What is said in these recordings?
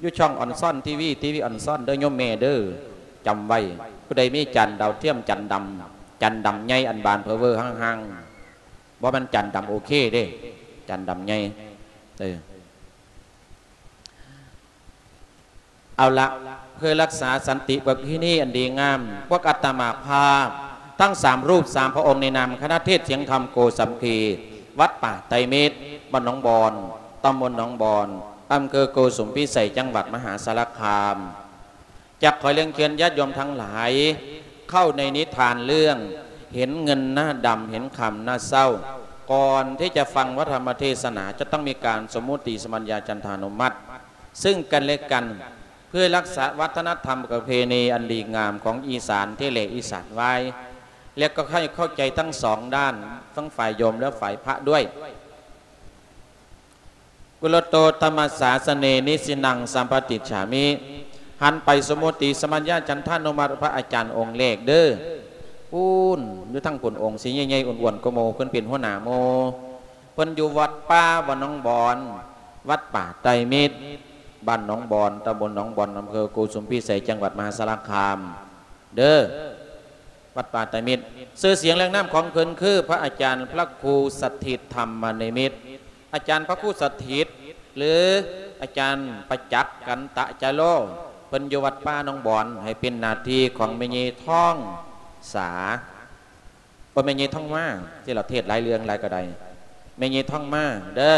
ຢູ່ຊ່ອງອອນຊອນທີວີ ທີວີອອນຊອນເດີໂຍມແມ່ເດີ ຈຳໄວ້. ຜູ້ໃດມີຈານດາວທຽມ ຈານດຳ ຈານດຳໃຫຍ່ ອັນບານເພີເວີຮັ່ງໆ ບໍ່ແມ່ນຈານດຳໂອເຄເດ້ ຈານດຳໃຫຍ່ ເອີ. ເອົາລະ ເພື່ອຮັກສາສັນຕິປະເພນີອັນດີງາມ ພວກອາດຕະມາພາບທັງສາມຮູບສາມພະອົງ ໃນນາມຄະນະເທດສຽງທຳໂກສາມັກຄີ ວັດປ່າໄຕມິດ ບ້ານໜອງບອນ ຕຳບົນໜອງບອນ ອຳເພີໂກສຸມພິໄສ ຈັງຫວັດມະຫາສາລະຄາມ ຈະຂໍລຽນເຊີນຍາດໂຍມທັງຫຼາຍ ເຂົ້າໃນນິທານເລື່ອງ ເຫັນເງິນໜ້າດຳ ເຫັນຄຳໜ້າເສົ້າ. ກ່ອນທີ່ຈະຟັງພະທຳມະເທສະໜາ ຈະຕ້ອງມີການສົມມຸຕິສຳບັນຍາຈັນທານຸມັດ ຊຶ່ງກັນແລະກັນ ເພື່ອຮັກສາວັດທະນະທຳປະເພນີອັນດີງາມຂອງອີສານທີ່ແລອີສານວາຍ ແລະກໍໃຫ້ເຂົ້າໃຈທັງສອງດ້ານ ທັງຝ່າຍໂຍມແລະຝ່າຍພະດ້ວຍ. ກຸລະໂຕທຳມະສາສະເນ ນິຊິນັງສຳປະຕິດສາມິ. ຫັນໄປສົມມຸຕິສຳບັນຍາຈັນທານຸມັດພະອາຈານອົງແລກເດີ. ພຸ້ນ ຢູ່ທາງພຸ້ນ ອົງສີໃຫຍ່ໆ ອ້ວນໆ ກວ່າໝູ່ ເພິ່ນເປັນຫົວໜ້າໝູ່. ເພິ່ນຢູ່ວັດປ່າບ້ານໜອງບອນ ວັດປ່າໄຕມິດ ບ້ານໜອງບອນ ຕຳບົນໜອງບອນ ອຳເພີໂກສຸມພິໄສ ຈັງຫວັດມະຫາສາລະຄາມເດີ. ວັດປ່າໄຕມິດ ຊື່ສຽງແລະນາມຂອງເພິ່ນຄື ພະອາຈານພະຄູສະຖິດ ທຳມະນິມິດ, ອາຈານພະຄູສະຖິດ ຫຼື ອາຈານປະຈັກ ກັນຕະຈາໂລ ເພິ່ນຢູ່ວັດປ່າໜອງບອນ ໃຫ້ເປັນໜ້າທີ່ຂອງແມ່ໃຫຍ່ທອງສາ ບໍ່ແມ່ນຍາຍທອງມາ ທີ່ລາວເທດຫຼາຍເລື່ອງຫຼາຍກໍໄດ້ ແມ່ນຍາຍທອງມາເດີ.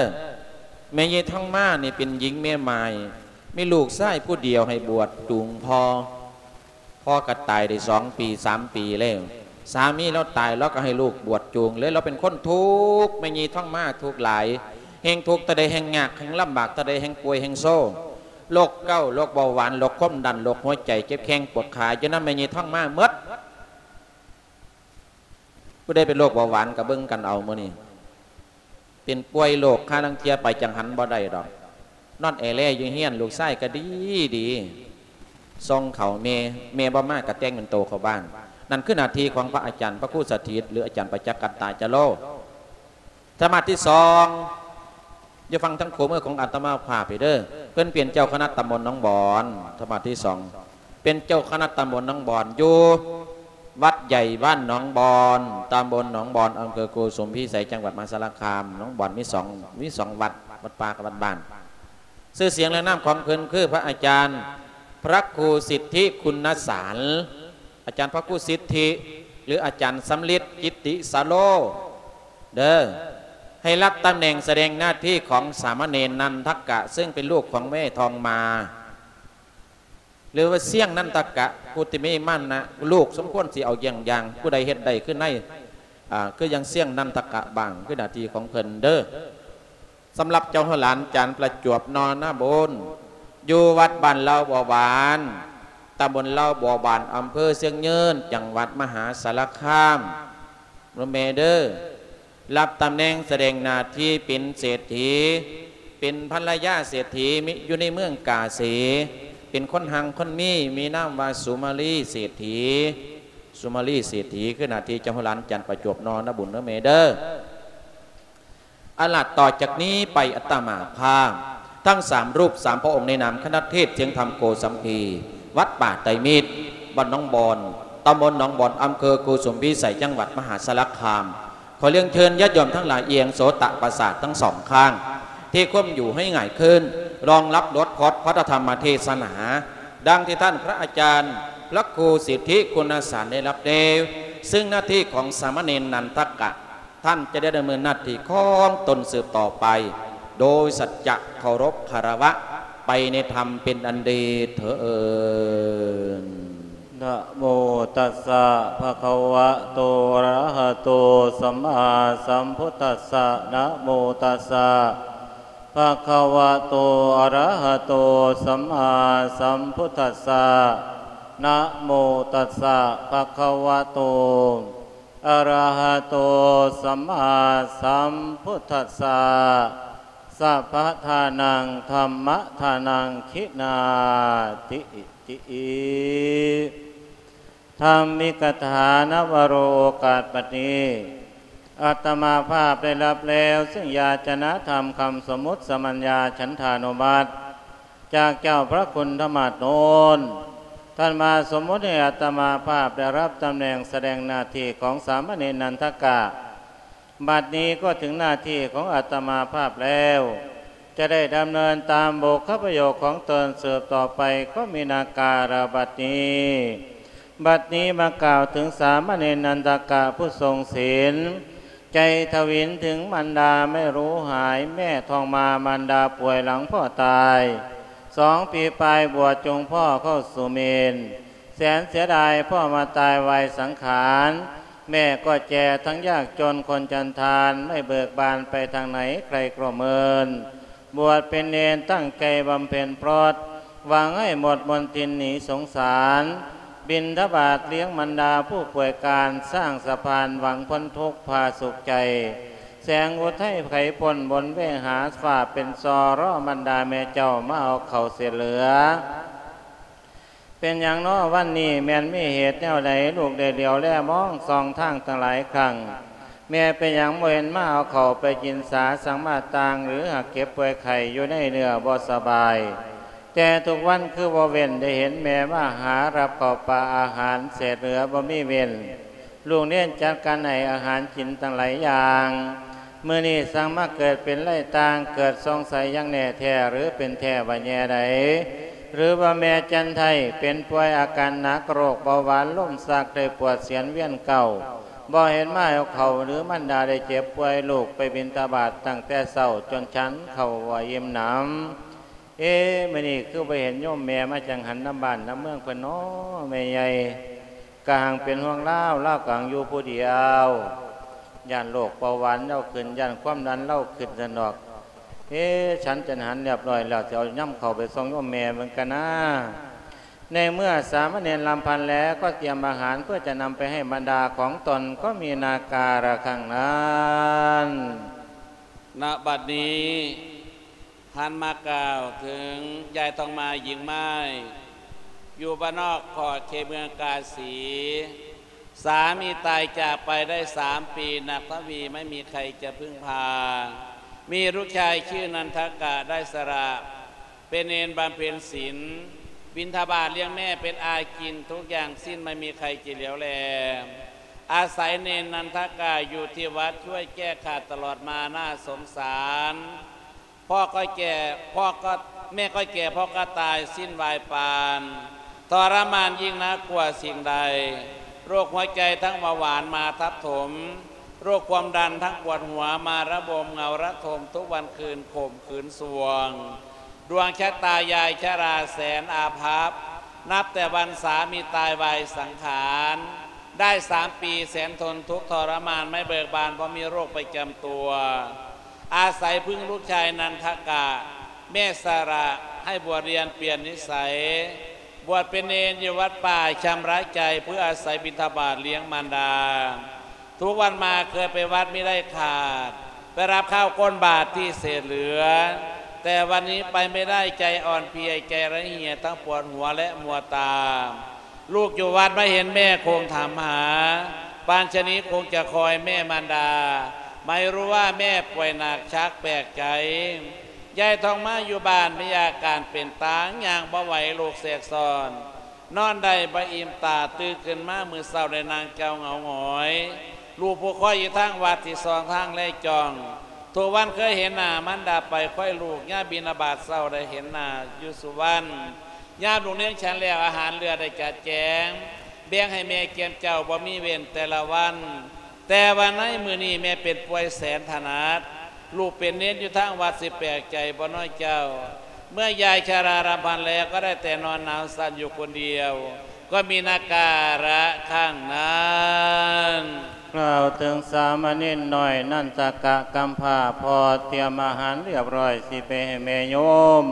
ແມ່ນຍາຍທອງມານີ້ເປັນຍິງແມ່ໝ້າຍ ມີລູກຊາຍຜູ້ດຽວໃຫ້ບວດຈູງພໍ່ ພໍ່ກໍຕາຍໄດ້ສອງປີສາມປີແລ້ວ ສາມີລາວຕາຍ ລາວກໍໃຫ້ລູກບວດຈູງເລີຍ ລາວເປັນຄົນທຸກ ແມ່ນຍາຍທອງມາທຸກຫຼາຍ ແຮ່ງທຸກເທົ່າໃດແຮ່ງຍາກ ແຮ່ງລຳບາກເທົ່າໃດ ແຮ່ງປ່ວຍແຮ່ງໂຊ ໂລກເກົາ ໂລກເບົາຫວານ ໂລກຄວາມດັນ ໂລກຫົວໃຈ ເຈັບແຂ້ງປວດຂາ ຢູ່ນຳແມ່ນຍາຍທອງມາໝົດ. ຜູ້ໃດເປັນໂລກເບົາຫວານກໍເບິ່ງກັນເອົາມື້ນີ້ ເປັນປ່ວຍໂລກ ຄາລາງເທື່ອໄປຈັງຫັນບໍ່ໄດ້ດອກ ນອນແອແລຢູ່ເຮືອນ ລູກຊາຍກໍດີດີ ສົ່ງເຂົ້າແມ່ ແມ່ບໍ່ມາກໍແຕ່ງເປັນໂຕເຂົ້າບ້ານ. ນັ້ນຄືໜ້າທີ່ຂອງພະອາຈານພະຄູສະຖິດ ຫຼື ອາຈານປະຈັກ ກັນຕະຈາໂລ. ທຳມະທີສອງ ຢູ່ຝັ່ງທາງຂວາມືຂອງອາດຕະມາພາບນີ້ເດີ ເພິ່ນເປັນເຈົ້າຄະນະຕຳບົນໜອງບອນ. ທຳມະທີສອງ ເປັນເຈົ້າຄະນະຕຳບົນໜອງບອນ ຢູ່ວັດໃຫຍ່ບ້ານໜອງບອນ ຕຳບົນໜອງບອນ ອຳເພີໂກສຸມພິໄສ ຈັງຫວັດມະຫາສາລະຄາມ. ໜອງບອນມີສອງ ມີສອງວັດ ວັດປ່າກັບວັດບ້ານ. ຊື່ສຽງແລະນາມຂອງເພິ່ນຄື ພະອາຈານພະຄູສິດທິຄຸນນະສານ ອາຈານພະຄູສິດທິ ຫຼື ອາຈານສຳລິດ ກິດຕິສາໂລ ເດີ ໃຫ້ຮັບຕຳແໜ່ງສະແດງໜ້າທີ່ຂອງສາມະເນນນັນທະກະ ເຊິ່ງເປັນລູກຂອງແມ່ທອງມາ ຫຼືວ່າຊຽງນັນທະກະ ຜູ້ທີ່ມີມານະ ລູກສົມຄວນຊິເອົາຢ່ຽງຢ່າງ ຜູ້ໃດເຮັດໄດ້ຄືໃນ ອາ ຄືຢ່າງຊຽງນັນທະກະບ້າງ ຄືໜ້າທີ່ຂອງເພິ່ນເດີ. ສຳລັບເຈົ້າຫົວຫຼານຈານປະຈວບ ນໍນະບຸນ ຢູ່ວັດບ້ານເລົ່າບໍ່ຫວານ ຕຳບົນເລົ່າບໍ່ຫວານ ອຳເພີຊຽງຍືນ ຈັງຫວັດມະຫາສາລະຄາມ ເດີແມ່ເດີ. ຮັບຕຳແໜ່ງສະແດງໜ້າທີ່ເປັນເສດຖີ ເປັນພັນລະຍາເສດຖີ ມີຢູ່ໃນເມືອງກາສີ ເປັນຄົນຮັ່ງຄົນມີ ມີນາມວ່າສຸມາລີເສດຖີ ສຸມາລີເສດຖີ ຄືໜ້າທີ່ເຈົ້າຫົວຫຼານຈານປະຈວບ ນໍນະບຸນ ເດີແມ່ເດີ. ອັນລະຕໍ່ຈາກນີ້ໄປ ອາດຕະມາພາບທັງສາມຮູບສາມພະອົງ ໃນນາມຄະນະເທດສຽງທຳໂກສາມັກຄີ ວັດປ່າໄຕມິດ ບ້ານໜອງບອນ ຕຳບົນໜອງບອນ ອຳເພີໂກສຸມພິໄສ ຈັງຫວັດມະຫາສາລະຄາມ ຂໍລຽນເຊີນຍາດໂຍມທັງຫຼາຍ ອຽງໂສຕະປະສາດທັງສອງຂ້າງ ທີ່ຄວາມຢູ່ໃຫ້ຫງາຍຂຶ້ນ ລອງຮັບລົດພອດພັດທະທຳມະເທດສະໜາ ດັ່ງທີ່ທ່ານພະອາຈານພະຄູສິດທິຄຸນນະສານໄດ້ຮັບແລ້ວ ຊຶ່ງໜ້າທີ່ຂອງສາມະເນນນັນທະກະ ທ່ານຈະໄດ້ດຳເນີນໜ້າທີ່ຂອງຕົນສືບຕໍ່ໄປ ໂດຍສັດຈະເຄົາລົບຄາລະວະ ໄປໃນທຳເປັນອັນດີເທີ້ນ. ນະໂມຕັດສະ ພະຄະວະໂຕ ອະລະຫະໂຕ ສຳມາສຳພຸດທັດສະ ນະໂມຕັດສະ ພະຄະວະໂຕ ອະລະຫະໂຕ ສຳມາສຳພຸດທັດສະ ນະໂມຕັດສະ ພະຄະວະໂຕ ອະລະຫະໂຕ ສຳມາສຳພຸດທັດສະ ສັບພະທານັງ ທຳມະທານັງ ຂິນາຕິ ຕິ ທຳມິກະຖາ ນະວະໂຣ ໂອກາດບັດນີ້ ອາດຕະມາພາບໄດ້ຮັບແລ້ວ ຊຶ່ງຢາຈະນະທຳຄຳສົມມຸດສະມັນຍາ ສັນທານຸມັດ ຈາກເຈົ້າພະຄຸນທຳມະໂນນ ທ່ານມາສົມມຸດໃຫ້ອາດຕະມາພາບໄດ້ຮັບຕຳແໜ່ງສະແດງໜ້າທີ່ຂອງສາມະເນນນັນທະກະ. ບັດນີ້ກໍເຖິງໜ້າທີ່ຂອງອາດຕະມາພາບແລ້ວ ຈະໄດ້ດຳເນີນຕາມບຸບພະໂຍກຂອງຕົນສືບຕໍ່ໄປ ກໍມີນາກາລະບັດນີ້. ບັດນີ້ມາກ່າວເຖິງສາມະເນນນັນທະກະຜູ້ຊົງສິນ ໃຈທະວິນເຖິງມັນດາແມ່ຮູ້ຫາຍ ແມ່ທ້ອງມາມັນດາປ່ວຍຫຼັງພໍ່ຕາຍ ສອງປີປາຍບວດຈົ່ງພໍ່ເຂົ້າສູ່ເມນ ແສນເສຍດາຍພໍ່ມາຕາຍໄວສັງຂານ ແມ່ກໍແກ່ທັງຍາກຈົນຄົນຈັນທານ ໄມ່ເບີກບານໄປທາງໃດໃຄກໍເມີນ ບວດເປັນເນນຕັ້ງໃຈບຳເພັນພຣອດ ຫວັງໃຫ້ໝົດມົນທິນໜີສົງສານ ບິນທະບາດລ້ຽງບັນດາຜູ້ປ່ວຍການ ສ້າງສະພານຫວັງພົ້ນທຸກພາສຸກໃຈ ແສງອຸໄທໄຂພົ້ນບົນເວຫາ ຟ້າເປັນຊໍລໍບັນດາແມ່ເຈົ້າມາເອົາເຂົ້າເສດເຫຼືອ. ເປັນຫຍັງເນາະວັນນີ້ ແມ່ນມີເຫດແນວໃດ ລູກໄດ້ຫຼຽວແລມອງສ່ອງທາງຕັ້ງຫຼາຍຄັ້ງ ແມ່ເປັນຫຍັງບໍ່ເຫັນມາເອົາເຂົ້າໄປກິນສາ ສັງມາຕ່າງ ຫຼືຫາກເຈັບປ່ວຍໄຂ້ຢູ່ໃນເນື້ອບໍ່ສະບາຍ ແຕ່ທຸກວັນຄືບໍ່ເວັ້ນ ໄດ້ເຫັນແມ່ມາຫາ ຮັບເຂົ້າປາອາຫານເສດເຫຼືອບໍ່ມີເວັ້ນ ລູກເນນຈັດການໃຫ້ອາຫານກິນຕັ້ງຫຼາຍຢ່າງ ມື້ນີ້ສັງມາເກີດເປັນໄລຕ່າງ ເກີດສົງໄສຢ່າງແນ່ແທ້ ຫຼືເປັນແທ້ວ່າແຍ່ໃດ ຫຼືວ່າແມ່ຈັນໄທເປັນປ່ວຍອາການໜັກ ໂລກເບົາຫວານລົມຊັກ ໄດ້ປວດສຽນວຽນເກົ້າ ບໍ່ເຫັນມາເອົາເຂົ້າ ຫຼືມັນດາໄດ້ເຈັບປ່ວຍ ລູກໄປບິນທະບາດຕັ້ງແຕ່ເຊົ້າ ຈົນສັນເຂົ້າບໍ່ອີ່ມໜຳ. ເອ ມື້ນີ້ຄືບໍ່ເຫັນໂຍມແມ່ມາຈັງຫັນນຳບ້ານນຳເມືອງເພິ່ນເນາະ ແມ່ໃຫຍ່ ກະຫັງເປັນຫ່ວງລາວ ລາວກະຫັງຢູ່ຜູ້ດຽວ ຢ້ານໂລກເບົາຫວານລາວຂຶ້ນ ຢ້ານຄວາມດັນລາວຂຶ້ນຊັ້ນດອກ. ເອ ສັນຈັນຫັນລຽບຮ້ອຍແລ້ວ ຊິເອົາຍຳເຂົ້າໄປສົ່ງໂຍມແມ່ເບິ່ງກະນາ. ໃນເມື່ອສາມະເນນລຳພັນແລ້ວ ກໍຕຽມອາຫານເພື່ອຈະນຳໄປໃຫ້ບັນດາຂອງຕົນ ກໍມີນາກາລະຄັ້ງນັ້ນ. ນະບັດນີ້ ຫັນມາກ່າວເຖິງຍາຍທອງມາຍິງໄມ້ ຢູ່ບ້ານນອກຂອດເຂດເມືອງກາສີ ສາມີຕາຍຈາກໄປໄດ້ສາມປີ ໜັກເທົ່າຫວີ ໄມ່ມີໃຄຈະເພິ່ງພາ ມີລູກຊາຍຊື່ນັນທະກະໄດ້ສະຫຼະ ເປັນເນນບຳເພັນສິນ ບິນທະບາດລ້ຽງແມ່ ເປັນອາກິນທຸກຢ່າງສິ້ນ ໄມ່ມີໃຄຈະຫຼຽວແລ ອາໄສເນນນັນທະກະຢູ່ທີ່ວັດ ຊ່ວຍແກ້ຂາດຕະຫຼອດມາ ໜ້າສົງສານ ພໍ່ກໍແກ່ ພໍ່ກໍ ແມ່ກໍແກ່ ພໍ່ກໍຕາຍ ສິ້ນວາຍປານ ທໍລະມານຍິ່ງໜັກກວ່າສິ່ງໃດ ໂລກຫົວໃຈທັງເບົາຫວານມາທັບຖົມ ໂລກຄວາມດັນທັງປວດຫົວມາລະບົມ ເຫງົາລະທົມທຸກວັນຄືນ ຂົມຂືນສວງ ດວງຊະຕາຍາຍຊະລາແສນອາພັບ ນັບແຕ່ວັນສາມີຕາຍໄວສັງຂານ ໄດ້ສາມປີແສນທົນທຸກທໍລະມານ ໄມ່ເບີກບານບໍ່ມີໂລກປະຈຳຕົວ ອາໄສເພິ່ງລູກຊາຍນັນທະກະ ແມ່ສະຫຼະໃຫ້ບວດຮຽນປ່ຽນນິໄສ ບວດເປັນເນນຢູ່ວັດປ່າຊຳລະໃຈ ເພື່ອອາໄສບິນທະບາດລ້ຽງມານດາ ທຸກວັນມາເຄີຍໄປວັດມິໄດ້ຂາດ ໄປຮັບຂ້າວກົ້ນບາດທີ່ເສດເຫຼືອ ແຕ່ວັນນີ້ໄປໄມ່ໄດ້ ໃຈອ່ອນເພຍ ໃຈລະເຫຍ ທັງປວດຫົວ ແລະມົວຕາ ລູກຢູ່ວັດມາເຫັນແມ່ຄົງຖາມຫາ ປານຊະນີ້ຄົງຈະຄອຍແມ່ມານດາ ໄມ່ຮູ້ວ່າແມ່ປ່ວຍໜັກ ຊັກແປກໃຈ ຍາຍທອງມາຢູ່ບ້ານມີອາການເປັນຕາງ ຍ່າງບໍ່ໄຫວ ໂລກແຊກຊ້ອນ ນອນໄດ້ບໍ່ອີ່ມຕາ ຕື່ນຂຶ້ນມາມື້ເຊົ້າໄດ້ນັ່ງເຈົ້າເຫງົາຫງອຍ ລູກຜູ້ຄອຍຢູ່ທາງວັດທີ່ສອງທາງແລຈ້ອງ ທຸກວັນເຄີຍເຫັນໜ້າມັນດາໄປຄອຍລູກ ຍາມບິນທະບາດເຊົ້າໄດ້ເຫັນໜ້າຢູ່ສຸວັນ ຍາມລູກເນນສັນແລ້ວອາຫານເຫຼືອໄດ້ຈັດແຈງ ແບ່ງໃຫ້ແມ່ກຽມເຈົ້າບໍ່ມີເວັ້ນແຕ່ລະວັນ ແຕ່ວ່າໃນມື້ນີ້ແມ່ເປັນປ່ວຍແສນຖະໜັດ ລູກເປັນເນນຢູ່ທາງວັດ ຊິແປກໃຈບໍ່ນ້ອຍເຈົ້າ ເມື່ອຍາຍຊະລາລຳພັນແລ້ວ ກໍໄດ້ແຕ່ນອນໜາວສັ່ນຢູ່ຄົນດຽວ ກໍມີນາກາລະຄັ້ງນັ້ນ. ກ່າວເຖິງສາມະເນນນ້ອຍນັນທະກະກຳພ້າ ພໍ່ຕຽມອາຫານລຽບຮ້ອຍ ຊິໄປໃຫ້ແມ່ໂຍມ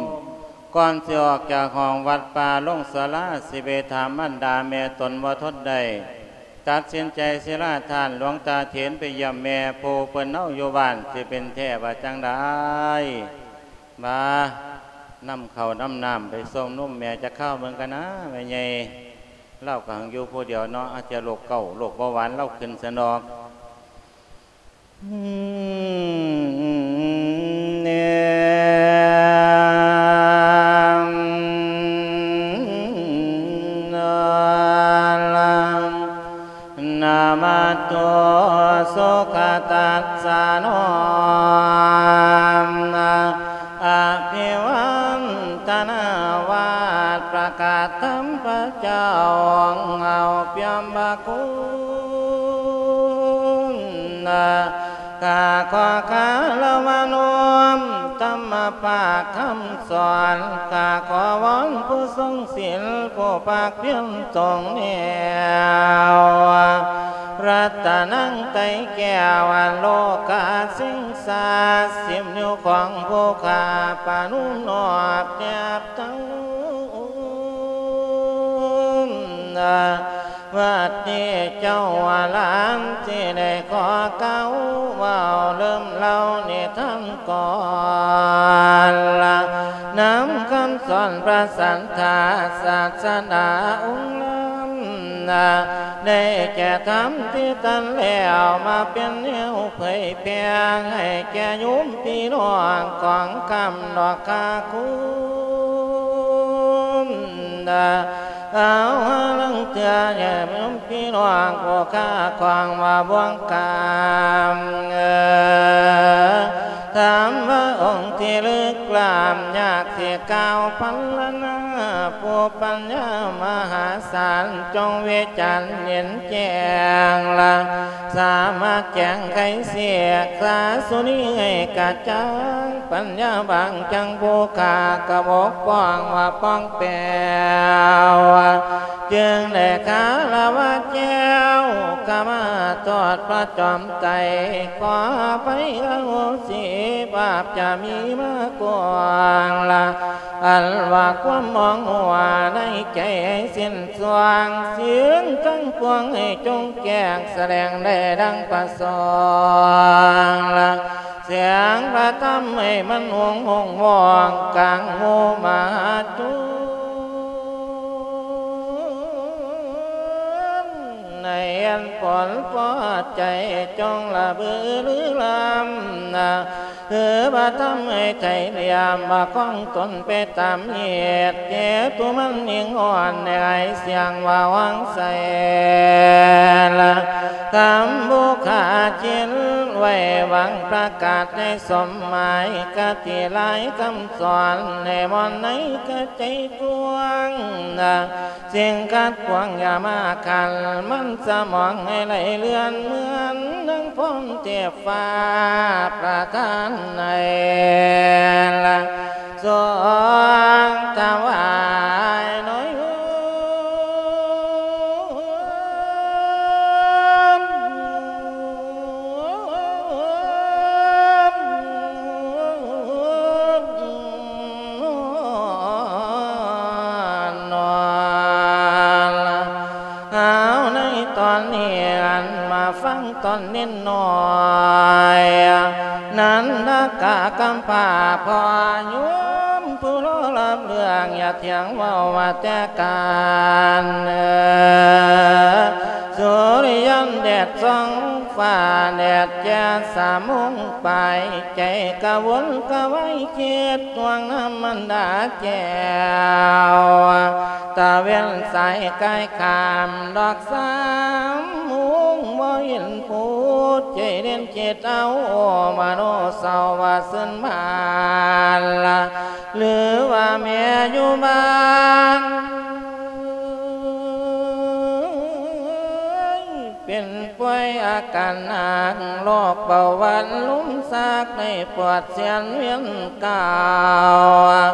ກ່ອນຊິອອກຈາກຫ້ອງວັດປ່າລົງສາລາ ຊິໄປຖາມມັນດາແມ່ຕົນບໍ່ທົນໄດ້ ຕັດສິນໃຈສິລາທ່ານ ຫຼວງຕາເຖນໄປຢ້ຽມແມ່ ຜູ້ເພິ່ນເອົາຢູ່ບ້ານ ຊິເປັນແທ້ວ່າຈັ່ງໃດ. ມານຳເຂົ້ານຳນ້ຳໄປຊົງນົມແມ່ຈັກຄາວເບິ່ງກະນາ ແມ່ໃຫຍ່ ລາວກະຫັງຢູ່ຜູ້ດຽວເນາະ ອາດຈະໂລກເກົາ ໂລກເບົາຫວານລາວຂຶ້ນຊັ້ນດອກ. ອືມ ແນມ ປະກາດທຳພະເຈົ້າ ເອົາປ່ຽມພະຄຸນ ຂ້າຂໍຄາລະວະນ້ອມທຳມະພາກຄຳສອນ ຂ້າຂໍວອນຜູ້ຊົງສິນ ຜູ້ພາກພຽນຊົງແນວ ລັດຕະນັງໄຕແກ້ວ ອັນໂລກາສິງສາ ສິບນິ້ວຂອງຜູ້ຂ້າປະນຸມນອບແນບເຕົ້າ ວັດນີ້ເຈົ້າວ່າຫຼານຊິໄດ້ຂໍກ່າວເວົ້າ ເລີ່ມເລົ່ານິທານກ່ອນລະ ນຳຄຳສອນພະສັດທາສາສະດາອົງລຳນະ ໄດ້ແກ່ທຳທີ່ຕັນແລ້ວ ມາເປັນແນວເຜີຍແຜ່ ໃຫ້ແກ່ໂຍມພີ່ນ້ອງຂອງຄຳດອກຄາຄຸນນະ ເອົາຫາລາງເທື່ອແດ່ໂຍມພີ່ນ້ອງຜູ້ຄາຂອງວ່າບ່ວງກາມ ເອີ ທຳພະອົງທີ່ລຶກລ້ຳຍາກຊິກ່າວພັນລະນາ ຜູ້ປັນຍາມະຫາສານ ຈົ່ງວິຈານເຫັນແຈ້ງລະ ສາມາດແຈງໄຂເສກສາສຸນີໃຫ້ກະຈ່າງ ປັນຍາບາງຈັ່ງຜູ້ຂ້າກະບົກຜ່ອງວ່າປ່ອງແປວ ຈຶ່ງໄດ້ຄາລະວະແກ້ວ ຂະມາໂທດພະຈອມໄຕ ຂໍອະໄພອະໂຫສິບາບຈະມີມາກວາງລະ ອັນວ່າຄວາມມອງຫົວໃນໃຈໃຫ້ສິ້ນຊ່ວງ ສິ່ງທັງປວງໃຫ້ຈົ່ງແຈ້ງສະແດງໄດ້ດັ່ງປະສົງລະ ສຽງພະທຳໃຫ້ມັນຫົງຫົງວອງກາງໝູ່ມະຫາຊົນ ໃນອັນຜົນພໍໃຈຈົ່ງລະບືລືລຳນະ ຄືວ່າທຳໃຫ້ໄທລຽມວ່າຂອງຕົນໄປຕາມເຫດ ເຈຕຸມັນຍິງອ່ອນໃນອາຍສຽງວ່າຫວັງໃສລະ ຄຳບຸຄາຈິນໄວ້ຫວັງປະກາດໃນສົມໝາຍ ຄະຕິຫຼາຍຄຳສອນໃນມ່ອນໃນກະໃຈກວ້າງນະ ສິ່ງຂັດຂວາງຢ່າມາຂັນ ມັນສະໝອງໃຫ້ໄຫຼເລື່ອນ ເໝືອນດັ່ງພົມເທບຟ້າປະທານໃນລະ ຊົງຖວາຍໜ້ອຍໂຍມ ເອົາໃນຕອນນີ້ ອັນມາຟັງຕອນນິດໜ້ອຍ ນັນທະກະກຳພ້າພໍ່ໂຍມ ຜູ້ລໍລຳເລື່ອງ ຢ່າຖຽງເວົ້າວ່າແຕ່ການ ສຸລິຍັນແດດສ່ອງຟ້າ ແດດແຈ້ສາມໂມງປາຍ ໃຈກະວົນກະວາຍຄິດ ຫ່ວງນຳມັນດາແກ້ວ ຕາເວັນສາຍກາຍຂ້າມດອກສາມໂມງ ບໍ່ເຫັນຜູ້ໃຈເດັ່ນ ຄິດເອົາ ໂອ ມະໂນເສົ້າວ່າຊຶນບານລະ ຫຼືວ່າແມ່ຢູ່ບ້ານ ເປັນປ່ວຍອາການໜັກ ໂລກເບົາຫວານ ລົມຊັກ ໄດ້ປວດແສນວຽນ ກ່າວ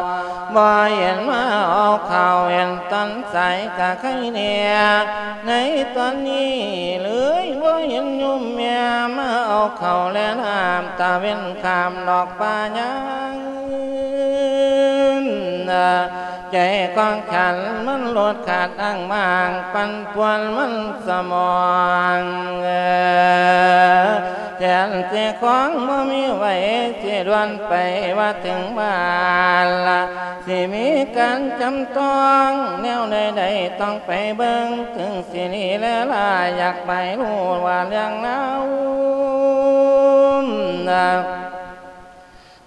ບໍ່ເຫັນມາເອົາເຂົ້າ ເຫັນຕອນສາຍກະໄຄແດ່ ໃນຕອນນີ້ເລີຍ ບໍ່ເຫັນໂຍມແມ່ມາເອົາເຂົ້າແລນ້ຳ ຕາເວັນຂ້າມດອກປ່າຍາງ ໃຈຂອງຂ້ານມັນຫຼຸດຂາດອ້າງມ້າງ ປັ່ນປ່ວນມັນສະໝອງ ແທນຊິຂອງບໍ່ມີໄວ້ ຊິດ່ວນໄປວ່າເຖິງບ້ານລະ ຊິມີການຈຳຕ້ອງ ແນວໃດໆຕ້ອງໄປເບິ່ງ ເຖິງຊິລີແລລາ ຢາກໄປຮູ້ວ່າເລື່ອງລາວ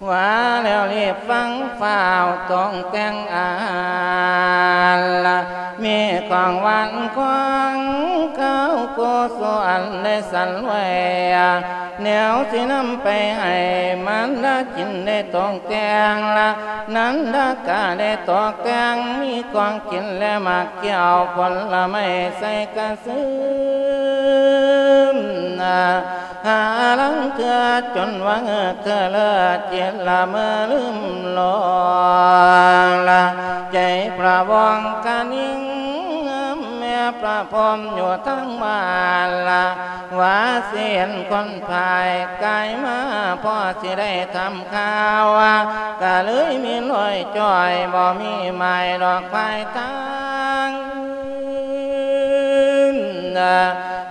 ວ່າແລ້ວລີບຟັງຟ້າວ ຕ້ອງແຕ່ງອາຫານລະ ມີຂອງຫວານຂອງຄາວ ໂກສຸອັນໄດ້ສັນໄວ້ ແນວຊິນຳໄປໃຫ້ມານດາກິນໄດ້ຕອງແຕ່ງລະ ນັນດາກະໄດ້ຕອກແຕ່ງ ມີຂອງກິນແລະໝາກແກ້ວຜົນລະໄມ້ໃສ່ກະຊຶມ ຫາລາງເທື່ອຈົນວ່າເຫີກເທື່ອເລີດ ຈິດລະເມີລືມຫຼົງລະ ໃຈພະວອງກະນິງ ແມ່ພະພົມຢູ່ທາງບ້ານລະ ວ່າຊິເຫັນຄົນພາຍກາຍມາ ພໍຊິໄດ້ຖາມຂ່າວ ກະເລີຍມີລອຍຈ່ອຍ ບໍ່ມີໝາຍດອກພາຍທາງ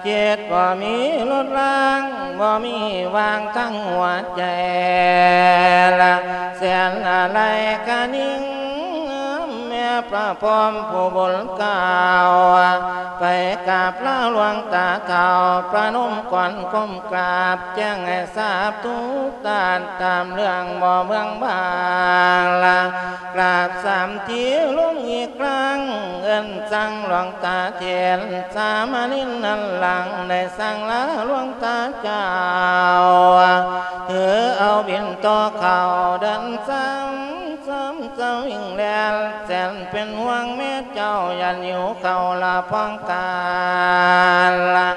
ຄິດບໍ່ມີລົດລາງ ບໍ່ມີວາງທາງຫົວໃຈລະ ແສນອາໄລກະນິງ ແມ່ພະພົມຜູ້ບຸນກ້າວ ໄປກາບລາຫຼວງຕາເຖົ້າ ປະນົມກອນກົ້ມກາບ ແຈ້ງໃຫ້ຊາບທຸກທ່ານ ຕາມເລື່ອງບໍ່ເມືອງບາງລະ ກາບສາມທີລົງອີກຄັ້ງ ເອີ້ນສັ່ງຫຼວງຕາເຖນ ສາມະເນນນັ້ນຫຼັງ ໄດ້ສັ່ງລາຫຼວງຕາເຈົ້າ ຖືເອົາບິນຕໍ່ເຂົ້າເດີນສາມ ສາມສະວິງແລ່ນ ແສນເປັນຫ່ວງແມ່ເຈົ້າ ຢ້ານຫິວເຂົ້າລະພອງການລະ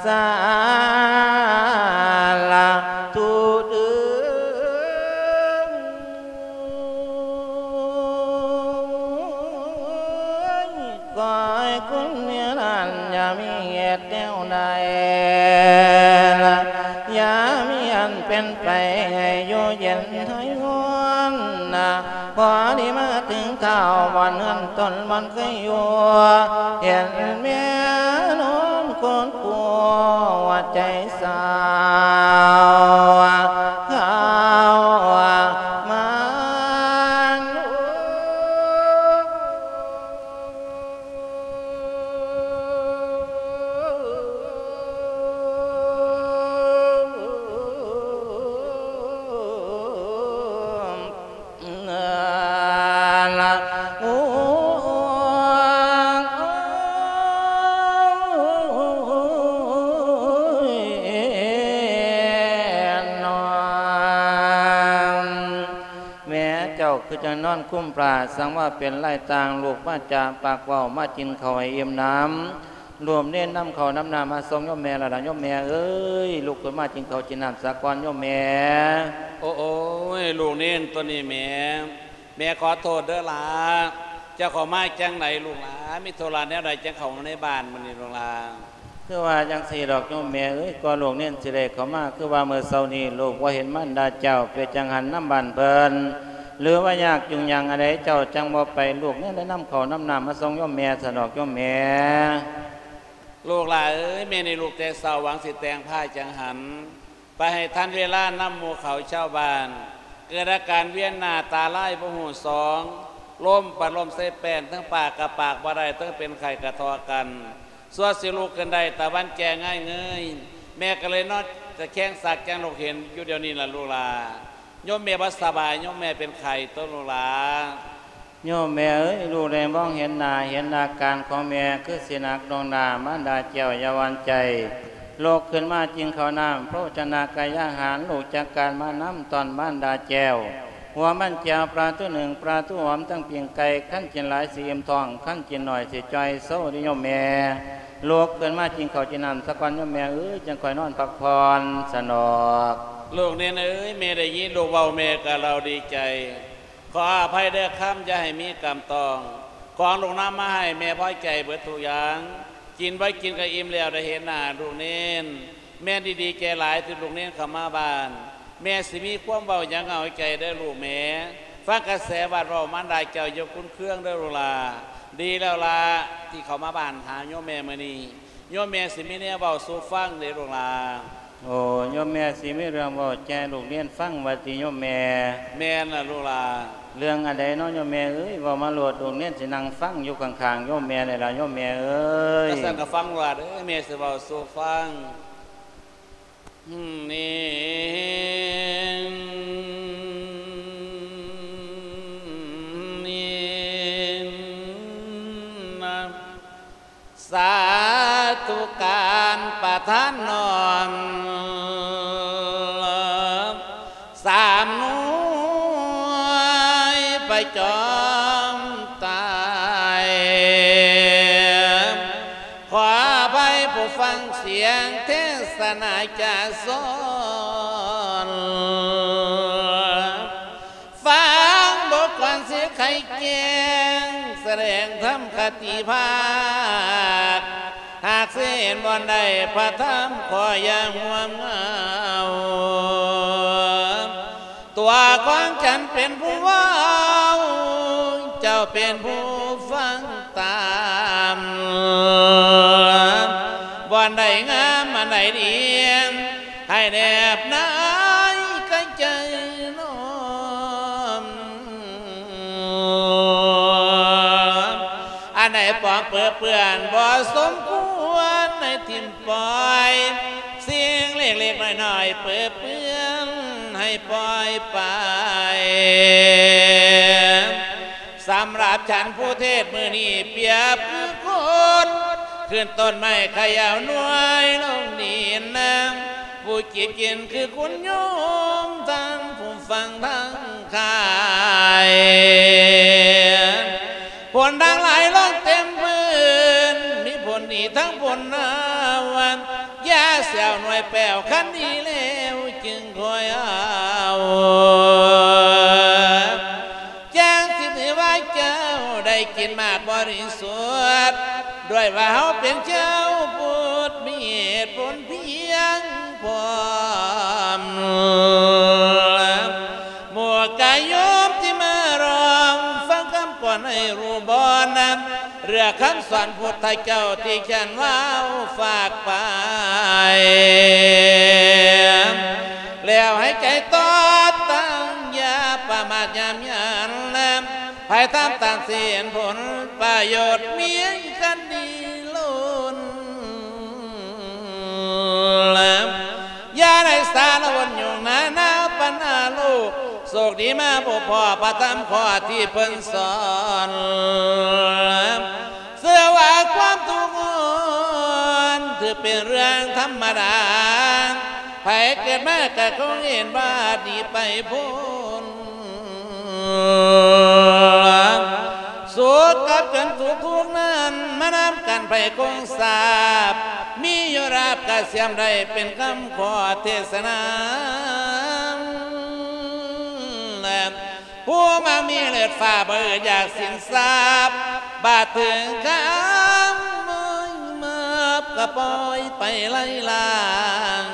ສາລະທຸເດີ ຂໍໃຫ້ຄຸນນິລັນ ຢ່າມີເຫດແນວໃດລະ ຢ່າມີອັນເປັນໄປ ໃຫ້ຢູ່ເຢັນໃຫ້ຮ້ອນນະ ພໍດີມາເຖິງທ້າວ ບ່ອນເຮືອນຕົນບ່ອນເຄີຍຢູ່ ເຫັນແມ່ນອນຄົນຄົວໃຈ ສາວເຂົາມາ ແມ່ເຈົ້າຄືຈັ່ງນອນຄຸມຜ້າ ສັງວ່າເປັນລາຍຕ່າງ ລູກມາຈາປາກເວົ້າ ມາກິນເຂົ້າໃຫ້ອີ່ມໜຳ ໂຍມເນນນຳເຂົ້ານຳນ້ຳມາສົ່ງໂຍມແມ່ແລ້ວລະ ໂຍມແມ່ເອີຍ ລຸກຂຶ້ນມາກິນເຂົ້າກິນນ້ຳສາກ່ອນໂຍມແມ່. ໂອ້ຍ ລູກເນນຕົວນີ້ແໝ ແມ່ຂໍໂທດເດີຫຼ້າ ເຈົ້າເຂົ້າມາຈັ່ງໃດລູກຫຼາ ມີທຸລະແນວໃດຈັ່ງເຂົ້າມາໃນບ້ານມື້ນີ້ລູກຫຼາ? ຄືວ່າຈັ່ງຊີ້ດອກໂຍມແມ່ເອີຍ ກວ່າລູກເນນຊິໄດ້ເຂົ້າມາ ຄືວ່າມື້ເຊົ້ານີ້ລູກບໍ່ເຫັນມານດາເຈົ້າ ເປັນຈັ່ງຫັ້ນນຳບ້ານເພິ່ນ ຫຼືວ່າຍາກຈຸງຍາງອັນໃດ ເຈົ້າຈັ່ງບໍ່ໄປ ລູກເນນໄດ້ນຳເຂົ້ານຳນ້ຳມາສົ່ງໂຍມແມ່ຊະດອກໂຍມແມ່. ລູກຫຼ້າເອີຍ ແມ່ນີ້ລຸກແຕ່ເຊົ້າ ຫວັງຊິແຕ່ງພ້າຍຈັງຫັນ ໄປໃຫ້ທັນເວລານຳໝູ່ເຂົາຊາວບ້ານ ເກີດອາການວຽນໜ້າຕາລາຍບໍ່ຮູ້ສອງ ລົ້ມປະລົ້ມໃສ່ແປ້ນ ເທິງປາກກະປາກບໍ່ໄດ້ ເທິງເປັນໄຂ້ກະທໍກັນ ຊົ່ວຊິລຸກຂຶ້ນໄດ້ຕາວັນແຈ້ງງ່າຍເງີຍ ແມ່ກໍເລີຍນອນຕະແຄງສັກຈັ່ງລູກເຫັນຢູ່ດຽວນີ້ລະລູກຫຼ້າ ໂຍມແມ່ບໍ່ສະບາຍ ໂຍມແມ່ເປັນໄຂ້ຕົວະລູກຫຼ້າ. ໂຍມແມ່ເອີຍ ລູກໄດ້ມອງເຫັນໜ້າ ເຫັນອາການຂອງແມ່ຄືຊິໜັກໜ່ວງໜ້າ ມານດາແກ້ວຢ່າຫວັ່ນໃຈ ລຸກຂຶ້ນມາກິນເຂົ້ານ້ຳ ໂພຊະນາກາຍາຫານ ລູກຈັດການມານຳຕ້ອນມານດາແກ້ວ ຫົວມັນແຈ່ວປາທູໜຶ້ງ ປາທູຫອມ ທັງປີ້ງໄກ່ ຄັນກິນຫຼາຍຊິອີ່ມທ້ອງ ຄັນກິນໜ້ອຍຊິຈ່ອຍໂຊເດີໂຍມແມ່ ລຸກຂຶ້ນມາກິນເຂົ້າກິນນ້ຳສາກ່ອນໂຍມແມ່ເອີຍ ຈັ່ງຄ່ອຍນອນພັກຜ່ອນຊະດອກ. ລູກເນນເອີຍ ແມ່ໄດ້ຍິນລູກເວົ້າ ແມ່ກໍລາວດີໃຈ ຂໍອະໄພເດີຄຳ ຢ່າໃຫ້ມີກຳຕ້ອງ ຂອງລູກນຳມາໃຫ້ແມ່ພໍໃຈເບິດທຸກຢ່າງ ກິນບໍ່ກິນກໍອີ່ມແລ້ວ ໄດ້ເຫັນໜ້າລູກເນນ ແມ່ດີໃຈຫຼາຍທີ່ລູກເນນເຂົ້າມາບ້ານ ແມ່ຊິມີຄວາມເວົ້າຫຍັງເອົາໃຈເດີລູກແມ່ ຟັງກະແສວັດເວົ້າ ມານດາເຈົ້າຢ່າຂຸນເຄືອງເດີລູກຫຼ້າ ດີແລ້ວລະ ທີ່ເຂົ້າມາບ້ານຫາໂຍມແມ່ມື້ນີ້ ໂຍມແມ່ຊິມີແນວເວົ້າສູ່ຟັງເດ້ລູກຫຼ້າ. ໂອ້ ໂຍມແມ່ຊິມີເລື່ອງເວົ້າແຈລູກເນນຟັງວ່າຕິໂຍມແມ່? ແມ່ນລະລູກຫຼ້າ. ເລື່ອງອັນໃດເນາະໂຍມແມ່ເອີຍ ເວົ້າມາໂລດ ລູກເນນຊິນັ່ງຟັງຢູ່ຂ້າງໆໂຍມແມ່ນີ້ລະໂຍມແມ່ເອີຍ. ຈັ່ງຊັ້ນກໍຟັງວ່າເດີ ແມ່ຊິເວົ້າສູ່ຟັງ. ສາທຸການປະທານນ້ອມ ໄປຈອມຕາຍ. ຂໍອະໄພຜູ້ຟັງສຽງເທສະນາຈາສອນ, ຟັງບົດກອນຊິໄຂແຈ້ງ ສະແດງທຳຄະຕິພາກ, ຫາກຊິເຫັນບ່ອນໃດພະທຳຂໍຢ່າງວມເງົາ. ຕົວຂອງສັນເປັນຜູ້ເວົ້າ, ເຈົ້າເປັນຜູ້ຟັງຕາມ. ບ່ອນໃດງາມອັນໃດດີ, ໃຫ້ແນບນາຍໃຈນ້ອມ. ອັນໃດປອມເປິເປື້ອນບໍ່ສົມຄວນໃຫ້ຖິ້ມ ປ່ອຍ, ສິ່ງເລັກໆນ້ອຍໆເປິເປື້ອນໃຫ້ປ່ອຍໄປ. ສຳລັບສັນຜູ້ເທດມື້ນີ້ປຽບຄືຄົນ ຂຶ້ນຕົ້ນໄມ້ຂະເຍົາໜ່ວຍລົງດິນ, ຜູ້ຈີບກິນຄືຄຸນໂຍມ ທັງຜູ້ຟັງທັງຂາຍ. ຄົນທັງຫຼາຍລົງເຕັມພື້ນ ມີຜົນດີທັງຜົນເນົ່າ, ຢ່າແຊວໜ່ວຍແປ້ວ ຄັນດີແລ້ວຈຶ່ງຄ່ອຍເອົາ. ຈັ່ງຊິຖືວ່າເຈົ້າໄດ້ກິນໝາກບໍລິສຸດ, ດ້ວຍວ່າເຮົາເປັນຊາວພຸດ ມີເຫດຜົນພຽງພ້ອມ. ໝູ່ກາຍໂຍມທີ່ມາລອງຟັງຄຳກ່ອນໃຫ້ຮູ້ບໍ່ນັ້ນ, ເລືອກຄຳສອນພຸດທະເຈົ້າທີ່ຂຽນເວົ້າຝາກໄປ, ແລ້ວໃຫ້ໃຈຕໍ່ຕັ້ງ ຢ່າປະໝາດຍາມຢັນ, ໃຜທຳຕາມສິນຜົນປະໂຫຍດ ມີຄັນດີລົ້ນ. ຢ່າໄດ້ສາລະວົນຫຍຸ້ງນານາປັນຫາໂລກ, ໂຊກດີມາພົບພໍ້ພະທຳຂໍ້ທີ່ເພິ່ນສອນ. ເຊື່ອວ່າຄວາມທຸກຮ້ອນຖືເປັນເລື່ອງທຳມະດາ, ໃຜເກີດມາກະຄົງເຫັນວ່າໜີໄປພົ້ນ. ສຸກກັບຈົນສຸກທຸກນັ້ນ ມານຳກັນໄພຄົງສາບ, ມີຢູ່ລາບກະສຽມໄດ້ ເປັນຄຳຂໍເທສະນາ. ຜູ້ມັກມີເລີດຟ້າ ບໍ່ອຶດຢາກສິນຊາບ, ບາດເຖິງຄຳມອຍມາບ ກະປ່ອຍໄປໄລ່ລາງ.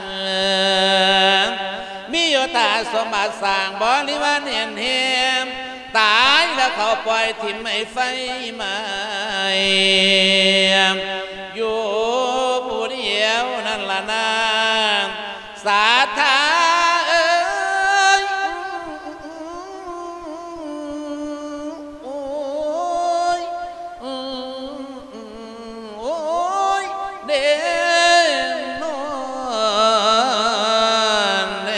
ມີຢູ່ຖ້າສົມບັດສ້າງບໍລິວານແໜ້ນແຮມ, ຕາຍແລ້ວເຂົາປ່ອຍຖິ້ມໃຫ້ໄຟໄໝ້, ຢູ່ຜູ້ດຽວນັ້ນລະນາ ສາທາເອີຍ. ໂອ້ຍ ໂອ້ຍ ໂອ້ຍ ເດນອນເດ.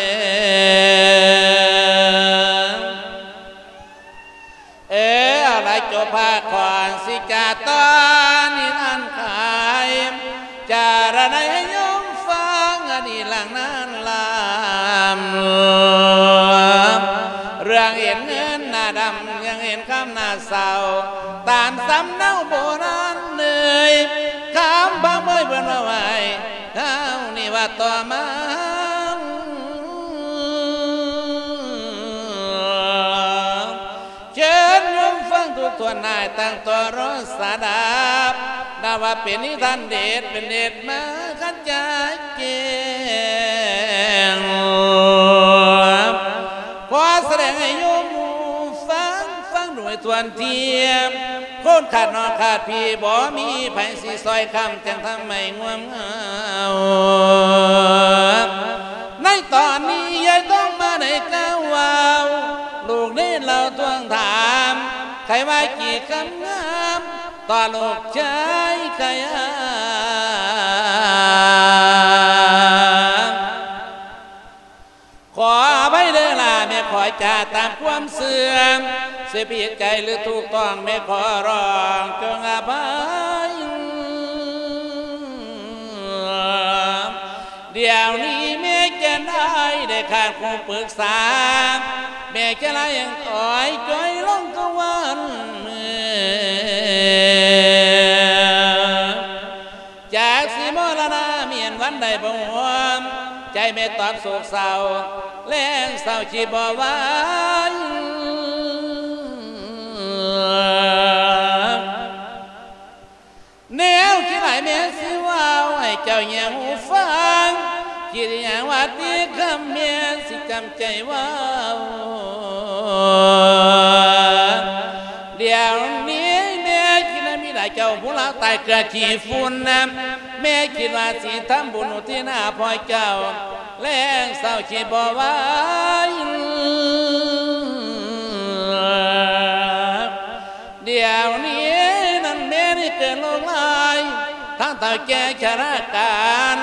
ເອີ ເອົາລະ ຈົບພາກຂອງສິຈາຕອນນີ້ນັ້ນຂາຍ ຈາລະນາຍໃຫ້ໂຍມຟັງອັນນີ້ຫຼັງນັ້ນລຳ ເລື່ອງເຫັນເງິນໜ້າດຳ ຍັງເຫັນຄຳໜ້າເສົ້າ ຕາມສຳເນົາໂບລານເອີຍ ຄຳບາງເບີຍເພິ່ນເວົ້າໄວ້ ຄາວນີ້ວ່າຕໍ່ມາ ເຊີນໂຍມຟັງທຸກທ່ານນາຍ ຕັ້ງຕໍ່ລໍສະດັບ ນັບວ່າເປັນນິທານເດດ ເປັນເດດມາຂະຈາຍແຈ້ງ ຂໍສະແດງໃຫ້ໂຍມຮູ້ຟັງ ຟັງດ້ວຍຖ້ວນທຽມ ຄົນຂາດນ້ອງຂາດພີ່ ບໍ່ມີໃຜຊິຊ່ອຍຄ້ຳ ຈັ່ງທຳໃຫ້ງ່ວງເຫງົາ. ໃນຕອນນີ້ ຍາຍຕ້ອງມາໄດ້ກ່າວເວົ້າ ລູກເນນເລົ່າທວງຖາມ ໃຜວ່າກີ່ຄຳງາມ ຕໍ່ລູກຊາຍໃຜອາ. ຂໍອະໄພເດີລະແມ່ ຂໍຈາຕາມຄວາມເຊື່ອ ຊິຜິດໃຈຫຼືຖືກຕ້ອງ ແມ່ຂໍຮ້ອງຈົ່ງອະໄພ. ດຽວນີ້ແມ່ຈະໄດ້ ໄດ້ຂາດຄູ່ປຶກສາ ແມ່ຈະໄດ້ອອຍຈ່ອຍລົງ ບໍ່ຮ່ວມ ໃຈແມ່ຕອບໂສກເສົ້າ ແລງເສົ້າຄິດບໍ່ໄຫວ. ແນວຄິດຫຼາຍແມ່ຊິເວົ້າ ໃຫ້ເຈົ້າຫຍັງຫູຟັງ ຄິດຫຍັງວ່າຕິຄຳແມ່ຊິຈຳໃຈເວົ້າ. ດຽວນີ້ແມ່ຄິດນຳມີຫຼາຍ ເຈົ້າຜູ້ລາວຕາຍເກືອຂີ້ຝຸ່ນນະ ແມ່ຄິດວ່າຊິທຳບຸນອຸທິດໃຫ້ພໍ່ເຈົ້າ ແລງເສົ້າຄິດບໍ່ໄຫວ. ດຽວນີ້ນັ້ນແມ່ນີ້ເກີດໂລກຮ້າຍ ທັງເຖົ້າແກ່ຊະລາການ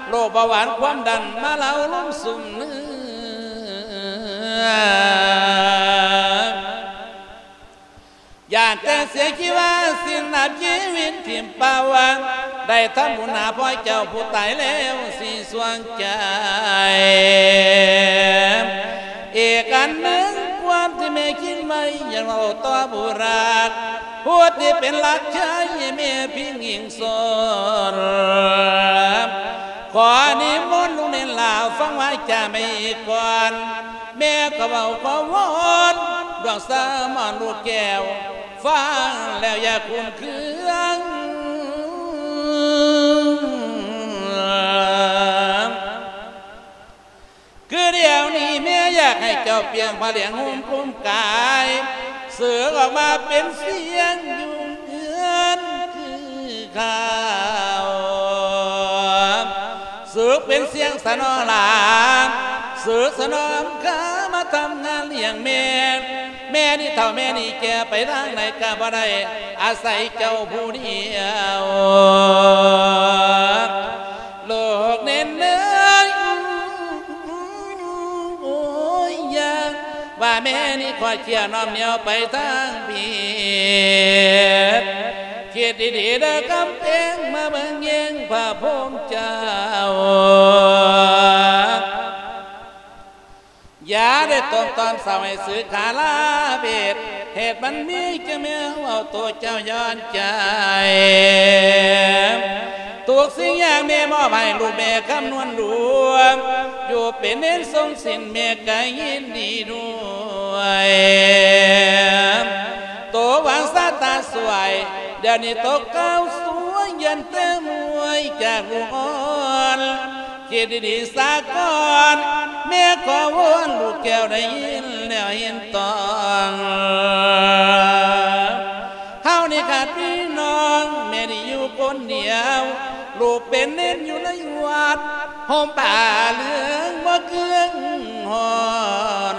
ໂລກເບົາຫວານຄວາມດັນມາເລົາລົງຊຸມເໜືອ. ຢ້ານແຕ່ເສຍຊີວາ ສິ້ນອາຍຸຊີວິດຖິ້ມປ່າ ໄດ້ທຳບຸນຫາພໍ່ເຈົ້າຜູ້ຕາຍແລ້ວຊິສວງໃຈ. ອີກອັນໜຶ່ງ ຄວາມທີ່ແມ່ຄິດໄວ້ ຢາກເລົ່າຕໍ່ຜູ້ຮັກ ຜູ້ທີ່ເປັນຫຼັກໃຈໃຫ້ແມ່ພິງອີງສົນ ຂໍນິມົນລູກເນນຫຼ້າ ຟັງວາຈາແມ່ອີກກ່ອນ. ແມ່ກໍເວົ້າຂໍວອນ ດວງສາມອນລູກແກ້ວ ຟັງແລ້ວຢ່າຂຸ້ນເຄືອງ. ຄືດຽວນີ້ແມ່ຢາກໃຫ້ເຈົ້າປ່ຽນຜ້າຫຼຽງຫຸ້ມຄຸມກາຍ ສຶກອອກມາເປັນສຽງຢູ່ເຮືອນຄືເກົ່າ. ສຶກເປັນສຽງສະໜອງຫຼານ ສຶກສະໜອງຄາມາທຳງານລ້ຽງແມ່. ແມ່ນີ້ເຖົ້າແມ່ນີ້ແກ່ ໄປທາງໃດກະບໍ່ໄດ້ ອາໄສເຈົ້າຜູ້ດຽວ. ລູກເນນເອີຍ ໂອ້ຍ ຢ້ານວ່າແມ່ນີ້ຄອດເຄີຍນ້ອມໜຽວໄປທາງຜິດ. ຄິດດີໆເດີກຳແພງ ມາເບິ່ງແຍງພະພູມເຈົ້າ. ຢ່າໄດ້ຕົມຕອນເສົ້າໃຫ້ສຶກຄາລາເວດ ເຫດມັນມີຈະແມ່ເວົ້າໂຕເຈົ້າຍ້ອນໃຈ. ທຸກສິ່ງຢ່າງແມ່ມອບໃຫ້ລູກແມ່ຄຳນວນລວມ ຢູ່ເປັນເນນຊົງສິນແມ່ກະຍິນດີດ້ວຍ. ໂຕຫວັງຊາຕາຊ່ວຍ ດຽວນີ້ຕົກເກົ້າສວຍ ຢ້ານແຕ່ມວຍຈາກລູກອ່ອນ. ຄິດດີໆສາກ່ອນ ແມ່ຂໍວອນ ລູກແກ້ວໄດ້ຍິນແລ້ວເຫັນຕ້ອງ. ເຮົານີ້ຂາດພີ່ນ້ອງ ແມ່ນີ້ຢູ່ຄົນດຽວ ລູກເປັນເນນຢູ່ໃນວັດ ຫົ່ມຜ້າເຫຼືອງບໍ່ເຄືອງຮ້ອນ.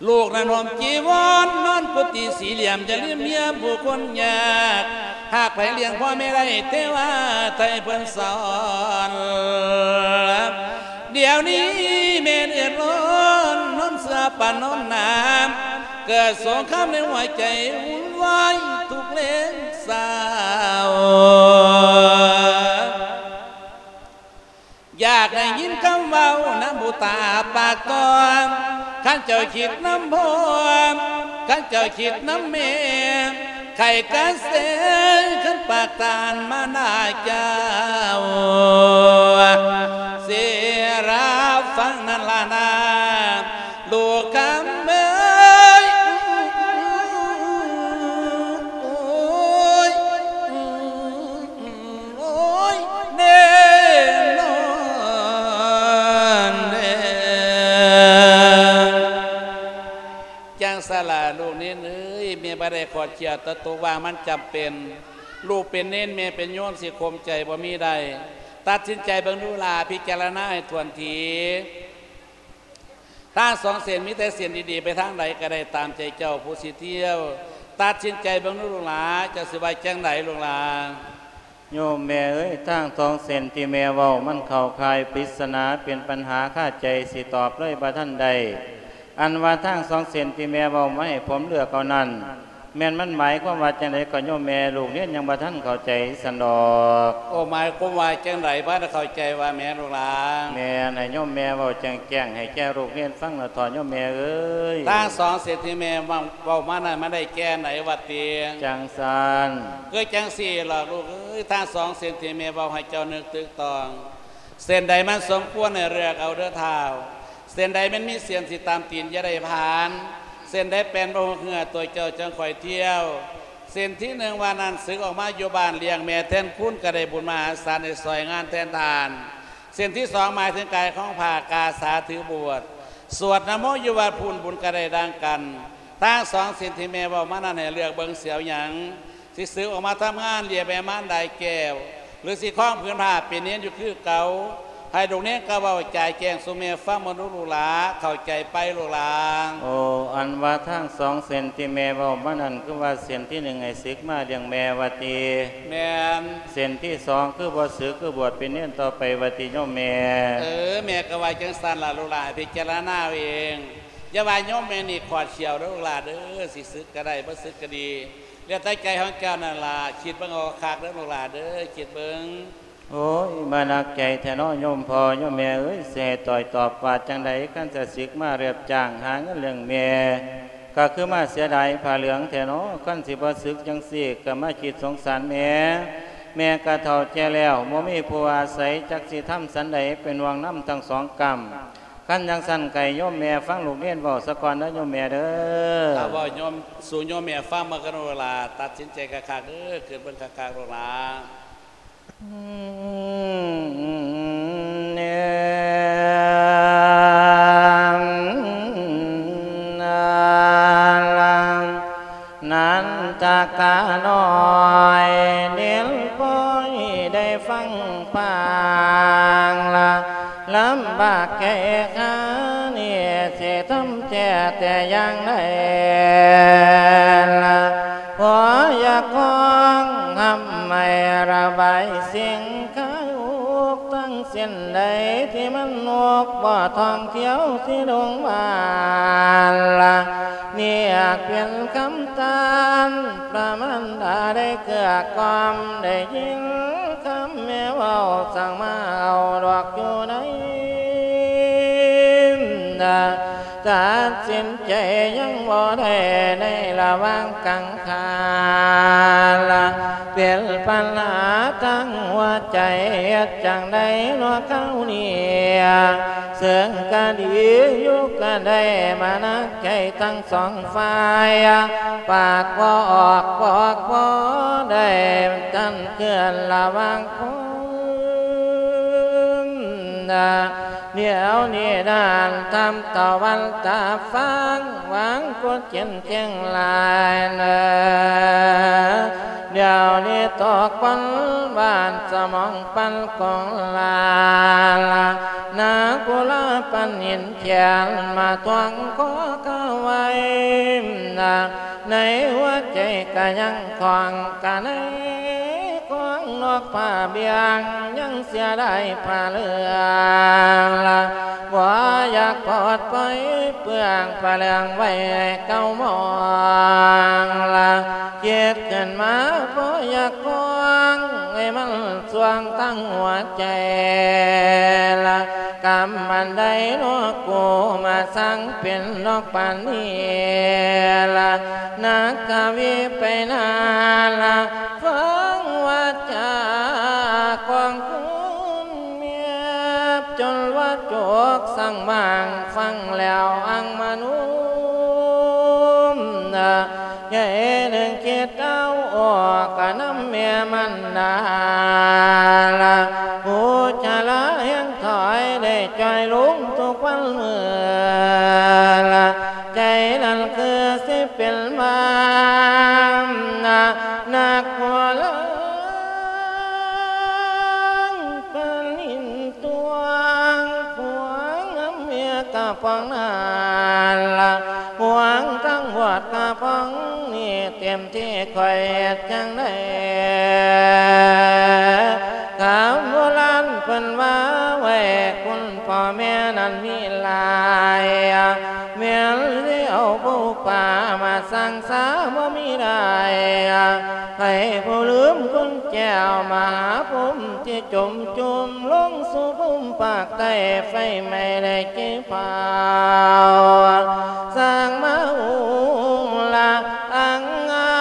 ລູກນັ້ນຫົ່ມຈີວອນ ນອນກຸຕິສີ່ຫຼ່ຽມ ຢ່າລືມຢ້ຽມຜູ້ຄົນຍາກ ຫາກໃຜລ້ຽງພໍ່ແມ່ໄດ້ ເທວາໄທເພິ່ນສອນ. ດຽວນີ້ແມ່ເດືອດຮ້ອນ ນອນເສືອປານນອນໜາມ ເກີດສົງຄາມໃນຫົວໃຈ ວຸ່ນວາຍທຸກແລງເຊົ້າ. ຢາກໄດ້ຍິນຄຳເວົ້ານຳບຸດຕາປາກຕ້ອງ ຄັນເຈົ້າຄິດນຳພໍ່ ຄັນເຈົ້າຄິດນຳແມ່ ໄຂ້ກະເສ ຄັນປາກທ່ານມານາເຈົ້າ ຊິຮັບຟັງນັ້ນລະນາ ລູກຄຳເອີຍ. ໂອ້ຍ ໂອ້ຍ ແນ່ນອນແດ່. ຈັ່ງຊັ້ນລະລູກເນນເອີຍ ແມ່ບໍ່ໄດ້ຂອດຂຽດ ແຕ່ຕົກວ່າງມັນຈຳເປັນ. ລູກເປັນເນນ ແມ່ເປັນໂຍມ ຊິຂົ່ມໃຈບໍ່ມີໄດ້. ຕັດສິນໃຈເບິ່ງດູຫຼ້າ ພິຈາລະນາໃຫ້ຖ້ວນທີ. ທາງສອງເສັ້ນ ມີແຕ່ເສັ້ນດີໆ ໄປທາງໃດກະໄດ້ຕາມໃຈເຈົ້າຜູ້ຊິທ່ຽວ. ຕັດສິນໃຈເບິ່ງດູລູກຫຼານ ເຈົ້າຊິວ່າຈັ່ງໃດລູກຫຼານ? ໂຍມແມ່ເອີຍ ທາງສອງເສັ້ນທີ່ແມ່ເວົ້າ ມັນເຂົ້າຂ່າຍປິດສະໜາ ເປັນປັນຫາຄາໃຈ ຊິຕອບເລີຍບໍ່ທັນໄດ້. ອັນວ່າທາງສອງເສັ້ນທີ່ແມ່ເວົ້າມາໃຫ້ຜົມເລືອກເອົານັ້ນ ແມ່ນມັນໝາຍຄວາມວ່າຈັ່ງໃດກໍໂຍມແມ່ ລູກເນນຍັງບໍ່ທັນເຂົ້າໃຈຊັ້ນດອກ. ໂອ້ ໝາຍຄວາມວ່າຈັ່ງໃດ ບໍ່ທັນເຂົ້າໃຈວ່າແມ່ນລູກຫຼານ? ແມ່ນໃຫ້ໂຍມແມ່ເວົ້າແຈ້ງໆໃຫ້ແກ່ລູກເນນຟັງແດ່ເຖາະໂຍມແມ່ເອີຍ. ທັງສອງເສັ້ນທີ່ແມ່ເວົ້າ ເວົ້າມານັ້ນ ມັນໄດ້ແກ່ໃດວ່າຕິ? ຈັ່ງຊັ້ນ. ຄືຈັ່ງຊີ້ລະລູກເອີຍ ທັງສອງເສັ້ນທີ່ແມ່ເວົ້າໃຫ້ເຈົ້ານຶກຕຶກຕອງ ເສັ້ນໃດມັນສົມຄວນໃຫ້ເລືອກເອົາເດີທ້າວ. ເສັ້ນໃດມັນມີເສ້ນຊິຕຳຕີນຢ່າໄດ້ຜ່ານ, ເສັ້ນໃດແປນບໍ່ຮູ້ເຫື່ອຕົວເຈົ້າຈັ່ງຄ່ອຍທ່ຽວ. ເສັ້ນທີໜຶ່ງວ່ານັ້ນ ສຶກອອກມາຢູ່ບ້ານລ້ຽງແມ່ແທນຄຸນ ກໍໄດ້ບຸນມະຫາສານໄດ້ຊ່ອຍງານແທນທ່ານ. ເສັ້ນທີສອງໝາຍເຖິງກາຍຂອງພະກາສາຖືບວດ ສວດນະໂມຢູ່ວັດພຸ້ນ ບຸນກໍໄດ້ດັ່ງກັນ. ທັງສອງເສັ້ນທີ່ແມ່ເວົ້າມານັ້ນ ໃຫ້ເລືອກເບິ່ງຊິເອົາຫຍັງ ຊິສຶກອອກມາທຳງານລ້ຽງແມ່ມານດາແກ້ວ ຫຼືຊິຄອງຜືນຜ້າເປັນເນນຢູ່ຄືເກົ່າ. ໃຫ້ລູກເນນກໍເວົ້າຈາແຈ້ງສູ່ແມ່ຟັງເບິ່ງດູລູກຫຼາ ເຂົ້າໃຈໄປລູກຫຼາ? ໂອ້ ອັນວ່າທັງສອງເສັ້ນທີ່ແມ່ເວົ້າມານັ້ນ ຄືວ່າເສັ້ນທີໜຶ່ງໃຫ້ສຶກມາລ້ຽງແມ່ວ່າຕິ? ແມ່ນ. ເສັ້ນທີສອງຄືບໍ່ສຶກ ຄືບວດເປັນເນນຕໍ່ໄປວ່າຕິໂຍມແມ່? ເອີ ແມ່ກໍວ່າຈັ່ງຊັ້ນລະລູກຫຼາ ພິຈາລະນາເອົາເອງ. ຢ່າວ່າໂຍມແມ່ນີ້ຂອດຂຽວເດີລູກຫຼາເດີ ຊິສຶກກໍໄດ້ ບໍ່ສຶກກໍດີ ແລ້ວແຕ່ໃຈຂອງເຈົ້ານັ້ນລະ. ຄິດເບິ່ງເອົາຄັກເດີລູກຫຼາເດີ ຄິດເບິ່ງ. ໂອ້ຍ ມາໜັກໃຈແທ້ເນາະໂຍມພໍ່ໂຍມແມ່ເອີຍ ຊິໃຫ້ຕ້ອຍຕອບວ່າຈັ່ງໃດ? ຄັນຈະສຶກມາຮັບຈ້າງຫາເງິນລ້ຽງແມ່ ກໍຄືມາເສຍດາຍຜ້າເຫຼືອງແທ້ເນາະ. ຄັນຊິບໍ່ສຶກຈັ່ງຊີ້ ກໍມາຄິດສົງສານແມ່ ແມ່ກໍເຖົ້າແກ່ແລ້ວ ບໍ່ມີຜູ້ອາໄສ ຈັກຊິທຳສັນໃດ ເປັນຫ່ວງນຳທັງສອງກ້ຳ. ຄັນຈັ່ງຊັ້ນ ໃຫ້ໂຍມແມ່ຟັງລູກເນນເວົ້າສາກ່ອນເດີໂຍມແມ່ເດີ. ຖ້າເວົ້າໂຍມ ສູ່ໂຍມແມ່ຟັງມາກັນໂລດລະ ຕັດສິນໃຈຄັກໆເດີ ຄິດເບິ່ງຄັກໆໂລດລະ. ນັນທະການ້ອຍ ເນນພໍ່ໄດ້ຟັງປາງລະ ລຳບາກແກ່ຂ້ານີ້ ຊິທຳແທ້ແຕ່ຢ່າງໃດລະ ພໍຢາກຮ້ອງຮຳໃຫ້ລະບາຍສິ່ງຄາຍອຸກ ທັງເສັ້ນໃດທີ່ມັນນົກບໍ່ທ່ອງທ່ຽວຊິລົງບ້ານລະ ນີ້ອາດເປັນຄຳ ທ່ານພະມານດາໄດ້ເກື້ອກ່ອມ ໄດ້ຍິນຄຳແມ່ເວົ້າ ສັ່ງມາເອົາດອກຢູ່ໃນນາ ຕັດສິນໃຈຍັງບໍ່ໄດ້ໃນລະຫວ່າງກາງຄານລະ ເປັນບັນຫາທາງຫົວໃຈ ເຮັດຈັ່ງໃດເນາະຄາວນີ້ ເຊິ່ງກະດີຢູ່ກະໄດ້ມານະ ໃຫ້ທັງສອງຝ່າຍ ປາກບໍ່ອອກບອກບໍ່ໄດ້ ທັນເຄື່ອນລະຫວ່າງຄົນນະ ດຽວນີ້ນັ້ນ ທຳຕາວັນຕາຟາງ ຫວັງກົດເຈັນແຈ້ງຫຼາຍເນີ ດຽວນີ້ຕົກຄົນບ້ານສະໝອງປັນກົງລາລາ ນາກຸລາປັນຫີນ ຂຽນມາທວງຂໍກາໄວ້ນະ ໃນຫົວໃຈກະຍັງຂອງກະໃນຂອງນອກຜ້າບຽງ ຍັງເສຍດາຍຜ້າເຫຼືອງລະ ບໍ່ຢາກປອດປ່ອຍເປືອງຜ້າເຫຼືອງໄວ້ໃຫ້ເກົ່າມອງລະ ຄິດຂຶ້ນມາບໍ່ຢາກຄອງ ໃຫ້ມັນຊ່ວງທັງຫົວໃຈລະ ກຳອັນໃດເນາະ ກູມາສ້າງເປັນນອກປານນີ້ລະ ນັກກະວີໄປນາລະ ຟັງວາຈາຂອງຄຸນແມ່ ຈົນວ່າຈົກສັງມາງ ຟັງແລ້ວອັງມະນຸມນະ ໃຫຍ່ໜຶ່ງຄິດເອົາອອກກະນຳແມ່ມັນດາລະ ຜູ້ຊະລາແຮງຖອຍໄດ້ຈ່ອຍລົງທຸກວັນມື້ລະ ໃຈນັ້ນຄືຊິເປັນບ້ານນະ ນັກໂບລານປານຫີນຕວງ ຫວງນຳເມຍກະປອງນັ້ນລະ ຫວງທັງບວດກະປອງນີ້ ເຕັມທີ່ຂ້ອຍເຮັດຈັ່ງໃດ ຄຳໂບລານເພິ່ນວ່າໄວ້ ຄຸນພໍ່ແມ່ນັ້ນມີຫຼາຍ ແມ່ ແມ່ນແລ້ວຜູ້ປ່າມາສ້າງສາບໍ່ມີໄດ້ ໃຜຜູ້ລືມຄຸນແກ້ວມະຫາພົມທີ່ຈົມຈຸ່ມລົງສູ່ພູມປາກໃຕ້ ໄຟໄໝ້ໄດ້ເກເຜົາ ສ້າງມາອົງລະອັງອາ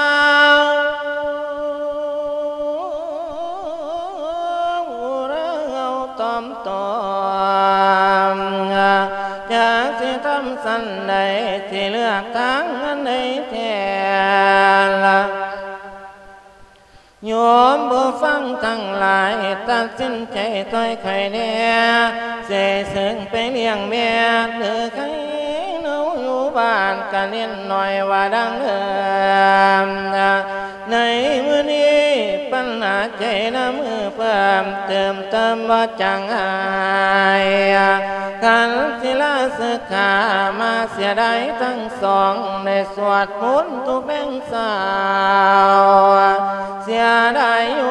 ວ ອຸລະເອົາຕອມ ຕອມ ຈັກຊິທຳສັນໃດ ຊິເລືອກທາງອັນໃດແທ້ລະ? ໂຍມຜູ້ຟັງທັງຫຼາຍ ຕັດສິນໃຈຊ່ອຍຂ້ອຍແດ່ ຊິເຊິ່ງໄປລ້ຽງແມ່ ຫຼືໃຄເຮົາຢູ່ບ້ານກະເນັ້ນໜ້ອຍວ່າດັ່ງເດີມ. ໃນມື້ນີ້ປັນຫາໃຈນະມືເພີ່ມ ເຕີມເຕີມບໍ່ຈາງຫາຍ ຄັນສິລາສຶກຂາມາເສຍດາຍທັງສອງ ໄດ້ສວດມົນທຸກແລງເຊົ້າ ເສຍດາຍໂຍ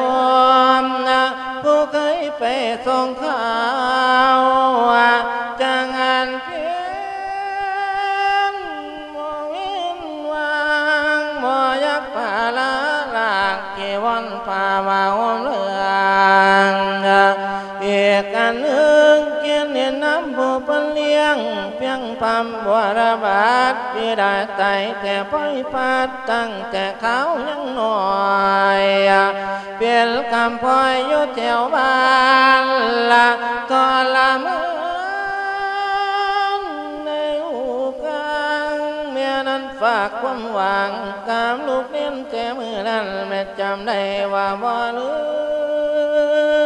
ມນະ ຜູ້ເຄີຍໄປສົ່ງຂ່າວ ຈາງອັນເພັນ ບໍ່ເວັ້ນວ່າງ ບໍ່ຢາກປະລະລາກ ທີ່ວອນພາມາໂຮມເລື່ອງ ອີກອັນໜຶ່ງ ກຽດເໜັດນຳຜູ້ເພິ່ນລ້ຽງ ພຽງພຳບົວລະບາດ ປີດາຕາຍແຕ່ພອຍພັດ ຕັ້ງແຕ່ຄາວຍັງນ້ອຍ ເປັນກຳພ້ອຍຢູ່ແຖວບ້ານລະທໍລະມານໃນຫູກາງ ແມ່ນັ້ນຝາກຄວາມຫວັງກັບລູກເນນແຕ່ມື້ນັ້ນ ແມ່ຈຳໄດ້ວ່າບໍ່ລື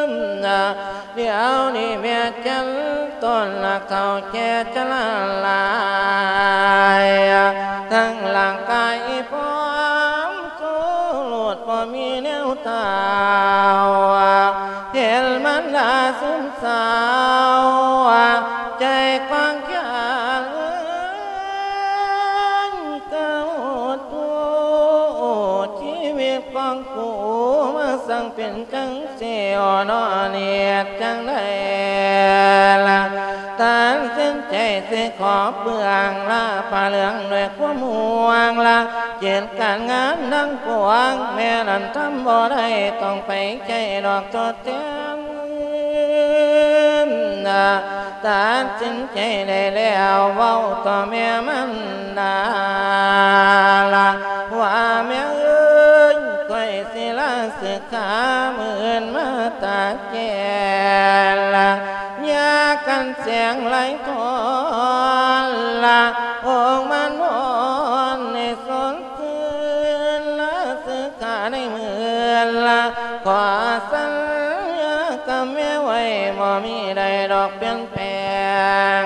ມນະ ດຽວນີ້ແມ່ຈັນ ຕົ້ນຮັກເຖົ້າແກ່ຈະລາລາຍ ທັງຮ່າງກາຍພ້ອມໂຊໂລດບໍ່ມີແນວທ້າວ ເຫັນມານດາຊຶມເສົ້າ ໃຈກວ້າງຂຽງ ກະໂອດໂທ ຊີວິດຂອງກູມາຊ່າງເປັນຈັ່ງ ຊິໂອນອນເຮັດຈັ່ງໃດລະ ຕັດສິນໃຈຊິຂໍເບື້ອງລາຜ້າເຫຼືອງດ້ວຍຄວາມຫ່ວງລະ ເຮັດການງານທັງປວງ ແມ່ນອັນທຳບໍ່ໄດ້ ຕ້ອງໄປໃຊ້ດອກທົດແທນ ຕັດສິນໃຈໄດ້ແລ້ວ ເວົ້າຕໍ່ແມ່ມັນ ນາລະວ່າ ແມ່ເອີຍ ຂ້ອຍສິລາສຶກຂາ ມື້ອື່ນມາຕາແກ່ລະ ຢ່າກັນແສງໄຫຼທອນລະ ອົງມານອນໃຫ້ສົດຊື່ນລະ ສຶກຂາໃນມື້ອື່ນລະ ຂໍສັນຍາກັບແມ່ໄວ້ ບໍ່ມີໃດດອກປ່ຽນ ແປງ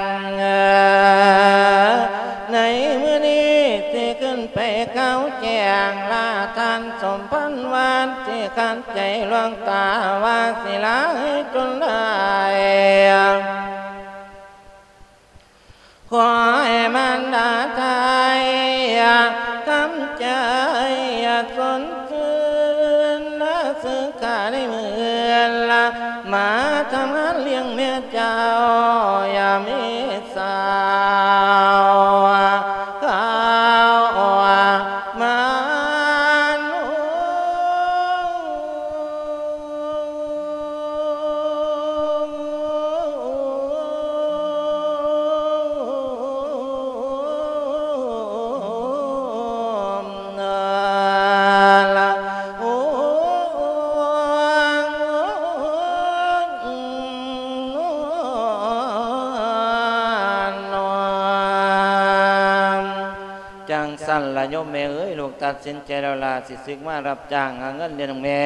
ໃນມື້ນີ້ຊິຂຶ້ນໄປກ່າວແຈ້ງລາທ່ານສົມພັນ ວາດຊິຂັດໃຈຫຼວງຕາວ່າ ສິລາໃຫ້ຈົນໄດ້ ຂໍໃຫ້ມານດາໄທ ທຳໃຈສົດຊື່ນລະ ສຶກຂາໃນມື້ອື່ນລະ ມາທຳງານລ້ຽງແມ່ເຈົ້າ ຢ່າມີສາວຂາວມານຸ່ງ ຈັ່ງຊັ້ນລະໂຍມແມ່ເອີຍ ລູກຕັດສິນໃຈແລ້ວລະ ຊິສຶກມາຮັບຈ້າງຫາເງິນລ້ຽງແມ່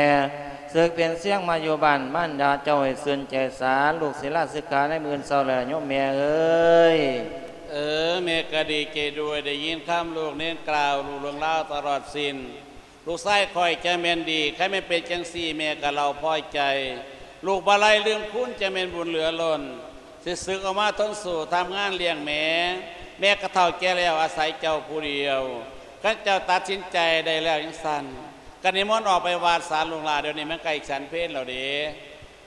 ສຶກເປັນຊຽງມາຢູ່ບ້ານມານດາເຈົ້າໃຫ້ຊື່ນໃຈສາ ລູກສິລາສຶກຂາໃນມື້ເຊົ້າແລ້ວລະໂຍມແມ່ເອີຍ. ເອີ ແມ່ກະດີໃຈດ້ວຍ ໄດ້ຍິນຄຳລູກເນນກ່າວ ຮູ້ເລື່ອງລາວຕະຫຼອດສິ້ນ ລູກຊາຍຂ້ອຍຈະແມ່ນດີ ຄັນແມ່ນເປັນຈັ່ງຊີ້ ແມ່ກະເລົ່າພໍໃຈ ລູກບໍ່ໄດ້ລືມຄຸນ ຈະແມ່ນບຸນເຫຼືອລົ້ນ ຊິສຶກອອກມາທົນສູ້ ທຳງານລ້ຽງແມ່ ແມ່ກະເຖົ້າແກ່ແລ້ວ ອາໄສເຈົ້າຜູ້ດຽວ ຄັນເຈົ້າຕັດສິນໃຈໄດ້ແລ້ວຈັ່ງຊັ້ນ ກະນິມົນອອກໄປວັດສາລູກຫຼານ ດຽວນີ້ມັນໃກ້ສັນເພນແລ້ວເດ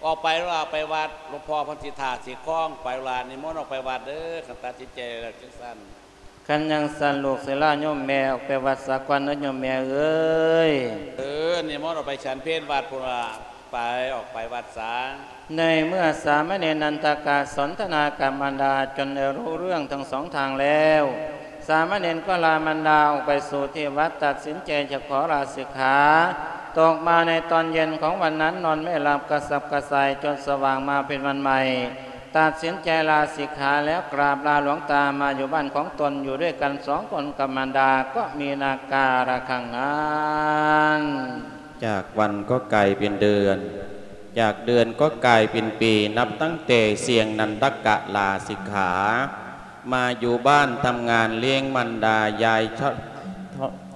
ອອກໄປລູກຫຼານ ໄປວັດ ຫຼວງພໍ່ເພິ່ນຊິຖ້າຊິຄອງ ໄປລູກຫຼານ ນິມົນອອກໄປວັດເດີ ຄັນຕັດສິນໃຈແລ້ວຈັ່ງຊັ້ນ. ຄັນຈັ່ງຊັ້ນ ລູກສິລາໂຍມແມ່ອອກໄປວັດສາກ່ອນເດີໂຍມແມ່ເອີຍ. ເອີ ນິມົນອອກໄປສັນເພນວັດພຸ້ນລະ ໄປ ອອກໄປວັດສາ. ໃນເມື່ອສາມະເນນນັນທະກະສົນທະນາກັບມານດາຈົນໄດ້ຮູ້ເລື່ອງທັງສອງທາງແລ້ວ, ສາມະເນນກໍລາມານດາອອກໄປສູ່ທີ່ວັດ, ຕັດສິນໃຈຈະຂໍລາສິກຂາ. ຕົກມາໃນຕອນເຢັນຂອງວັນນັ້ນ ນອນໄມ່ຫຼັບກະສັບກະສ່າຍຈົນສະຫວ່າງມາເປັນວັນໃໝ່. ຕັດສິນໃຈລາສິກຂາແລ້ວກາບລາຫຼວງຕາມາຢູ່ບ້ານຂອງຕົນ ຢູ່ດ້ວຍກັນສອງຄົນກັບມານດາ ກໍມີນາກາລະຄັງນັ້ນ. ຈາກວັນກໍກາຍເປັນເດືອນ, ຈາກເດືອນກໍກາຍເປັນປີ ນັບຕັ້ງແຕ່ຊ່ຽງນັນທະກະລາສິກຂາ ມາຢູ່ບ້ານທຳງານລ້ຽງມານດາ. ຍາຍ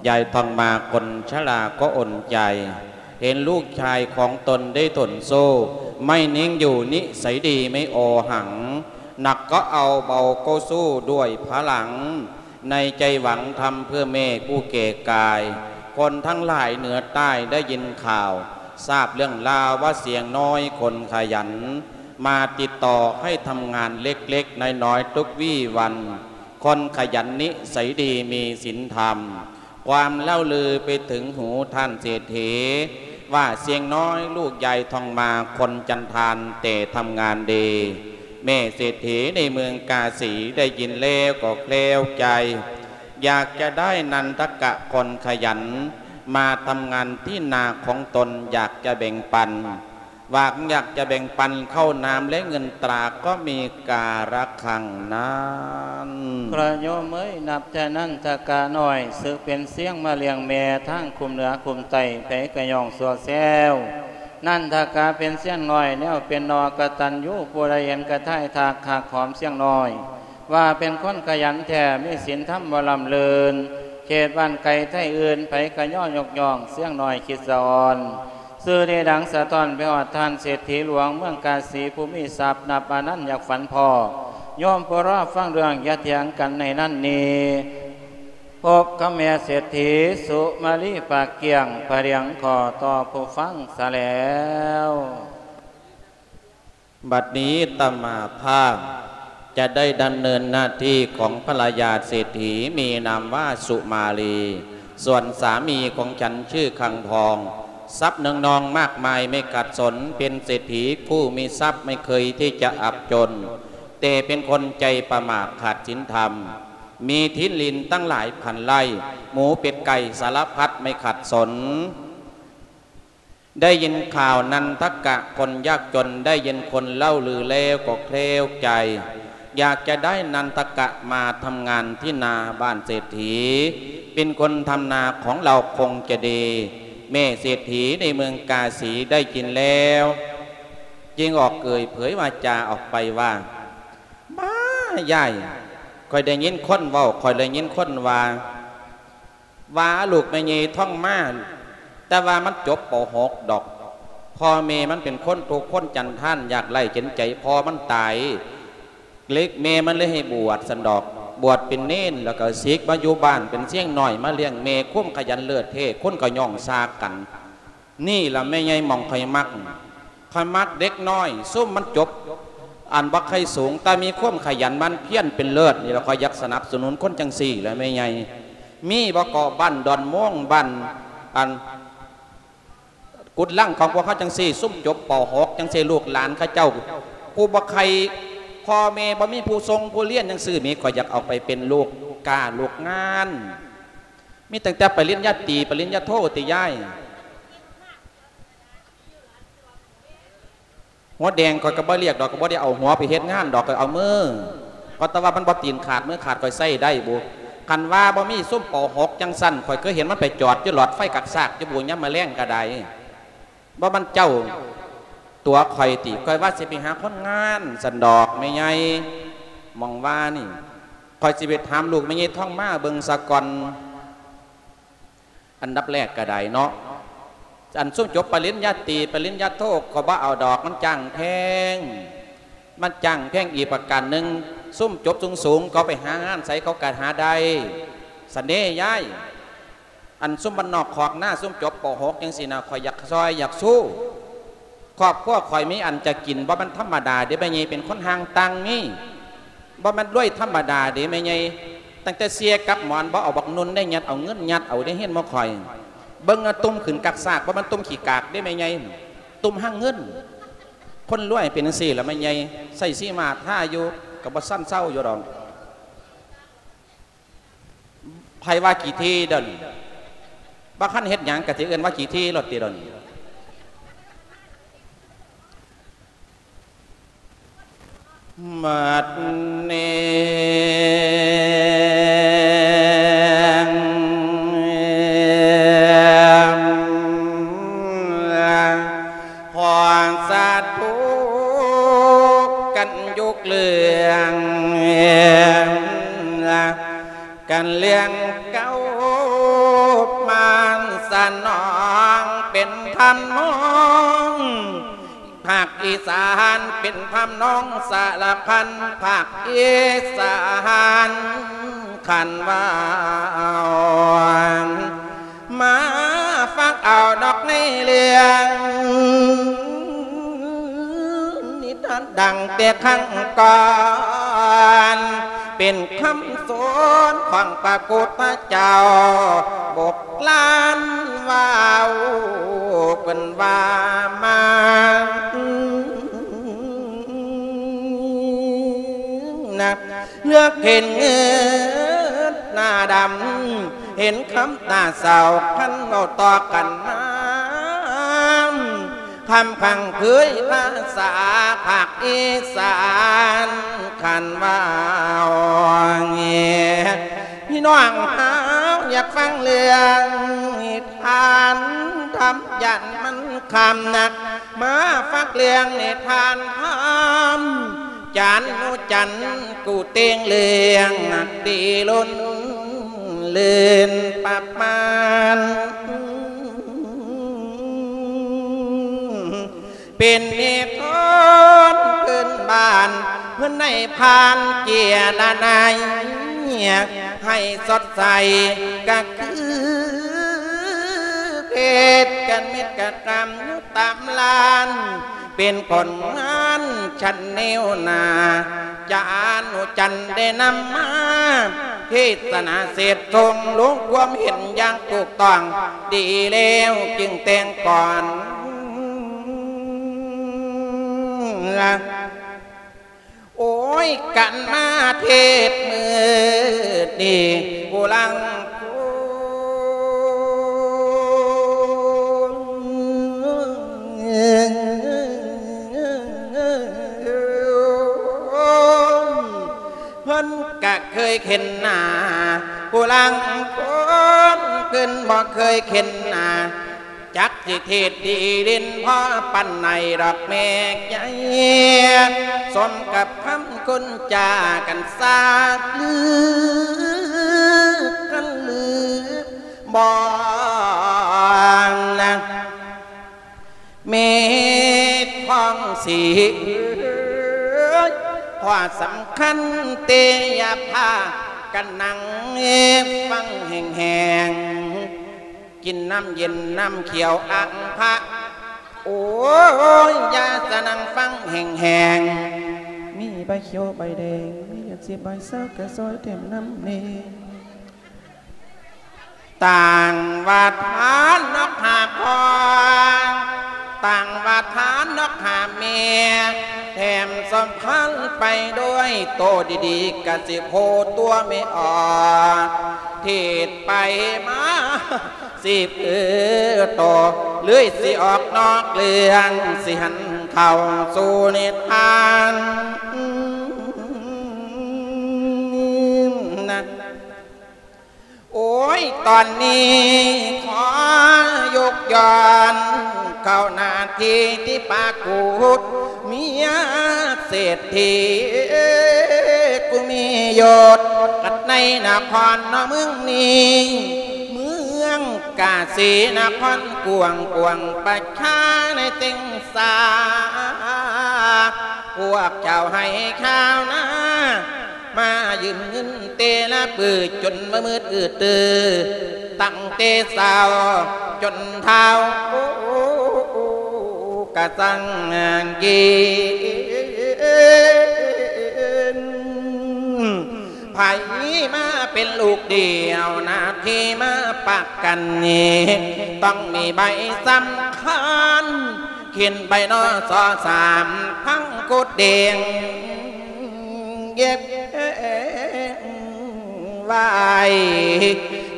ຍາຍທອງມາຄົນຊະລາກໍອົນໃຈ ເຫັນລູກຊາຍຂອງຕົນໄດ້ທົນໂສ້ ໄມ່ນິ່ງຢູ່ນິໄສດີໄມ່ອໍຫັງ ໜັກກໍເອົາເບົາກໍສູ້ດ້ວຍພະລັງ. ໃນໃຈຫວັງທຳເພື່ອແມ່ຜູ້ແກ່ກາຍ ຄົນທັງຫຼາຍເໜືອໃຕ້ໄດ້ຍິນຂ່າວ ຊາບເລື່ອງລາວວ່າຊ່ຽງນ້ອຍຄົນຂະຫຍັນ ມາຕິດຕໍ່ໃຫ້ທຳງານເລັກໆນ້ອຍໆທຸກວີ່ວັນ. ຄົນຂະຫຍັນນິໄສດີມີສິນທຳ ຄວາມເລົ່າລືໄປເຖິງຫູທ່ານເສດຖີ ວ່າຊ່ຽງນ້ອຍລູກຍາຍທອງມາຄົນຈັນທານແຕ່ທຳງານດີ. ແມ່ເສດຖີໃນເມືອງກາສີໄດ້ຍິນແລ້ວກໍແຄລວໃຈ ຢາກຈະໄດ້ນັນທະກະຄົນຂະຫຍັນ ມາທຳງານທີ່ນາຂອງຕົນ ຢາກຈະແບ່ງປັນ ຫວັງຢາກຈະແບ່ງປັນເຂົ້ານ້ຳ ແລະ ເງິນຕາກໍມີກາລະຄັງນັ້ນ. ພະໂຍມເອີຍ ນັບແຕ່ນັນທະກະນ້ອຍ ສຶກເປັນຊຽງມາລ້ຽງແມ່ ທາງຄຸ້ມເໜືອຄຸ້ມໃຕ້ ໃຜກະຍ້ອງຊົ່ວແຊວ. ນັນທະກະເປັນຊຽງນ້ອຍ ແນວເປັນໜໍ່ກະຕັນຍູ ຜູ້ໃດເຫັນກະຖ່າຍທັກ ຮັກຫອມຊຽງນ້ອຍ ວ່າເປັນຄົນຂະຫຍັນແທ້ ມີສິນທຳບໍ່ລຳເລີນ ເຂດບ້ານໄກໄທອື່ນ ໃຜກະຍໍຍົກຍ້ອງ ຊຽງນ້ອຍຄິດສະອອນ. ຊື່ນີ້ດັງສະທ້ອນໄປຮອດທ່ານເສດຖີຫຼວງເມືອງກາສີ ຜູ້ມີຊັບນັບອານັນ ຢາກຝັນພໍ້ ໂຍມຜູ້ລໍຟັງເລື່ອງ ຢ່າຖຽງກັນໃນນັ້ນນີ້ ພົບຄຳແມ່ເສດຖີ ສຸມາລີ ປາກກ້ຽງ ພະລຽງຂໍຕໍ່ຜູ້ຟັງສະແລ້ວ. ບັດນີ້ອາດຕະມາພາບຈະໄດ້ດຳເນີນໜ້າທີ່ຂອງພະລະຍາເສດຖີ ມີນາມວ່າສຸມາລີ ສ່ວນສາມີຂອງສັນຊື່ຄັງທອງ ຊັບເນືອງນອງມາກມາຍໄມ່ຂາດສົນ ເປັນເສດຖີຜູ້ມີຊັບໄມ່ເຄີຍທີ່ຈະອັບຈົນ ແຕ່ເປັນຄົນໃຈປະໝາດຂາດສິນທຳ ມີທີ່ດິນຕັ້ງຫຼາຍພັນໄຮ່ ໝູເປັດໄກ່ສາລະພັດໄມ່ຂາດສົນ. ໄດ້ຍິນຂ່າວນັນທະກະຄົນຍາກຈົນ ໄດ້ຍິນຄົນເລົ່າລືແລ້ວກໍແຄວໃຈ ຢາກຈະໄດ້ນັນທະກະມາທຳງານທີ່ນາບ້ານເສດຖີ ເປັນຄົນທຳນາຂອງລາວຄົງຈະດີ. ແມ່ເສດຖີໃນເມືອງກາສີໄດ້ຍິນແລ້ວ ຈຶ່ງອອກເປີດເຜີຍວາຈາອອກໄປວ່າ ບ້າ ຍາຍ ຂ້ອຍໄດ້ຍິນຄົນເວົ້າ ຂ້ອຍໄດ້ຍິນຄົນວ່າ ວ່າລູກແມ່ໃຫຍ່ທອງມາ ແຕ່ວ່າມັນຈົບ ປ.ຫົກ ດອກ ພໍ່ແມ່ມັນເປັນຄົນທຸກຄົນຈັນທານ ຍາກໄຮ້ເຫັນໃຈພໍ່ມັນຕາຍ ເລີກແມ່ມັນເລີຍໃຫ້ບວດຊັ້ນດອກ ບວດເປັນເນນ ແລ້ວກໍສິກມາຢູ່ບ້ານເປັນຊຽງນ້ອຍມາລ້ຽງແມ່ ຄວາມຂະຫຍັນເລີດເທ ຄົນກໍຍ້ອງຊາກກັນ. ນີ້ລະແມ່ໃຫຍ່ໝ່ອງຂ້ອຍມັກ ຂ້ອຍມັກເດັກນ້ອຍ ຊຸມມັນຈົບ ອັນບໍ່ໄຄສູງ ແຕ່ມີຄວາມຂະຫຍັນໝັ່ນພຽນເປັນເລີດ ນີ້ລະຂ້ອຍຢາກສະໜັບສະໜູນຄົນຈັ່ງຊີ້ລະແມ່ໃຫຍ່. ມີບໍ່ເກາະ ບ້ານດອນມ່ວງ ບ້ານ ອັນ ກຸດລັງຂອງພວກເຮົາຈັ່ງຊີ້ ຊຸມຈົບ ປ.ຫົກ ຈັ່ງຊີ້ ລູກຫຼານເຂົາເຈົ້າ ຜູ້ບໍ່ໃຄ ພໍ່ແມ່ບໍ່ມີຜູ້ສົ່ງຜູ້ລຽນຈັ່ງຊີ້ ມີ ຂ້ອຍຢາກເອົາໄປເປັນລູກກ້າລູກງານ. ມີຕັ້ງແຕ່ປະລິນຍາຕີ ປະລິນຍາໂທຕິຍາຍ. ຫົວແດງຂ້ອຍກໍບໍ່ລຽກດອກ ກໍບໍ່ໄດ້ເອົາຫົວໄປເຮັດງານດອກ ຂ້ອຍເອົາມື. ເພາະແຕ່ວ່າມັນບໍ່ຕີນຂາດມືຂາດ ຂ້ອຍໃຊ້ໄດ້ບຸ. ຄັນວ່າບໍ່ມີຊຸມ ປ.ຫົກ ຈັ່ງຊັ້ນ ຂ້ອຍເຄີຍເຫັນມັນໄປຈອດຢູ່ຫຼອດໄຟກັກຊາກຢູ່ບຸ ຍາມມະແລງກໍໄດ້. ບໍ່ແມ່ນເຈົ້າຕົວະຂ້ອຍຕິ ຂ້ອຍວ່າຊິໄປຫາຄົນງານຊັ້ນດອກແມ່ໃຫຍ່ ໝ່ອງວ່ານີ້ ຂ້ອຍຊິໄປຖາມລູກແມ່ໃຫຍ່ທອງມາເບິ່ງສາກ່ອນ. ອັນດັບແລກກໍໄດ້ເນາະ ອັນຊຸມຈົບປະລິນຍາຕີ ປະລິນຍາໂທ ຂ້ອຍບໍ່ເອົາດອກ ມັນຈ້າງແພງ ມັນຈ້າງແພງ. ອີກປະການໜຶ່ງ ຊຸມຈົບສູງໆ ເຂົາໄປຫາງານໃສເຂົາກໍຫາໄດ້ ຊັ້ນເດ້ຍາຍ. ອັນຊຸມບ້ານນອກຄອກນາ ຊຸມຈົບ ປ.ຫົກ ຈັ່ງຊີ້ນະ ຂ້ອຍຢາກຊ່ອຍຢາກຊູ້. ຄອບຄົວຂ້ອຍມີອັນຈະກິນ ບໍ່ແມ່ນທຳມະດາເດ້ແມ່ໃຫຍ່ ເປັນຄົນຮ່າງຕ່າງມີ ບໍ່ແມ່ນລວຍທຳມະດາເດ້ແມ່ໃຫຍ່. ຕັ້ງແຕ່ເສ່ຍກັບໝອນ ບໍ່ເອົາບັກນຸ່ນໄດ້ຍັດເອົາເງິນ ຍັດເອົາໄດ້ເຫັນບໍ່ຄ່ອຍ. ເບິ່ງເອົາ ຕຸ້ມຂຶ້ນກັກຊາກ ບໍ່ແມ່ນຕຸ້ມຂີ້ກາກເດ້ແມ່ໃຫຍ່ ຕຸ້ມຫາເງິນ. ຄົນລວຍເປັນຈັ່ງຊີ້ລະແມ່ໃຫຍ່ ໃຊ້ສີມາທາຢູ່ ກໍບໍ່ສັນເຊົາຢູ່ດອກ. ໃຜວ່າຂີ້ຖີ່ດຽວນີ້ ບໍ່ທັນເຮັດຫຍັງກໍຊິເອີ້ນວ່າຂີ້ຖີ່ໂລດຕິດຽວນີ້. ບັດນີ້ ຂໍສາທຸກັນ ຍົກເລື່ອງ ກັນເລື່ອງເກົ່າ ມາສະໜອງເປັນທຳນອງ ພາກອີສານເປັນທຳນອງສາລະພັນ ພາກອີສານຂັນວ່າ ມາຟັງເອົາດອກໃນເລື່ອງນິທານ ດັ່ງແຕ່ຄັ້ງກ່ອນ ເປັນຄຳສອນຂອງພະພຸດທະເຈົ້າ ບົກລານເວົ້າ ເພິ່ນວ່າມານະ ເລືອກເຫັນເງືອດໜ້າດຳ ເຫັນຄຳໜ້າເສົ້າ ຄັນເວົ້າຕໍ່ກັນມາ ຄຳພັງເຜີຍພາສາພາກອີສານ ຄັນວ່າ ພີ່ນ້ອງເຮົາຢາກຟັງເລື່ອງນິທານທຳ ຢ້ານມັນຄ່ຳນັກ ມາຟັງເລື່ອງນິທານທຳ ຈານໜູຈັນ ກູເຕັງເລື່ອງນັກດີລົ້ນ ເລື່ນປະມານ ເປັນນິທານພື້ນບ້ານ ເພິ່ນໃຫ້ຜ່ານເຈຍລະນາຍ ໃຫ້ສົດໃສກະຄືເພດ ກັນເມັດກະກຳຢູ່ຕາມລານ ເປັນຜົນງານຊັ້ນແນວໜ້າ ຈານຸຈັນໄດ້ນຳມາ ເທດສະໜາເສດຊົງ ລົງຄວາມເຫັນຢ່າງຖືກຕ້ອງ ດີແລ້ວຈຶ່ງແຕ່ງກ່ອນ ໂອ້ຍ ການມາເທດມື້ນີ້ ຜູ້ລັງຄົນ ເພິ່ນກະເຄີຍເຫັນໜ້າ ຜູ້ລາງຄົນເພິ່ນບໍ່ເຄີຍເຫັນໜ້າ ຈັກຊິເທດດີຫຼິ້ນພໍປານໃດດອກແມ່ໃຫຍ່ ສົມກັບຄຳຄົນຈາກັນຊາດລືກັນລື ບໍ່ນະ ເມດຂອງສີ ຂໍ້ສຳຄັນເຕ ຢ່າພາກັນນັ່ງຟັງແຮງໆ ກິນນ້ຳເຢັນນ້ຳຂຽວອັງພະ ໂອ້ຍ ຢ່າສະນັ່ງຟັງແຮງໆ ມີໃບຂຽວໃບແດງ ມີເຫຼືອສິບໃບຊາວ ກະຊ່ອຍແຖມນຳແດ່. ຕ່າງວ່າທານນອກຫາພໍ່ ຕ່າງວ່າທານນອກຫາແມ່ ແຖມສົມພັນໄປດ້ວຍໂຕດີໆ ກະຊິໂພຕົວແມ່ອອກ ເທດໄປມາ ສິບເອີໂຕ ເລີຍຊິອອກນອກເລື່ອງ ຊິຫັນເຂົ້າສູ່ນິທານນະ. ໂອ້ຍ ຕອນນີ້ຂໍຍົກຍ້ອນເຂົ້າໜ້າທີ່ທີ່ປາກຸດ ເມຍເສດຖີຜູ້ມີຍົດ ກັດໃນນະຄອນເມືອງນີ້ ເມືອງກາສີນະຄອນກວ້າງຂວາງ ປະຊາໃນເຕັງສາ ພວກຊາວໄຮ່ຊາວນາ ມາຢືມເງິນແຕ່ລະມື້ ຈົນວ່າມືດອືດຕື້ ຕັ້ງແຕ່ເຊົ້າຈົນເທົ້າ ກະສັງກິນ ໃຜມາເປັນລູກດຽວ ໜ້າທີ່ມາປະກັນນີ້ ຕ້ອງມີໃບສຳຄັນ ເຂັນໃບ ນສ ສາມ ທັງໂຄດແດງ ເຢັບໄວ້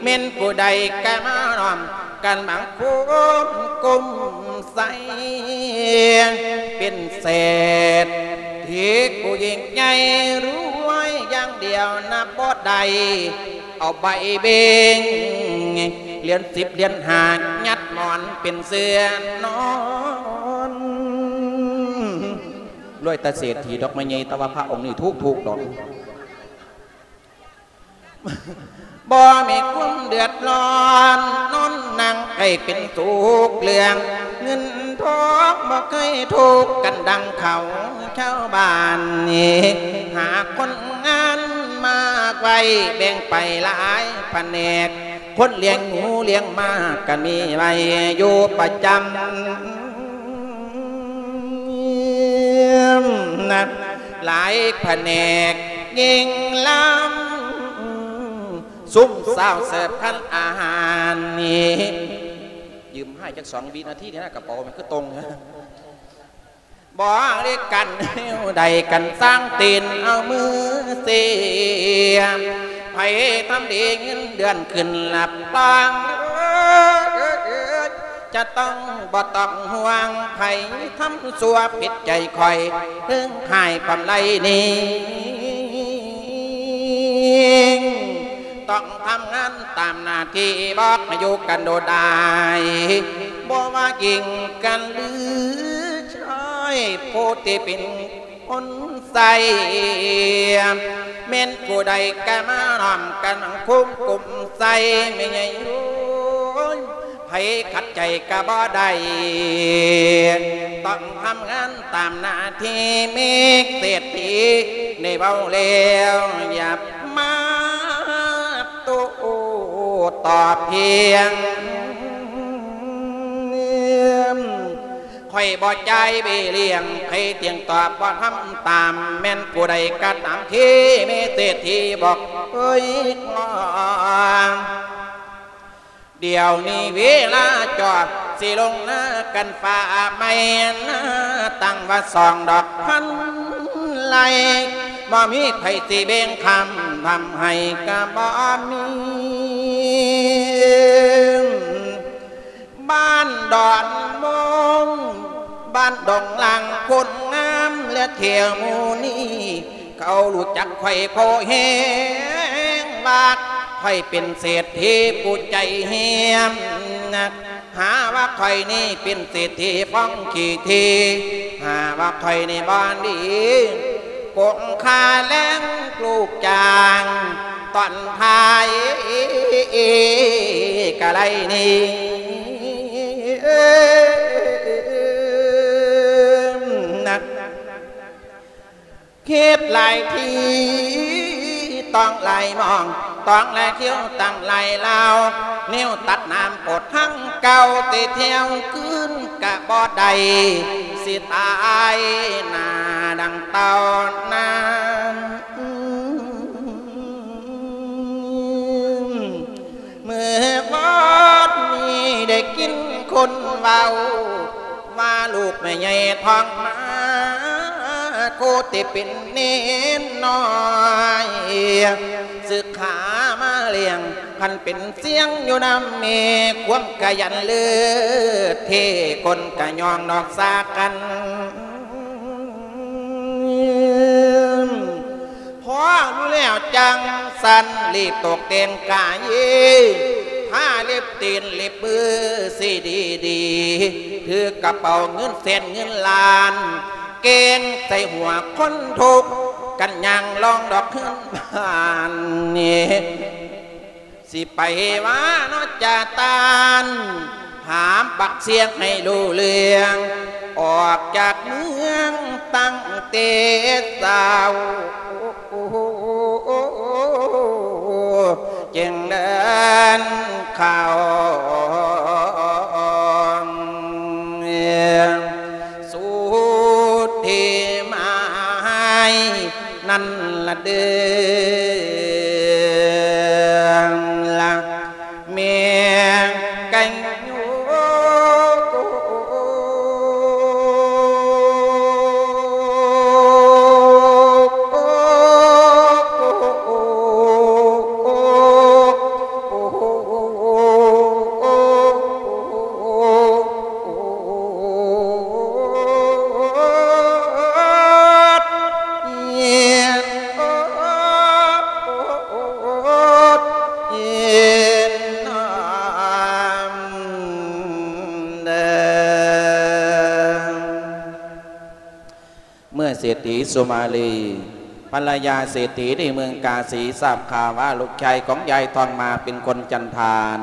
ແມ່ນຜູ້ໃດກະມານ້ອມ ກັນບັງຄົມກຸມໃສ່ ເປັນເສດຖີຜູ້ຍິ່ງໃຫຍ່ ລວຍຢ່າງດຽວນັບບໍ່ໄດ້ ເອົາໃບເບັງ ຫຼຽນສິບຫຼຽນຫ້າ ຍັດໝອນເປັນເສື່ອນອນ. ລວຍແຕ່ເສດຖີດອກໄມ້ໃຫຍ່ ແຕ່ວ່າພະອົງນີ້ຖືກໆດອກ. ບໍ່ມີຄວາມເດືອດຮ້ອນ ນອນນັ່ງໃຫ້ເປັນສຸກເລື່ອງ ເງິນທອງບໍ່ເຄີຍທຸກກັນດັ່ງເຂົາຊາວບ້ານນີ້ ຫາຄົນງານມາໄວ້ ແບ່ງໄປຫຼາຍພະແນກ ຄົນລ້ຽງໝູລ້ຽງໝາກກໍມີໄວ້ຢູ່ປະຈຳ ນະ ຫຼາຍພະແນກຍິ່ງລຳ ຊຸມຊາວເສີບຄັນອາຫານນີ້ ຢືມໃຫ້ຈັກສອງວິນາທີນີ້ນະ ກະເປົາມັນຄືຕົງ ບໍລິການແນວໃດກັນ ສ້າງຕີນເອົາມືເສຍ ໃຜທຳດີເງິນເດືອນຂຶ້ນຮັບຮອງ ຈະຕ້ອງບໍ່ຕ້ອງຫ່ວງ ໃຜທຳຊົ່ວຜິດໃຈຂ້ອຍ ເລື່ອງຂາຍກຳໄລນີ້ ຕ້ອງທຳງານຕາມໜ້າທີ່ ບໍ່ໃຫ້ຢູ່ກັນໂດດດາຍ ບໍ່ວ່າຍິງກັນຫຼືຊາຍ ຜູ້ທີ່ເປັນ ຄົນໃສ່ ແມ່ນຜູ້ໃດກະມານ້ອມກັນຄຸມກຸມໃສ່ ແມ່ໃຫຍ່ໂອ້ຍ ໃຜຂັດໃຈກະບໍ່ໄດ້ ຕ້ອງທຳງານຕາມໜ້າທີ່ ເມກເສດຖີໄດ້ເວົ້າແລ້ວ ຢ່າມາໂຕ້ຕອບພຽງ ຂ້ອຍບໍ່ຈ່າຍເບ້ຍລ້ຽງ ໃຜທ່ຽງຕອບບໍ່ທຳຕາມ ແມ່ນຜູ້ໃດກະຕາມທີ່ມີເສດຖີບອກເອີຍ ດຽວນີ້ເວລາຈອດ ຊິລົງນາກັນຟ້າໃໝ່ນາ ຕັ້ງວ່າສອງດອກພັນໄລ່ ບໍ່ມີໃຜຊິແບ່ງຄຳທຳໃຫ້ກະບໍ່ມີ ບ້ານດອນໂມງ ບ້ານດອງລາງ ຄົນງາມ ແລະ ແຖວໝູ່ນີ້ ເຂົາຮູ້ຈັກຂ້ອຍພໍແຮງວ່າ ຂ້ອຍເປັນເສດຖີຜູ້ໃຈແຮງ ຫາວ່າຂ້ອຍນີ້ເປັນເສດຖີຂອງຂີ້ຖີ ຫາວ່າຂ້ອຍນີ້ບໍ່ດີ ກົງຄ່າແລງລູກຈ້າງ ຕອນທ້າຍກະໄລນີ້ ນະ ຄິດຫຼາຍທີ ຕ້ອງຫຼາຍມອງ ຕ້ອງຫຼາຍທ່ຽວ ຕັ້ງຫຼາຍລາວ ແນວຕັດນ້ຳປອດທັງເກົ່າ ແຕ່ແຖວຄືນກະບໍ່ໄດ້ ຊິຕາຍໜ້າດັ່ງເຕົ່ານັ້ນ ເມື່ອວານນີ້ໄດ້ຍິນຄົນເວົ້າ ວ່າລູກແມ່ໃຫຍ່ທ້ອງມາ ໂຄດແຕ່ເປັນເນນນ້ອຍ ສຶກຂາມາລ້ຽງ ຄັນເປັນສຽງຢູ່ນຳແມ່ ຄວາມຂະຫຍັນເລີດເທ່ ຄົນກະຍ້ອງນອກສາກັນ ພໍຮູ້ແລ້ວຈັ່ງຊັ້ນ ລີບຕົກແຕ່ງກາຍ ທາເລັບຕີນເລັບມືສີດີໆ ຖືກະເປົາເງິນແສນເງິນລ້ານ ແກງໃສ່ຫົວຄົນທຸກ ກັນຍ່າງລອງດອກເຮືອນບ້ານນີ້ ຊິໄປວ່າເນາະຈາຕານ ຖາມປາກສຽງໃຫ້ຮູ້ເລື່ອງ ອອກຈາກເມືອງຕັ້ງແຕ່ເຊົ້າ ຈຶ່ງເດີນເຂົ້າສູ່ທີ່ໝາຍນັ້ນລະເດີ. ເສດຖີສຸມາລີ ພັນລະຍາເສດຖີໃນເມືອງກາສີ ຊາບຂ່າວວ່າລູກຊາຍຂອງຍາຍທອງມາເປັນຄົນຈັນທານ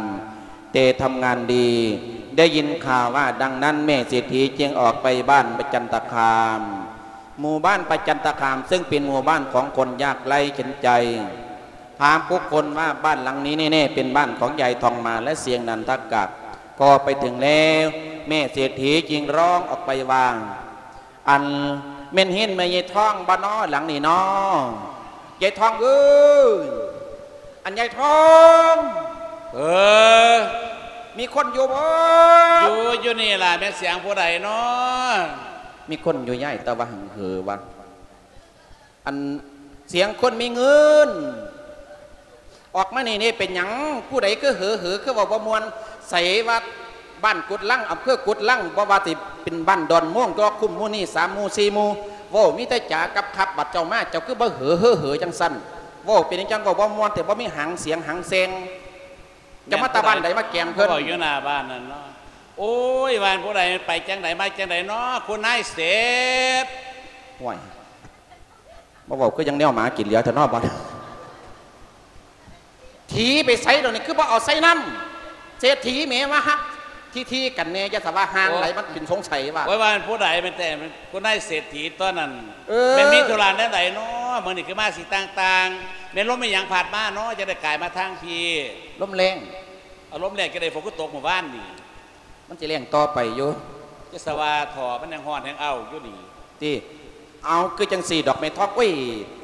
ແຕ່ທຳງານດີ ໄດ້ຍິນຂ່າວວ່າດັ່ງນັ້ນ ແມ່ເສດຖີຈຶ່ງອອກໄປບ້ານປະຈັນຕະຄາມ. ໝູ່ບ້ານປະຈັນຕະຄາມ ເຊິ່ງເປັນໝູ່ບ້ານຂອງຄົນຍາກໄຮ້ເຂັນໃຈ ພາມບຸກຄົນວ່າບ້ານຫຼັງນີ້ແນ່ໆເປັນບ້ານຂອງຍາຍທອງມາ ແລະ ສຽງນັນທະກະກໍໄປເຖິງແລ້ວ. ແມ່ເສດຖີຈຶ່ງຮ້ອງອອກໄປວ່າ ອັນແມ່ນເຮືອນແມ່ຍາຍທອງບໍ່ນໍ ຫຼັງນີ້ນໍ ຍາຍທອງເອີຍ ອັນຍາຍທອງ ເອີ ມີຄົນຢູ່ບໍ່? ຢູ່ ຢູ່ນີ້ລະ ແມ່ນສຽງຜູ້ໃດນໍ? ມີຄົນຢູ່ຍາຍ ແຕ່ວ່າຫຶງເຫີວ່າ ອັນສຽງຄົນມີເງິນ ອອກມານີ້ນີ້ເປັນຫຍັງ? ຜູ້ໃດຄືເຫີໆ ຄືເວົ້າບໍ່ມ່ວນ? ໃສວ່າບ້ານກຸດລັງ ອຳເພີກຸດລັງ ບໍ່ວ່າຊິເປັນບ້ານດອນໂມງ ດອກຄຸ້ມ ໝູ່ນີ້ສາມໝູ່ສີ່ໝູ່ ເວົ້າມີແຕ່ຈາກັບຂັບ ບັດເຈົ້າມາ ເຈົ້າຄືບໍ່ເຫີເຫີເຫີຈັ່ງຊັ້ນ? ເວົ້າເປັນຫຍັງຈັ່ງເວົ້າບໍ່ມ່ວນແທ້ ບໍ່ມີຫາງສຽງຫາງແຊງ? ເຈົ້າມາແຕ່ບ້ານໃດມາແກ່ມເພິ່ນ? ເວົ້າຢູ່ໜ້າບ້ານນັ້ນເນາະ. ໂອ້ຍ ບ້ານຜູ້ໃດ ໄປຈັ່ງໃດມາຈັ່ງໃດເນາະ ຄຸນນາຍເສດ? ໂອ້ຍ ມາເວົ້າຄືຍັງແນວໝາກິນເຫຼືອແທ້ເນາະ ບັດຖີໄປໃສດອກນີ້ ຄືບໍ່ເອົາໃສ່ນຳ? ເສດຖີແໝວ່າ ທີໆກັນແດ່ ຢ່າສະວ່າຫ່າງໄຫຼ ມັນເປັນສົງໄສວ່າ ໂອ້ຍ ວ່າແມ່ນຜູ້ໃດ ແມ່ນແຕ່ ແມ່ນຜູ້ນາຍເສດຖີຕົວນັ້ນ. ເອີ ແມ່ນມີທຸລະແນວໃດເນາະ ມື້ນີ້ຄືມາສີຕ່າງໆ? ແມ່ນລົມອີ່ຫຍັງພັດມາເນາະ ຈັ່ງໄດ້ກາຍມາທາງພີ້? ລົມແຮງ. ອາ ລົມແຮງຈັ່ງໃດ ຝົນຄືຕົກມື້ວານນີ້? ມັນຊິແຮງຕໍ່ໄປຢູ່. ຈະສະວ່າທໍ່ ມັນຍັງຮ້ອນແຮງເອົ້າຢູ່ນີ້. ຕິ ເອົາ ຄືຈັ່ງຊີ້ດອກແມ່ທອງ ໂອ້ຍ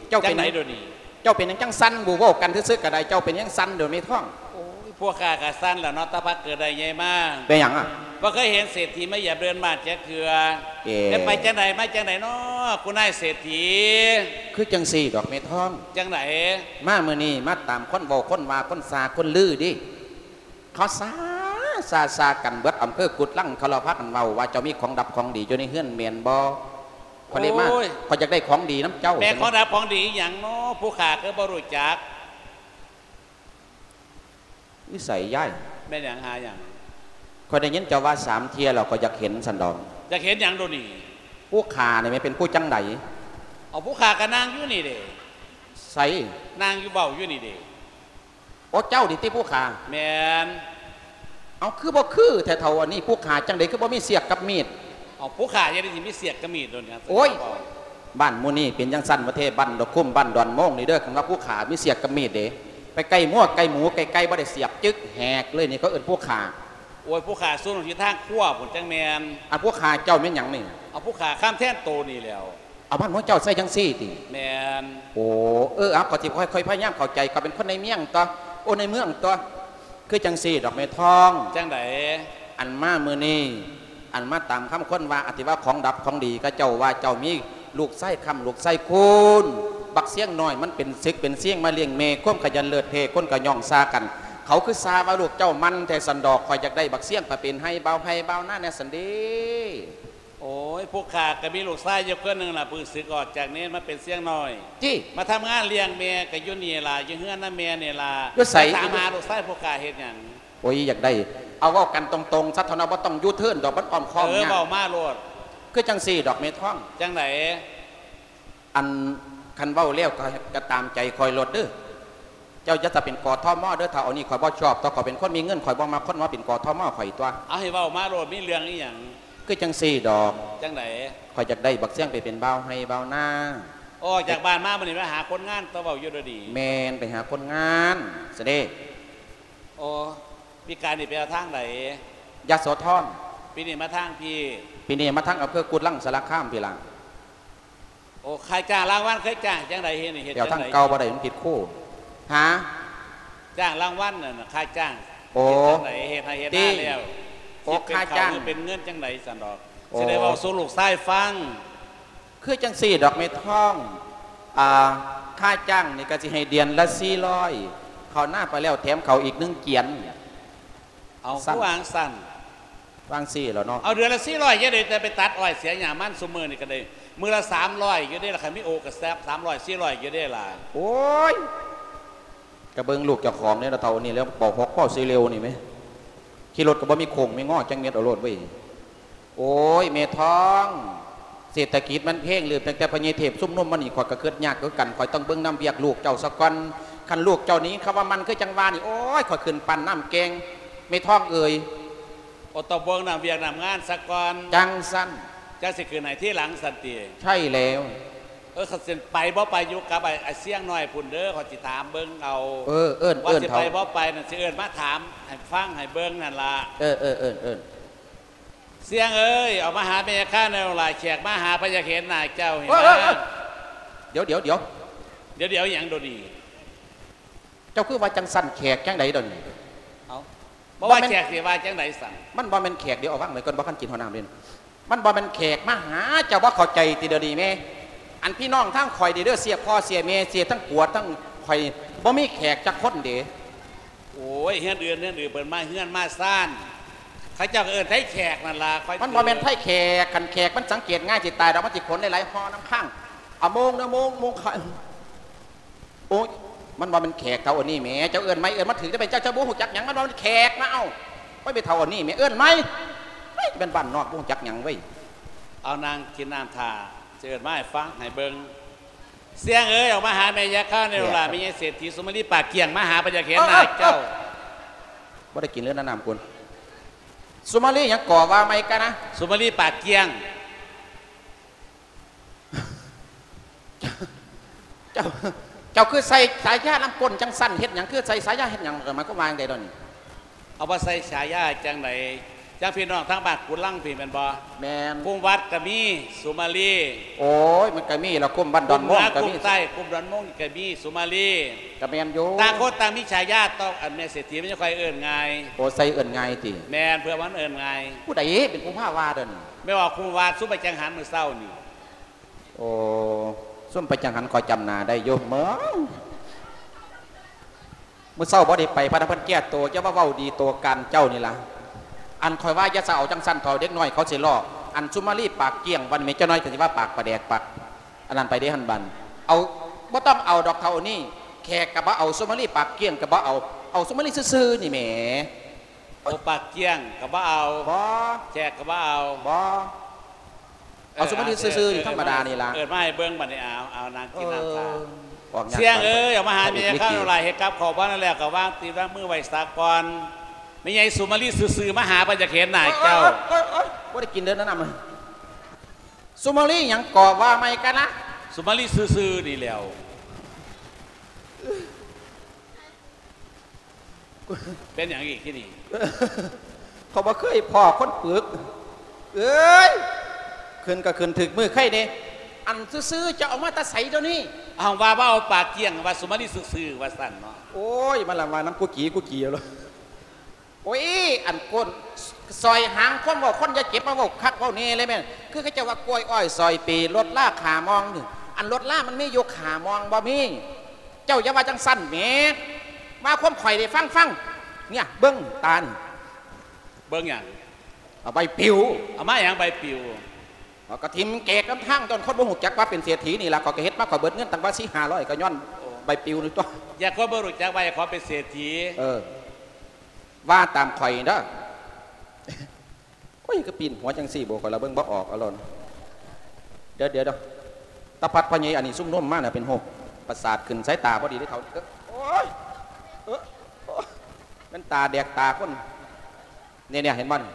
ເຈົ້າເປັນຫຍັງ ຈັ່ງໃດດຽວນີ້? ເຈົ້າເປັນຫຍັງຈັ່ງສັ່ນ? ເວົ້າກັນຊື່ໆກໍໄດ້ ເຈົ້າເປັນຫຍັງສັ່ນດຽວແມ່ທອງ? ໂອ້ຍ ພວກຂ້າກໍສັ່ນແລ້ວເນາະ ແຕ່ພາກເກີດໄດ້ໃຫຍ່ມາ. ເປັນຫຍັງອະ? ບໍ່ເຄີຍເຫັນເສດຖີມາຢຽມເດີ່ນບ້ານຈັກເທື່ອ. ເອີ ແຕ່ໄປຈັ່ງໃດມາຈັ່ງໃດນໍ ຄຸນນາຍເສດຖີ? ຄືຈັ່ງຊີ້ດອກແມ່ທອງ. ຈັ່ງໃດ? ມາມື້ນີ້ມາຕາມຄົນເວົ້າຄົນວ່າ ຄົນຊ່າຄົນລືເດ້. ເຂົາຊ່າ ຊ່າ ຊ່າກັນເບິດອຳເພີກຸດລັງ ເຂົາລະພາກັນເວົ້າວ່າ ເຈົ້າມີຂອງດັບຂອງດີຢູ່ໃນເຮືອນແມ່ນບໍ່? ຂ້ອຍເລີຍມາ ໂອ້ຍ ຂ້ອຍຢາກໄດ້ຂອງດີນຳເຈົ້າ. ແມ່ນຂອງດັບຂອງດີອີ່ຫຍັງເນາະ ຜູ້ຂ້າຄືບໍ່ຮູ້ຈັກ? ຢູ່ໃສຍາຍ? ແມ່ນຫຍັງ ຫາຫຍັງ? ຂ້ອຍໄດ້ຍິນເຈົ້າວ່າສາມເທື່ອແລ້ວ ຂ້ອຍຢາກເຫັນຊັ້ນດອກ. ຢາກເຫັນຫຍັງດຽວນີ້? ຜູ້ຂ້ານີ້ແມ່ນເປັນຜູ້ຈັ່ງໃດ? ເອົາ ຜູ້ຂ້າກໍນັ່ງຢູ່ນີ້ເດ້. ໃສ? ນັ່ງຢູ່ເວົ້າຢູ່ນີ້ເດ້. ໂອ້ ເຈົ້ານີ້ຕິຜູ້ຂ້າ? ແມ່ນ. ເອົາ ຄືບໍ່ຄືແທ້ເຖົ້າ ອັນນີ້ຜູ້ຂ້າຈັ່ງໃດຄືບໍ່ມີສຽກກັບມີດ? ເອົາ ຜູ້ຂ້າຈັ່ງໃດຊິມີສຽກກັບມີດໂດນຫຍັງ? ໂອ້ຍ ບ້ານໝູ່ນີ້ເປັນຈັ່ງຊັ້ນມາແທ້ ບ້ານດອກຄຸ້ມ ບ້ານດອນໂມງນີ້ເດີ ຄັນວ່າຜູ້ຂ້າມີສຽກກັບມີດເດ້ ໄປໃກ້ງົວໃກ້ໝູໃກ້ໄກ່ບໍ່ໄດ້ສຽບ ຈຶກແຫກເລີຍນີ້ ເຂົາເອີ້ນຜູ້ຂ້າ. ໂອ້ຍ ຜູ້ຂ້າສູນຢູ່ທາງຄົວພຸ້ນ ຈັ່ງແມ່ນ. ອັນຜູ້ຂ້າເຈົ້າແມ່ນຫຍັງນີ້? ເອົາ ຜູ້ຂ້າຄຳແທນໂຕນີ້ແຫຼ້ວ. ເອົາ ບ້ານໝູ່ເຈົ້າໃຊ້ຈັ່ງຊີ້ຕິ? ແມ່ນ. ໂອ້ ເອີ ເອົາ ຂ້ອຍຊິຄ່ອຍໆພະຍາຍາມເຂົ້າໃຈ ຂ້ອຍເປັນຄົນໃນເມືອງຕົວະ ໂອ້ ໃນເມືອງຕົວະ. ຄືຈັ່ງຊີ້ດອກແມ່ທອງ. ຈັ່ງໃດ? ອັນມາມື້ນີ້ ອັນມາຕາມຄຳຄົນວ່າ ອະ ທີ່ວ່າຂອງດັບຂອງດີ ເຂົາເຈົ້າວ່າເຈົ້າມີລູກຊາຍຄ້ຳ ລູກຊາຍຄູນ ບັກຊຽງນ້ອຍມັນເປັນເສັກເປັນຊຽງມາລ້ຽງແມ່ ຄວາມຂະຫຍັນເລີດເພ ຄົນກໍຍ້ອງຊ່າກັນ ເຂົາຄືຊ່າວ່າລູກເຈົ້າໝັ່ນແທ້ຊັ້ນດອກ ຂ້ອຍຢາກໄດ້ບັກຊຽງໄປເປັນໄຮ່ ບ່າວໄຮ່ບ່າວນາແດ່ຊັ້ນເດ. ໂອ້ຍ ພວກຂ້າກໍມີລູກຊາຍຢູ່ຄົນໜຶ່ງລະ ເພິ່ງສຶກອອກຈາກເນນມາເປັນຊຽງນ້ອຍ ຕິ ມາທຳງານລ້ຽງແມ່ ກໍຢູ່ນີ້ລະ ຢູ່ເຮືອນນຳແມ່ນີ້ລະ. ຢູ່ໃສ? ມາຖາມຫາລູກຊາຍພວກຂ້າເຮັດຫຍັງ? ໂອ້ຍ ຢາກໄດ້ ເອົາເວົ້າກັນຕົງໆຊະເຖົ້າເນາະ ບໍ່ຕ້ອງຢູເທີນດອກ ມັນອ້ອມຄ້ອມຍາກ. ເອີ ເວົ້າມາໂລດ. ຄືຈັ່ງຊີ້ດອກແມ່ທອງ. ຈັ່ງໃດ? ອັນ ຄັນເວົ້າແລ້ວກໍ ກໍຕາມໃຈຂ້ອຍໂລດເດີ. ເຈົ້າຢ່າຈະເປັນ ກທມ ເດີ ຖ້າເອົານີ້ຂ້ອຍບໍ່ຊອບ ແຕ່ຂ້ອຍເປັນຄົນມີເງິນ ຂ້ອຍບໍ່ມັກຄົນມາເປັນ ກທມ ຂ້ອຍຕົວະ. ເອົາ ໃຫ້ເວົ້າມາໂລດ ມີເລື່ອງອີ່ຫຍັງ? ຄືຈັ່ງຊີ້ດອກ. ຈັ່ງໃດ? ຂ້ອຍຢາກໄດ້ບັກຊຽງໄປເປັນບ່າວໄຮ່ບ່າວນາ. ອອກຈາກບ້ານມາມື້ນີ້ມາຫາຄົນງານ ຕົວະ ເວົ້າຢູ່ດຽວນີ້. ແມ່ນ ໄປຫາຄົນງານຊະເດ. ໂອ້ ປີກາຍນີ້ໄປເອົາທາງໃດ? ຍະໂສທອນ. ປີນີ້ມາທາງພີ້? ປີນີ້ມາທາງອຳເພີກຸດລັງສາລະຄາມພີ້ລະ. ໂອ້ ຄ່າຈ້າງລາງວັນເຄີຍຈ້າງຈັ່ງໃດ? ເຮັດນີ້ເຮັດ ແຖວທາງເກົ່າບໍ່ໄດ້ ມັນຜິດຄູ. ຫາ? ຈ້າງລາງວັນນັ້ນນະ ຄ່າຈ້າງ. ໂອ້ ເຮັດຈັ່ງໃດ? ເຮັດໄຮ່ເຮັດນາແລ້ວ ໂອ້ ຄິດເປັນເຂົ້າ ຄ່າຈ້າງ ຫຼືເປັນເງິນຈັ່ງໃດຊັ້ນດອກ. ໂອ້ ຊິໄດ້ເວົ້າສູ່ລູກຊາຍຟັງ. ຄືຈັ່ງຊີ້ດອກແມ່ທອງ ອ່າ ຄ່າຈ້າງນີ້ກໍຊິໃຫ້ເດືອນລະສີ່ຮ້ອຍ ເຂົ້ານາໄປແລ້ວແຖມເຂົ້າອີກໜຶ່ງກຽນ. ເອົາ ຄືວ່າຈັ່ງຊັ້ນ? ວ່າຈັ່ງຊີ້ແຫຼ້ວເນາະ. ເອົາ ເດືອນລະສີ່ຮ້ອຍ ຢ່າໄດ້ແຕ່ໄປຕັດອ້ອຍເສຍຫຍ້າມັນ ຊຸມມື້ນີ້ກໍໄດ້ມື້ລະສາມຮ້ອຍຢູ່ເດ້ລະ ຄັນມີໂອກະສາມຮ້ອຍ ສີ່ຮ້ອຍຢູ່ເດ້ລະ. ໂອ້ຍ ກະເບິ່ງລູກເຈົ້າຂອງເດ້ລະ ເທົ່ານີ້ແລ້ວ ປໍຫົກພໍຊິເລັວນີ້ແມ ຂີ່ລົດກໍບໍ່ມີໂຄ້ງມີງໍຈັກເມັດ ເອົາໂລດເວີຍ. ໂອ້ຍ ແມ່ທອງ ເສດຖະກິດມັນເພງ ຫຼື ຕັ້ງແຕ່ພໍ່ໃຫຍ່ເທບຊຸມນຸມມານີ້ ຂ້ອຍກໍຄຶດຍາກຄືກັນ. ຂ້ອຍຕ້ອງເບິ່ງນຳວຽກລູກເຈົ້າສາກ່ອນ. ຄັນລູກເຈົ້ານີ້ ຄຳວ່າມັນຄືຈັ່ງວ່ານີ້ ໂອ້ຍ ຂ້ອຍຂຶ້ນປັ້ນນ້ຳແກງ ແມ່ທ້ອງເອີຍ. ໂອ ຕ້ອງເບິ່ງນຳວຽກນຳງານສາກ່ອນ. ຈັ່ງຊັ້ນ. ຈັ່ງຊິຂຶ້ນໃຫ້ທີຫຼັງຊັ້ນຕິ? ໃຊ່ແລ້ວ. ເອີ ຄັນຊິໄປບໍ່ໄປ ຢູ່ກັບໄອ້ ໄອ້ຊຽງນ້ອຍພຸ້ນເດີ ຂ້ອຍຊິຖາມເບິ່ງເອົາ. ເອີ ເອີ້ນ ວ່າຊິໄປບໍ່ໄປນັ້ນ ຊິເອີ້ນມາຖາມໃຫ້ຟັງໃຫ້ເບິ່ງນັ້ນລະ. ເອີ ເອີ້ນ ເອີ້ນ ເອີ້ນ. ຊຽງເອີຍ ອອກມາຫາແມ່ຍ່າຄາແດ່ລູກຫຼານ ແຂກມາຫາ ເພິ່ນຢາກເຫັນໜ້າເຈົ້າ. ເອີ ເອີ ເອີ ດຽວ ດຽວ ດຽວ ດຽວ ດຽວຫຍັງໂດນີ້? ເຈົ້າຄືວ່າຈັ່ງຊັ້ນ ແຂກຈັ່ງໃດດຽວນີ້? ເອົ້າ ບໍ່ວ່າແຂກຊິວ່າຈັ່ງໃດຊັ້ນ? ມັນບໍ່ແມ່ນແຂກ ດຽວເອົາວາງໄວ້ກ່ອນ ບໍ່ທັນກິນຮອດນ້ຳເດ້. ມັນບໍ່ແມ່ນແຂກມາຫາ ເຈົ້າບໍ່ເຂົ້າໃຈຕິດຽວນີ້ແມ່? ອັນພີ່ນ້ອງທາງຂ້ອຍນີ້ເດີ ເສຍພໍ່ເສຍແມ່ ເສຍທັງກວດທັງ ຂ້ອຍບໍ່ມີແຂກຈັກຄົນເດ້. ໂອ້ຍ ເຮືອນອື່ນ ເຮືອນອື່ນເພິ່ນມາເຮືອນມາຊານ ເຂົາເຈົ້າກໍເອີ້ນໄທແຂກນັ້ນລະ. ມັນບໍ່ແມ່ນໄທແຂກ ຄັນແຂກມັນສັງເກດງ່າຍຊິຕາຍດອກ ມັນຊິຂົນຫຼາຍໆຫໍ່ນຳຂ້າງ. ເອົາໂມງເດີ ໂມງ ໂມງ ໂອ້ຍ ມັນບໍ່ແມ່ນແຂກເຂົາອັນນີ້ແໝ ເຈົ້າເອີ້ນໃໝ່ ເອີ້ນມາຖືກໄດ້ເປັນ ເຈົ້າ ເຈົ້າບໍ່ຮູ້ຈັກຫຍັງ ມັນບໍ່ແມ່ນແຂກນະ. ເອົ້າ ໄປ ໄປເຖົ້າອັນນີ້ແໝ ເອີ້ນໃໝ່. ເອີຍ ແມ່ນບ້ານນອກ ບໍ່ຮູ້ຈັກຫຍັງເວີຍ. ເອົາ ນັ່ງກິນນ້ຳຖ້າ ຊິເອີ້ນມາໃຫ້ຟັງໃຫ້ເບິ່ງ. ຊຽງເອີຍ ອອກມາຫາແມ່ຍ່າຄາແດ່ລູກຫຼານ ແມ່ໃຫຍ່ເສດຖີສຸມາລີປາກກ້ຽງມາຫາ ເພິ່ນຢາກເຫັນໜ້າເຈົ້າ. ບໍ່ໄດ້ກິນເລີຍນະນ້ຳກຸນ. ສຸມາລີຫຍັງກໍວ່າໃໝ່ກະນະ? ສຸມາລີປາກກ້ຽງ. ເຈົ້າ ເຈົ້າຄືໃສ່ສາຍານຳກົ້ນຈັ່ງຊັ້ນ ເຮັດຫຍັງ? ຄືໃສ່ສາຍາເຮັດຫຍັງ? ໝາຍຄວາມວ່າຈັ່ງໃດດຽວນີ້? ເອົາ ບໍ່ໃສ່ສາຍາຈັ່ງໃດ? ຈັ່ງພີ່ນ້ອງທາງບ້ານກຸນລັງພີ້ແມ່ນບໍ່? ແມ່ນ. ຄຸມວັດກໍມີສຸມາລີ. ໂອ້ຍ ມັນກໍມີລະ ຄຸມບ້ານດອນໂມງກໍມີ ຄຸມເໜືອ ຄຸມໃຕ້ ຄຸມດອນໂມງນີ້ກໍມີສຸມາລີ. ກໍແມ່ນຢູ່ ຕ່າງຄົນຕ່າງມີສາຍາ. ຕ້ອງ ອັນແມ່ເສດຖີມັນຈັ່ງຄ່ອຍເອີ້ນງ່າຍ. ໂອ້ ໃສ່ເອີ້ນງ່າຍຕິ? ແມ່ນ ເພື່ອມັນເອີ້ນງ່າຍ. ຜູ້ໃດເປັນຜູ້ພາວ່າດຽວນີ້? ແມ່ອອກຄຸມວັດ ຊຸມໄປຈັງຫັນມື້ເຊົ້ານີ້. ໂອ້ ຊຸມໄປຈັງຫັນ ຂ້ອຍຈຳໜ້າໄດ້ຢູ່. ເມືອງ ມື້ເຊົ້າບໍ່ໄດ້ໄປ ພະນະເພິ່ນແກ້ໂຕ. ຢ່າມາເວົ້າດີໂຕການເຈົ້ານີ້ລະ. ອັນຂ້ອຍວ່າຢ່າສະເອົາຈັ່ງຊັ້ນເຖາະ ເດັກນ້ອຍເຂົາຊິລໍ້. ອັນສຸມາລີປາກກ້ຽງ ບັດນີ້ແມ່ນເຈົ້ານ້ອຍກໍຊິວ່າປາກປາແດກ ປາກອັນນັ້ນໄປເດ້ຫັ້ນ. ບັດເອົາ ບໍ່ຕ້ອງເອົາດອກເຖົ້ານີ້ ແຂກກໍບໍ່ເອົາ ສຸມາລີປາກກ້ຽງກໍບໍ່ເອົາ ເອົາສຸມາລີຊື່ໆນີ້ແໝ. ໂອ ປາກກ້ຽງກໍບໍ່ເອົາ. ບໍ່ ແຂກກໍບໍ່ເອົາ. ບໍ່ ເອົາສຸມາລີຊື່ໆນີ້ ທຳມະດານີ້ລະ. ເອີ້ນມາໃຫ້ເບິ່ງບັດນີ້. ເອົາ ເອົາ ນັ່ງກິນນ້ຳຊາ. ຊຽງເອີຍ ອອກມາຫາແມ່ຍ່າຄາແດ່ລູກຫຼານ ເຮັດກັບເຂົ້າບໍ່ທັນແລ້ວ ກໍວາງຕີນວາງມືໄວ້ສາກ່ອນ. ແມ່ໃຫຍ່ສຸມາລີຊື່ໆມາຫາ ເພິ່ນຢາກເຫັນໜ້າເຈົ້າ. ໂອ້ຍ ບໍ່ໄດ້ກິນເດີນະນ້ຳ. ສຸມາລີຫຍັງກໍວ່າໃໝ່ກະນະ? ສຸມາລີຊື່ໆນີ້ແຫຼ້ວ. ເປັນຫຍັງອີກທີ່ນີ້? ເຂົາບໍ່ເຄີຍພໍ້ຄົນປຶກ. ເອີຍ ຂຶ້ນກໍຂຶ້ນຖືກມື້ໄຄແດ່. ອັນຊື່ໆ ເຈົ້າເອົາມາແຕ່ໃສດຽວນີ້? ເອົາ ວ່າ ວ່າເອົາປາກກ້ຽງ ວ່າສຸມາລີຊື່ໆ ວ່າຊັ້ນເນາະ. ໂອ້ຍ ມາລະວ່ານຳກູຈີກູຈີເອົາໂລດ. ໂອ້ຍ ອັນກົ້ນ ສອຍຫາງຄວາມເວົ້າຄົນ ຢ່າເກັບມາເວົ້າຄັກເວົ້າແນ່ເລີຍແມ່. ຄືເຂົາເຈົ້າວ່າກ້ວຍອ້ອຍຊອຍປີ ລົດລາຂາມອງ. ອັນລົດລາມັນມີຢູ່ຂາມອງບໍ່ມີ. ເຈົ້າຢ່າວ່າຈັ່ງຊັ້ນແໝ. ວ່າຄວາມຂ້ອຍໄດ້ຟັງ ຟັງ. ເນີ້ຍ ເບິ່ງຕານີ້. ເບິ່ງຫຍັງ? ເອົາໃບປິວ. ເອົາມາຫຍັງໃບປິວ? ເອົາກະຖິ້ມແກກນຳທາງ ຍ້ອນຄົນບໍ່ຮູ້ຈັກວ່າເປັນເສດຖີນີ້ລະ. ຂ້ອຍກະເຮັດມາ ຂ້ອຍເບິດເງິນຕັ້ງວ່າສີ່ຫ້າຮ້ອຍ ກະຍ້ອນໃບປິວນີ້ຕົວະ. ຢ່າຄົນບໍ່ຮູ້ຈັກວ່າຂອງເປັນເສດຖີ. ເອີ ວ່າຕາມຂ້ອຍເດີ. ໂອ້ຍ ຄືປີ້ນຫົວຈັ່ງຊີ້ບໍ ຂ້ອຍລະເບິ່ງບໍ່ອອກ. ເອົາໂລດ ດຽວ ດຽວ ດຽວ ຕາພັດພໍ່ໃຫຍ່ອັນນີ້ຊຸມນຸມມານະ ເປັນໂຮກປະສາດຂຶ້ນ ສາຍຕາບໍ່ດີເດ້ເຖົ້າ. ໂອ້ຍ ເອີ ໂອ້ຍ ແມ່ນຕາແດກຕາຄົນ. ນີ້ໆ ເຫັນບໍ່ນີ້?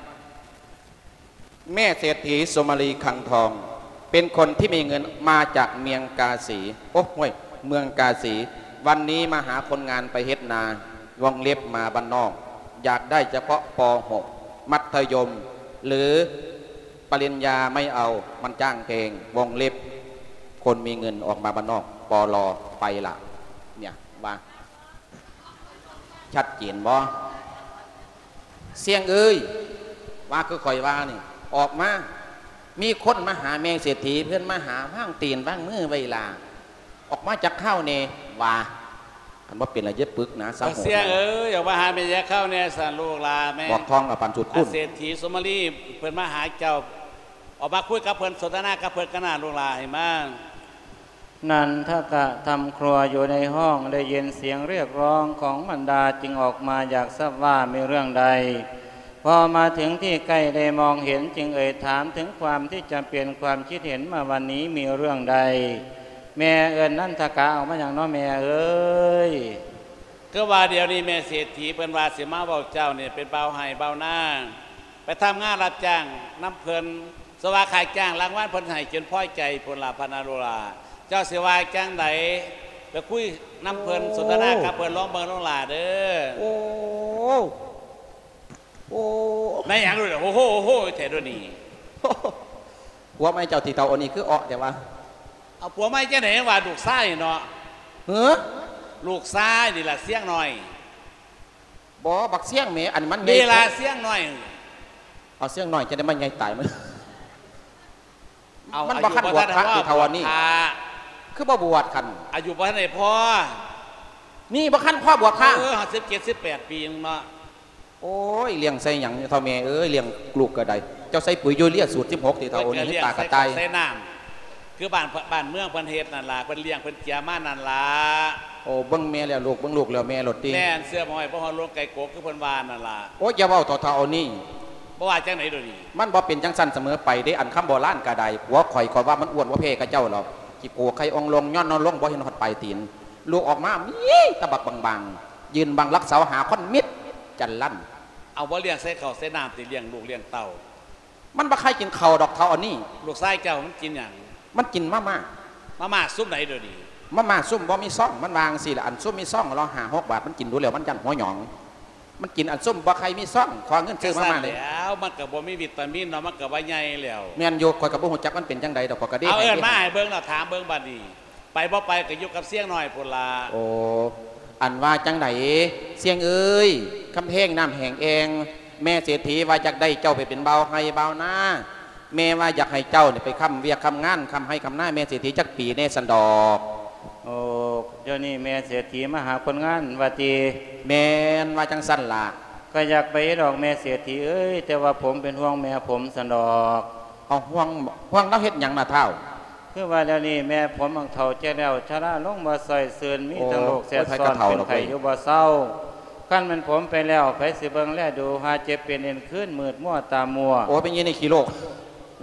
ແມ່ເສດຖີສຸມາລີຄັງທອງ ເປັນຄົນທີ່ມີເງິນ ມາຈາກເມືອງກາສີ ໂອ້ ຫ້ວຍ ເມືອງກາສີ ວັນນີ້ມາຫາຄົນງານໄປເຮັດນາ ວົງເລັບມາບ້ານນອກ ຢາກໄດ້ສະເພາະ ປໍຫົກ ມັດທະຍົມ ຫຼື ປະລິນຍາໄມ່ເອົາ ມັນຈ້າງແພງ ວົງເລັບ ຄົນມີເງິນອອກມາບ້ານນອກ ປໍລໍ ໄປລະ ເນຍວ່າ ຊັດເຈນບໍ່? ຊຽງເອີຍ ວ່າຄືຂ້ອຍວ່ານີ້ ອອກມາ ມີຄົນມາຫາແມ່ເສດຖີ ເພິ່ນມາຫາ ວາງຕີນວາງມືໄວ້ລາ ອອກມາຈັກຄາວແດ່ ວ່າ ຄັນບໍ່ເປັນລະຢ່າປຶກນາ ສາໂຫດ. ຊຽງເອີຍ ອອກມາຫາແມ່ຢ່າຄາວແດ່ ຊັ້ນລູກຫຼາແມ່ ບອກທອງເອົາປານສູດຄູນ. ເສດຖີສຸມາລີ ເພິ່ນມາຫາເຈົ້າ ອອກມາຄຸຍກັບເພິ່ນ ສົນທະນາກັບເພິ່ນກັນນາ ລູກຫຼາ ໃຫ້ມາ. ນັນທະກະທຳຄົວຢູ່ໃນຫ້ອງ ໄດ້ຍິນສຽງຮຽກຮ້ອງຂອງມັນດາ ຈຶ່ງອອກມາຢາກຊາບວ່າມີເລື່ອງໃດ. พอมาถึงที่ใกล้ได้มองเห็น จึงเอ่ยถามถึงความที่จำเป็น ความคิดเห็นมาวันนี้มีเรื่องใด แม่เอิ้นนันทกะออกมาหยังน้อแม่เอ้ย คือว่าเดี๋ยวนี้แม่เศรษฐีเพิ่นว่าสิมาเว้าเจ้านี่เป็นบ่าวไฮ่บ่าวนา ไปทำงานรับจ้างนำเพิ่น สว่าค่าจ้างรางวัลเพิ่นให้จนพอใจพุ้นล่ะพะนาลูกหล้า เจ้าสิว่าจั่งใด ไปคุยนำเพิ่น โอ้ สนทนากับเพิ่นลองเบิ่งลูกหล้าเด้อ โอ้ โอ้ แม่นหยังลูก โอ้โฮ โอ้โฮ แท้เด้อนี่ ผัวใหม่เจ้าที่เฒ่าอันนี้คือเอาะแท้วะ เอาผัวใหม่จั่งใดว่าลูกชายเนาะ เหือ ลูกชายนี่ล่ะเสี้ยงน้อย บ่ บักเสี้ยงแหม อันมันใหญ่ นี่ล่ะเสี้ยงน้อย เอาเสี้ยงน้อยจั่งใดมันใหญ่ตายมัน เอา มันบ่คันบวชพระ อายุบ่ทันได้พอ ที่เฒ่าอันนี้ บวชพระ คือบ่บวชคัน อายุบ่ทันได้พอ นี่บ่คันพอบวชพระ เออ สิบเจ็ด สิบแปด ปีนึงเนาะ โอ้ย เลี้ยงใส่หยังเฒ่าแม่เอ้ย เลี้ยงลูกก็ได้ เจ้าใส่ปุ๋ยยูเรียสูตรสิบหก ที่เฒ่าอันนี้ เพิ่นก็เลี้ยง ตากระต่าย ใส่ข้าวใส่น้ำ คือบ้าน บ้านเมืองเพิ่นเฮ็ดนั่นล่ะ เพิ่นเลี้ยงเพิ่นเจียมานั่นล่ะ โอ้ เบิ่งแม่แล้วลูก เบิ่งลูกแล้วแม่โลดติ แม่น เสื้อบ่ห้อยบ่ฮอดโลงไก่กก คือเพิ่นว่านั่นล่ะ โอ้ย อย่าเว้าเฒ่าๆ เอานี่ บ่ว่าจั่งใด๋โดยวนี้ มันบ่เป็นจั่งซั่นเสมอไปเด้ อันคำโบราณก็ได้ ผัวข่อย ข่อยว่ามันอ้วนบ่แพ้กับเจ้าหรอก ขี้โกไข่อ่องลง ย้อนนอนลงบ่เห็นฮอดปลายตีน ลูกออกมามีแต่บักบางๆ ยืนบังหลักเสาหาคนมิดจั่นลั่น เอาบ่เลี้ยงใส่ข้าวใส่น้ำติ เลี้ยงลูกเลี้ยงเต้า มันบ่ใคร่กินข้าวดอกเฒ่าอันนี้ ลูกชายเจ้ามันกินหยัง มันกินมาม่า มาม่าซุมใด๋โดยวนี้ มาม่าซุมบ่มีซอง มันว่าจั่งซี้ล่ะ อันซุมมีซองละห้าหกบาท มันกินดูแล้วมันย้านหัวหยอง มันกินอันซุมบ่ใคร่มีซอง ขอเงินซื้อมาม่าเลย จั่งซั่นแหล้ว มันก็บ่มีวิตามินเนาะ มันก็บ่ใหญ่แล้ว แม่นอยู่ ข้อยก็บ่ฮู้จักมันเป็นจั่งใด๋ดอก ข้อยก็เด้ เอาเอิ้นมาให้เบิ่งเนาะ ถามเบิ่งบัดนี้ ไปบ่ไปก็อยู่กับเสี้ยงน้อยพุ้นล่ะ โอ้ อันว่าจั่งใด๋ เสี้ยงเอ้ย กำแพงน้ำแห้งแอ่ง แม่เศรษฐีว่าอยากได้เจ้าไปเป็นบ่าวไฮ่บ่าวนา แม่ว่าอยากให้เจ้านี่ไปค้ำเวียกค้ำงาน ค้ำไฮ่ค้ำนา แม่เศรษฐีจักปีแน่ซั้นดอก โอ้ เดี๋ยวนี้แม่เศรษฐีมาหาคนงานว่าติ แม่น ว่าจั่งซั่นล่ะ ก็อยากไปดอกแม่เศรษฐีเอ้ย แต่ว่าผมเป็นห่วงแม่ผมซั้นดอก เอา ห่วง ห่วงลาวเฮ็ดหยังน่ะท้าว คือว่าเดี๋ยวนี้แม่ผมมันเฒ่าแก่แล้ว ชราลงบ่ซ่อยซื่น มี โอ้ ทั้งโรคแทรกซ้อน โอ้ย ข้อยก็เฒ่า เป็นไข้ แล้วเว้ย อยู่บ่เซา คันแม่นผมไปแล้ว ไผสิเบิ่งแลดู หาเจ็บเป็นเอ็นคืน มืดมัวตามัว โอ้ย เป็นยี่นี่ขี้โรค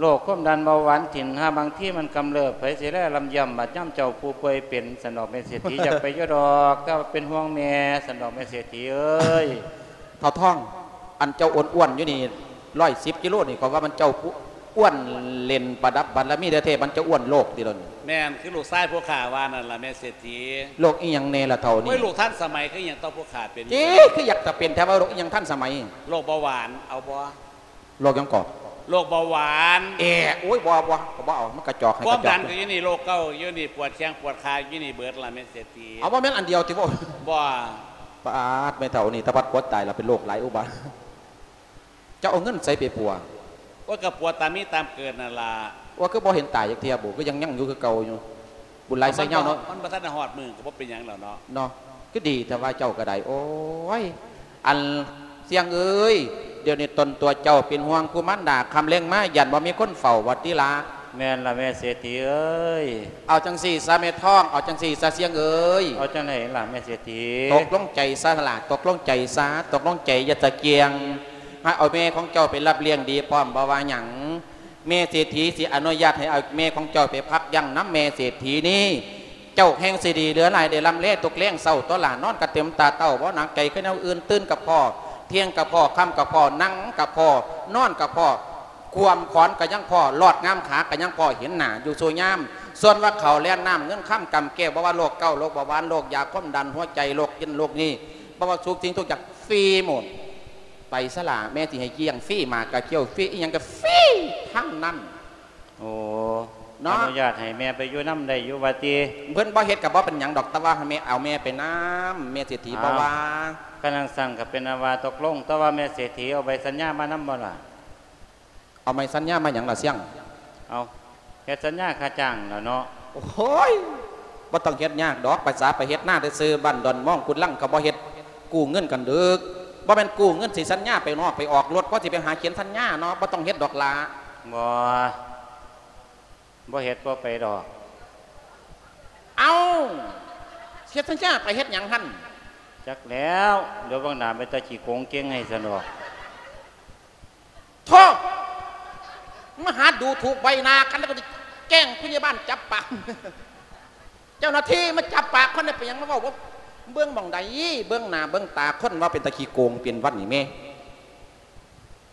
โรคความดันเบาหวานถิ่น หาบางทีมันกำเริบ ไผสิแลลำย่ำ บาดยามเจ้าผู้ป่วยเป็น ซั้นดอกแม่เศรษฐี อยากไปอยู่ดอก แต่ว่าเป็นห่วงแม่ ซั้นดอกแม่เศรษฐีเอ้ย เฒ่าทอง อันเจ้าอ้วนๆ อยู่นี่ ร้อยสิบกิโลนี่ ข้อยว่ามันเจ้าผู้อ้วนเล่นประดับบารมีแท้ๆ มันเจ้าอ้วนโรคติล่ะนี่ แม่น คือลูกชายผู้ข้าว่านั่นล่ะแม่เศรษฐี โรคอีหยังแน่ล่ะเฒ่านี่ โอ้ย โรคทันสมัย คืออีหยังต่อผู้ข้าเป็น เอ๊ะ คืออยากจะเป็นแท้ว่าโรคอีหยังทันสมัย โรคเบาหวาน เอาบ่ โรคหยังก่อ โรคเบาหวาน แอะ โอ๊ย บ่ บ่ บ่เอา มันกระจอก ให้ ความดัน กระจอก ก็อยู่นี่ โรคเกาต์อยู่นี่ ปวดแข้งปวดขาอยู่นี่เบิดล่ะแม่เศรษฐี เอา บ่แม่นอันเดียวติบ่ บ่ ปาด แม่เฒ่านี่ตะบัดปวดตายล่ะ เป็นโรคหลายอุบาท เจ้าเอาเงินใสไปปัว โอ๊ย ก็ปัวตามมีตามเกิดนั่นล่ะ ว่าคือบ่เห็นตายจักเทื่อบุ คือยัง ยังอยู่คือเก่าอยู่ บุญหลายไส้เหง้าเนาะ มันบ่ทันได้ฮอดมื้อก็บ่เป็นหยังแล้วเนาะ เนาะ คือดีแท้ว่าเจ้าก็ได้ โอ๊ย อันเสี้ยงเอ้ย เดี๋ยวนี้ตนตัวเจ้าเป็นห่วงผู้มารดา ค่ำแลงมาย้านบ่มีคนเฝ้าว่าติล่ะ แม่นล่ะแม่เศรษฐีเอ้ย เอาจั่งซี้ซะแม่ทอง เอาจั่งซี้ซะเสี้ยงเอ้ย เอาจั่งใด๋ล่ะแม่เศรษฐี ตกลงใจซะล่ะ ตกลงใจซะ ตกลงใจอย่าตะเกียง ให้เอาแม่ของเจ้าไปรับเลี้ยงดีพร้อม บ่ว่าหยัง แม่เศรษฐีสิอนุญาตให้เอาแม่ของเจ้าไปพักยั้งนำแม่เศรษฐีนี้ เจ้าแฮ่งสิดีเหลือหลาย ได้ร่ำแลทุกแลงเช้าตั๊วหล่า นอนกะเต็มตาเต้า บ่หนักใจคือแนวอื่น ตื่นกะพ้อ เที่ยงกะพ้อ ค่ำกะพ้อ นั่งกะพ้อ นอนกะพ้อ ขวมขอนกะยังพ้อ ลอดงามขากะยังพ้อ เห็นหน้าอยู่ซุยาม ส่วนว่าข้าวแลนน้ำ เงินคำกำแก้ว บ่ว่าโรคเกาต์ โรคเบาหวาน โรคยาความดัน หัวใจ โรคเย็น โรคนี้ บ่ว่าทุกสิ่งทุกอย่าง ฟรีหมด ไปซะล่ะ แม่สิให้เลี้ยงฟรี หมากกะเคี้ยวฟรี อีหยังกะฟรีทั้งนั้น โอ้ เนาะ อนุญาตให้แม่ไปอยู่นำได้อยู่ว่าติ เพิ่นบ่เฮ็ดกะบ่เป็นหยังดอก แต่ว่าให้แม่ เอาแม่ไปนำ แม่เศรษฐีบ่ว่า คันจั่งซั้นกะเป็นอันว่าตกลง แต่ว่าแม่เศรษฐีเอาใบสัญญามานำบ่ล่ะ เอาใบสัญญามาหยังล่ะเสี้ยง เอา เฮ็ดสัญญาค่าจ้างล่ะเนาะ โอ้ย บ่ต้องเฮ็ดยากดอก ภาษาไปเฮ็ดนาซื่อๆ บ้านดอนมองกุดลังเขาบ่เฮ็ด กู้เงินกันเด้อ บ่แม่นกู้เงินสิสัญญาไปนอกไปออกรถ พอสิไปหาเขียนสัญญาเนาะ บ่ต้องเฮ็ดดอกหล่า บ่ บ่เฮ็ดบ่ไปดอก เอ้า เฮ็ดสัญญาไปเฮ็ดหยังหั่น จักแล้ว เดี๋ยวเบิ่งหน้าเป็นตาขี้โกงเก่งให้ซั้นดอก ໂທ້! ມາຫາດູຖູກໃບໜ້າກັນ ແລ້ວກໍຊິແຈ້ງຜູ້ໃຫຍ່ບ້ານຈັບປາກ. ເຈົ້າໜ້າທີ່ມາຈັບປາກຄົນໄດ້ ເປັນຫຍັງມາເວົ້າບໍ່ ເບິ່ງໝ່ອງໃດ ເບິ່ງໜ້າເບິ່ງຕາຄົນ ວ່າເປັນຕາຂີ້ໂກງເປັນວັນນີ້ແມ່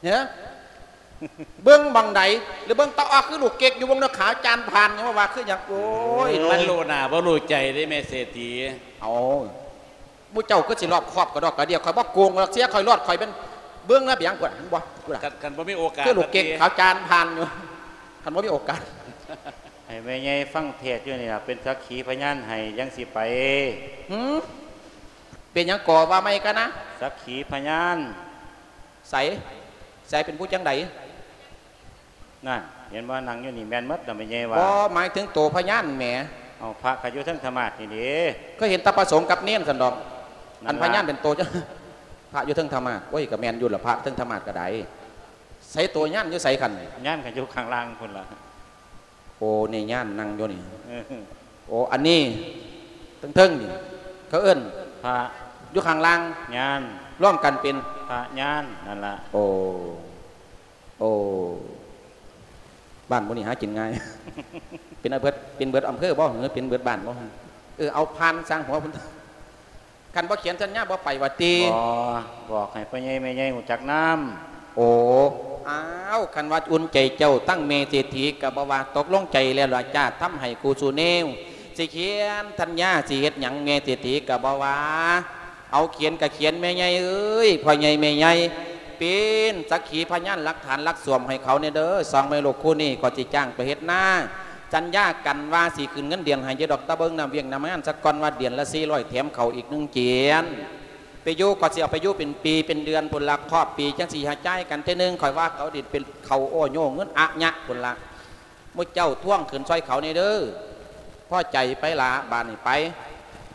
ເອີ ເບິ່ງໝ່ອງໃດ ຫຼືເບິ່ງຕາອອກຄືລູກເກັກຢູ່ ເບິ່ງໜ້າຂາວຈານຜ່ານ ຍັງມາວ່າຄືຫຍັງ ໂອ້ຍ ມັນ ມັນຮູ້ໜ້າບໍ່ຮູ້ໃຈເດ້ແມ່ເສດຖີ. ເອົາ ໝູ່ເຈົ້າຄືຊິລອບຄອບກະດອກກະເດຍ ຂ້ອຍບໍ່ໂກງດອກ ເສຍຂ້ອຍລອດ ຂ້ອຍແມ່ນເບິ່ງລະບຽງພຸ້ນ ເຫັນບໍ່ ພຸ້ນລະ ຄັນ ຄັນບໍ່ມີໂອກາດ ຄືລູກເກັກຂາວຈານຜ່ານຢູ່ ຄັນບໍ່ມີໂອກາດ ໃຫ້ແມ່ໃຫຍ່ຟັງເທດຢູ່ນີ້ລະ ເປັນສັກຂີພະຍານໃຫ້ ຈັ່ງຊິໄປ. ຫື ເປັນຫຍັງກໍວ່າໃໝ່ກັນນະ? ສັກຂີພະຍານ. ໃສ ໃສ ເປັນຜູ້ຈັ່ງໃດ? ນັ້ນ ເຫັນບໍ່ ນັ່ງຢູ່ນີ້ແມ່ນໝົດລະ ແມ່ໃຫຍ່ວ່າ. ບໍ່ ໝາຍເຖິງໂຕພະຍານແໝ. ເອົາ ພະກໍຢູ່ເທິງທຳມາດນີ້ເດ້. ເຄີຍເຫັນແຕ່ພະສົງກັບເນນຊັ້ນດອກ. ນັ້ນລະ ອັນພະຍານເປັນໂຕ ພະຢູ່ເທິງທຳມາດ. ໂອ້ຍ ກໍແມ່ນຢູ່ລະ ພະເທິງທຳມາດກໍໄດ້. ໃສໂຕຍານຢູ່ໃສຄັນ? ຍານກໍຢູ່ຂ້າງລ່າງພຸ້ນລະ. ໂອ້ ນີ້ຍານນັ່ງຢູ່ນີ້. ເອີ ໂອ້ ອັນນີ້ເທິງໆນີ້ ເຂົາເອີ້ນພະ ຢູ່ຂ້າງລ່າງຍານ ລວມກັນເປັນພະຍານ ນັ້ນລະ. ໂອ້ ໂອ້ ບ້ານໝູ່ນີ້ຫາກິນງ່າຍ ເປັນອາເບີດ ເປັນເບີດອຳເພີບໍ່ ຫຼືເປັນເບີດບ້ານບໍ່? ເອີ ເອົາຜ່ານຊ່າງຫົວພຸ້ນ. ຄັນບໍ່ຂຽນສັນຍາບໍ່ໄປວ່າຕິ? ບໍ່ ບອກໃຫ້ພໍ່ໃຫຍ່ແມ່ໃຫຍ່ຮູ້ຈັກນຳ. ໂອ້ ອ້າວ ຄັນວ່າອຸ່ນໃຈເຈົ້າ ທັງແມ່ເສດຖີກໍບໍ່ວ່າ ຕົກລົງໃຈແລ້ວລະຈ້າ ທຳໃຫ້ກູສູ່ແນວ ຊິຂຽນສັນຍາ ຊິເຮັດຫຍັງແມ່ເສດຖີກໍບໍ່ວ່າ. ເອົາ ຂຽນກໍຂຽນແມ່ໃຫຍ່ເອີຍ ພໍ່ໃຫຍ່ແມ່ໃຫຍ່ ເປັນສັກຂີພະຍານຫຼັກຖານຫຼັກສວມໃຫ້ເຂົາແດ່ເດີ. ສອງແມ່ລູກຄູ່ນີ້ກໍຊິຈ້າງໄປເຮັດນາ ສັນຍາກັນວ່າຊິຂຶ້ນເງິນເດືອນໃຫ້ຢູ່ດອກ ແຕ່ເບິ່ງນ້ຳວຽກນ້ຳງານສາກ່ອນ ວ່າເດືອນລະສີ່ຮ້ອຍ ແຖມເຂົ້າອີກໜຶ່ງຈຽນ. ໄປຢູ່ກໍຊິເອົາໄປຢູ່ເປັນປີເປັນເດືອນພຸ້ນລະ ຄອບປີຈັ່ງຊິຫາຈ່າຍກັນເທື່ອໜຶ່ງ ຂ້ອຍວ່າເຂົາຊິເປັນເຂົາໂອ້ໂຍເງິນອະຍະພຸ້ນລະ. ໝູ່ເຈົ້າທວງຂຶ້ນຊ່ອຍເຂົາແດ່ເດີ. ພໍໃຈໄປລະ ບາດນີ້ໄປ.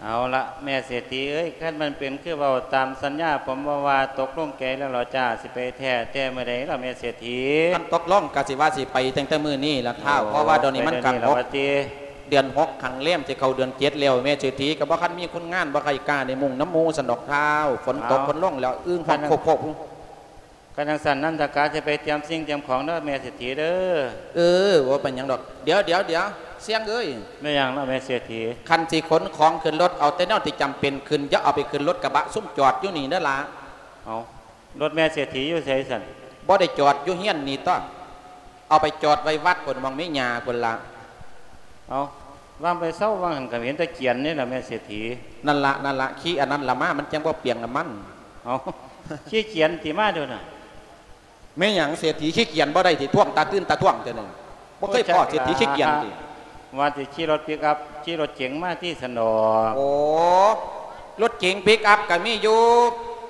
ເອົາລະ ແມ່ເສດຖີເອີຍ ຄັນມັນເປັນຄືເວົ້າຕາມສັນຍາ ຜົມບໍ່ວ່າ ຕົກລົງໃຈແລ້ວລະຈ້າ ຊິໄປແທ້ ແຕ່ມື້ໃດລະແມ່ເສດຖີ? ຄັນຕົກລົງກະຊິວ່າຊິໄປຕັ້ງແຕ່ມື້ນີ້ລະທ້າວ ໂອ້ ເພາະວ່າດຽວນີ້ມັນກະຫົກ ເດືອນຫົກ ຂ້າງແລມ ຊິເຂົ້າເດືອນເຈັດແລ້ວ ແມ່ເສດຖີກະບໍ່ຄັນມີຄົນງານ ບໍ່ໃຄ່ກ້າໄດ້ມຸງນຳໝູ່ຊັ້ນດອກທ້າວ. ຝົນຕົກ ເອົາ ຝົນລົງແລ້ວ ອຶ່ງຮ້ອງ ເອົ້າ ໂຄກໆ. ຄັນຈັ່ງຊັ້ນ ນັນທະກະຈະໄປຕຽມສິ່ງຕຽມຂອງເດີແມ່ເສດຖີເດີ. ເອີ ບໍ່ເປັນຫຍັງດອກ. ດຽວ ດຽວ ດຽວ ຊຽງເອີຍ. ແມ່ນຫຍັງລະແມ່ເສດຖີ? ຄັນຊິຂົນຂອງຂຶ້ນລົດ ເອົາແຕ່ແນວທີ່ຈຳເປັນຂຶ້ນ ຢ່າເອົາໄປຂຶ້ນລົດກະບະຊຸມຈອດຢູ່ນີ້ເດີລະ. ເອົາ ລົດແມ່ເສດຖີຢູ່ໃສຊັ້ນ? ບໍ່ໄດ້ຈອດຢູ່ເຮືອນນີ້ຕົວະ ເອົາໄປຈອດໄວ້ວັດພຸ້ນ ໝ່ອງມີຫຍ້າພຸ້ນລະ. ເອົາ ວ່າໄປເຊົາວ່າຫັ້ນກໍເຫັນແຕ່ກຽນນີ້ລະແມ່ເສດຖີ. ນັ້ນລະ ນັ້ນລະ ຂີ່ອັນນັ້ນລະມາ ມັນຈັ່ງບໍ່ປຽງນ້ຳມັນ. ເອົາ ຂີ່ກຽນຕິມາໂດນນະ. ແມ່ນຫຍັງເສດຖີຂີ່ກຽນບໍ່ໄດ້ຕິ ທ້ວງຕາຕື່ນຕາທ້ວງແຕ່ໜຶ່ງ ບໍ່ເຄີຍພໍ້ເສດຖີຂີ່ກຽນຕິ. ວ່າຊິຂີ່ລົດປິກອັບ ຂີ່ລົດເກັງມາຕິຊັ້ນດອກ. ໂອ້ ລົດເກັງປິກອັບກໍມີຢູ່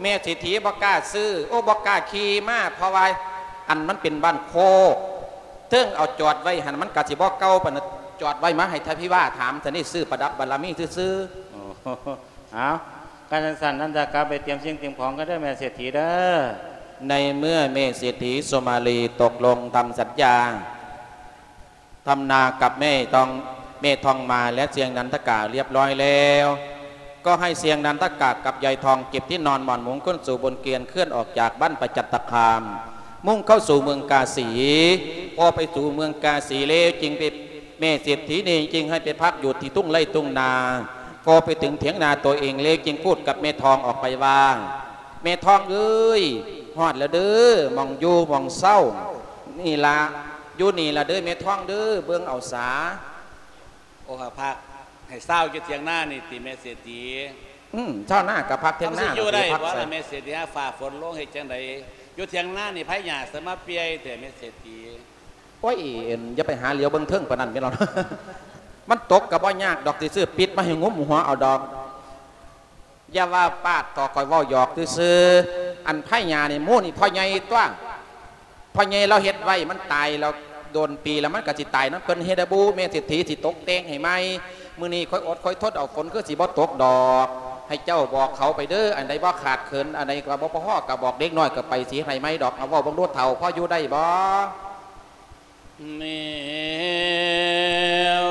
ແມ່ເສດຖີບໍ່ກ້າຊື້ ໂອ້ ບໍ່ກ້າຂີ່ມາ ເພາະວ່າອັນມັນເປັນບ້ານໂຄກ ເຖິງເອົາຈອດໄວ້ຫັ້ນ ມັນກໍຊິບໍ່ເກົ່າປານນັ້ນ ຈອດໄວ້ມາໃຫ້ທ່ານພິວາຖາມຊັ້ນນີ້ ຊື້ປະດັບບາລະມີຊື່ໆ. ໂອ້ ເອົາ ຄັນຈັ່ງຊັ້ນ ນັນທະກະໄປຕຽມສິ່ງຕຽມຂອງກັນເດີແມ່ເສດຖີເດີ. ໃນເມື່ອແມ່ເສດຖີສຸມາລີຕົກລົງທຳສັນຍາ ທຳນາກັບແມ່ທອງ ແມ່ທອງມາ ແລະ ຊຽງນັນທະກະລຽບຮ້ອຍແລ້ວ ກໍໃຫ້ຊຽງນັນທະກະກັບຍາຍທອງເກັບທີ່ນອນໝອນມຸງ ຂົນສູ່ບົນເກວີຍນ ເຄື່ອນອອກຈາກບ້ານປະຈັນຕະຄາມ ມຸ່ງເຂົ້າສູ່ເມືອງກາສີ. ພໍໄປສູ່ເມືອງກາສີແລ້ວ ຈຶ່ງໄປ ແມ່ເສດຖີນີ້ຈຶ່ງໃຫ້ໄປພັກຢູ່ທີ່ທົ່ງໄຮ່ທົ່ງນາ. ພໍໄປເຖິງຖຽງນາຕົວເອງແລ້ວ ຈຶ່ງພູດກັບແມ່ທອງອອກໄປວ່າ ແມ່ທອງເອີຍ ຮອດແລ້ວເດີ ໝ່ອງຢູ່ໝ່ອງເຊົານີ້ລະ ຢູ່ນີ້ລະເດີແມ່ທອງເດີ ເບິ່ງເອົາສາ. ໂອ ກະພັກໃຫ້ຊາວຢູ່ຖຽງນານີ້ຕິແມ່ເສດຖີ? ອືມ ຊາວນາກະພັກຖຽງນາ ມັນຊິຢູ່ໄດ້ບໍ່ລະແມ່ເສດຖີ? ຫາຟ້າຝົນລົງເຮັດຈັ່ງໃດ? ຢູ່ຖຽງນານີ້ໃຜຫຍ້າສະມາປ່ຽຍແທ້ແມ່ເສດຖີ? ໂອ້ຍ ຢ່າໄປຫາຫຼຽວເບິ່ງເທິງປານນັ້ນແມ່ນລະ ມັນຕົກກະບໍ່ຍາກດອກ ຊິຊື້ປິດມາໃຫ້ງຸ້ມຫົວເອົາດອກ. ຢ່າວ່າປາດເຖາະ ຂ້ອຍເວົ້າຫຍອກຊື່ໆ. ອັນໄຜຫຍ້ານີ້ ໝູ່ນີ້ພໍ່ໃຫຍ່ຕົວະ ພໍ່ໃຫຍ່ລາວເຮັດໄວ້ ມັນຕາຍແລ້ວ ໂດນປີແລ້ວ ມັນກະຊິຕາຍນຳເພິ່ນເຮັດໃຫ້ບູ ແມ່ເສດຖີຊິຕົກແຕ່ງໃຫ້ໃໝ່. ມື້ນີ້ຂ້ອຍອົດຂ້ອຍທົນເອົາ ຝົນຄືຊິບໍ່ຕົກດອກ. ໃຫ້ເຈົ້າບອກເຂົາໄປເດີ ອັນໃດບໍ່ຂາດເຂີນ ອັນໃດກະບໍ່ພໍກະບອກເດັກນ້ອຍກະໄປ ຊິເຮັດໃຫ້ໃໝ່ດອກ. ເອົາ ເວົ້າເບິ່ງດູເຖົ້າ ພໍຢູ່ໄດ້ບໍ່? ມີໂອ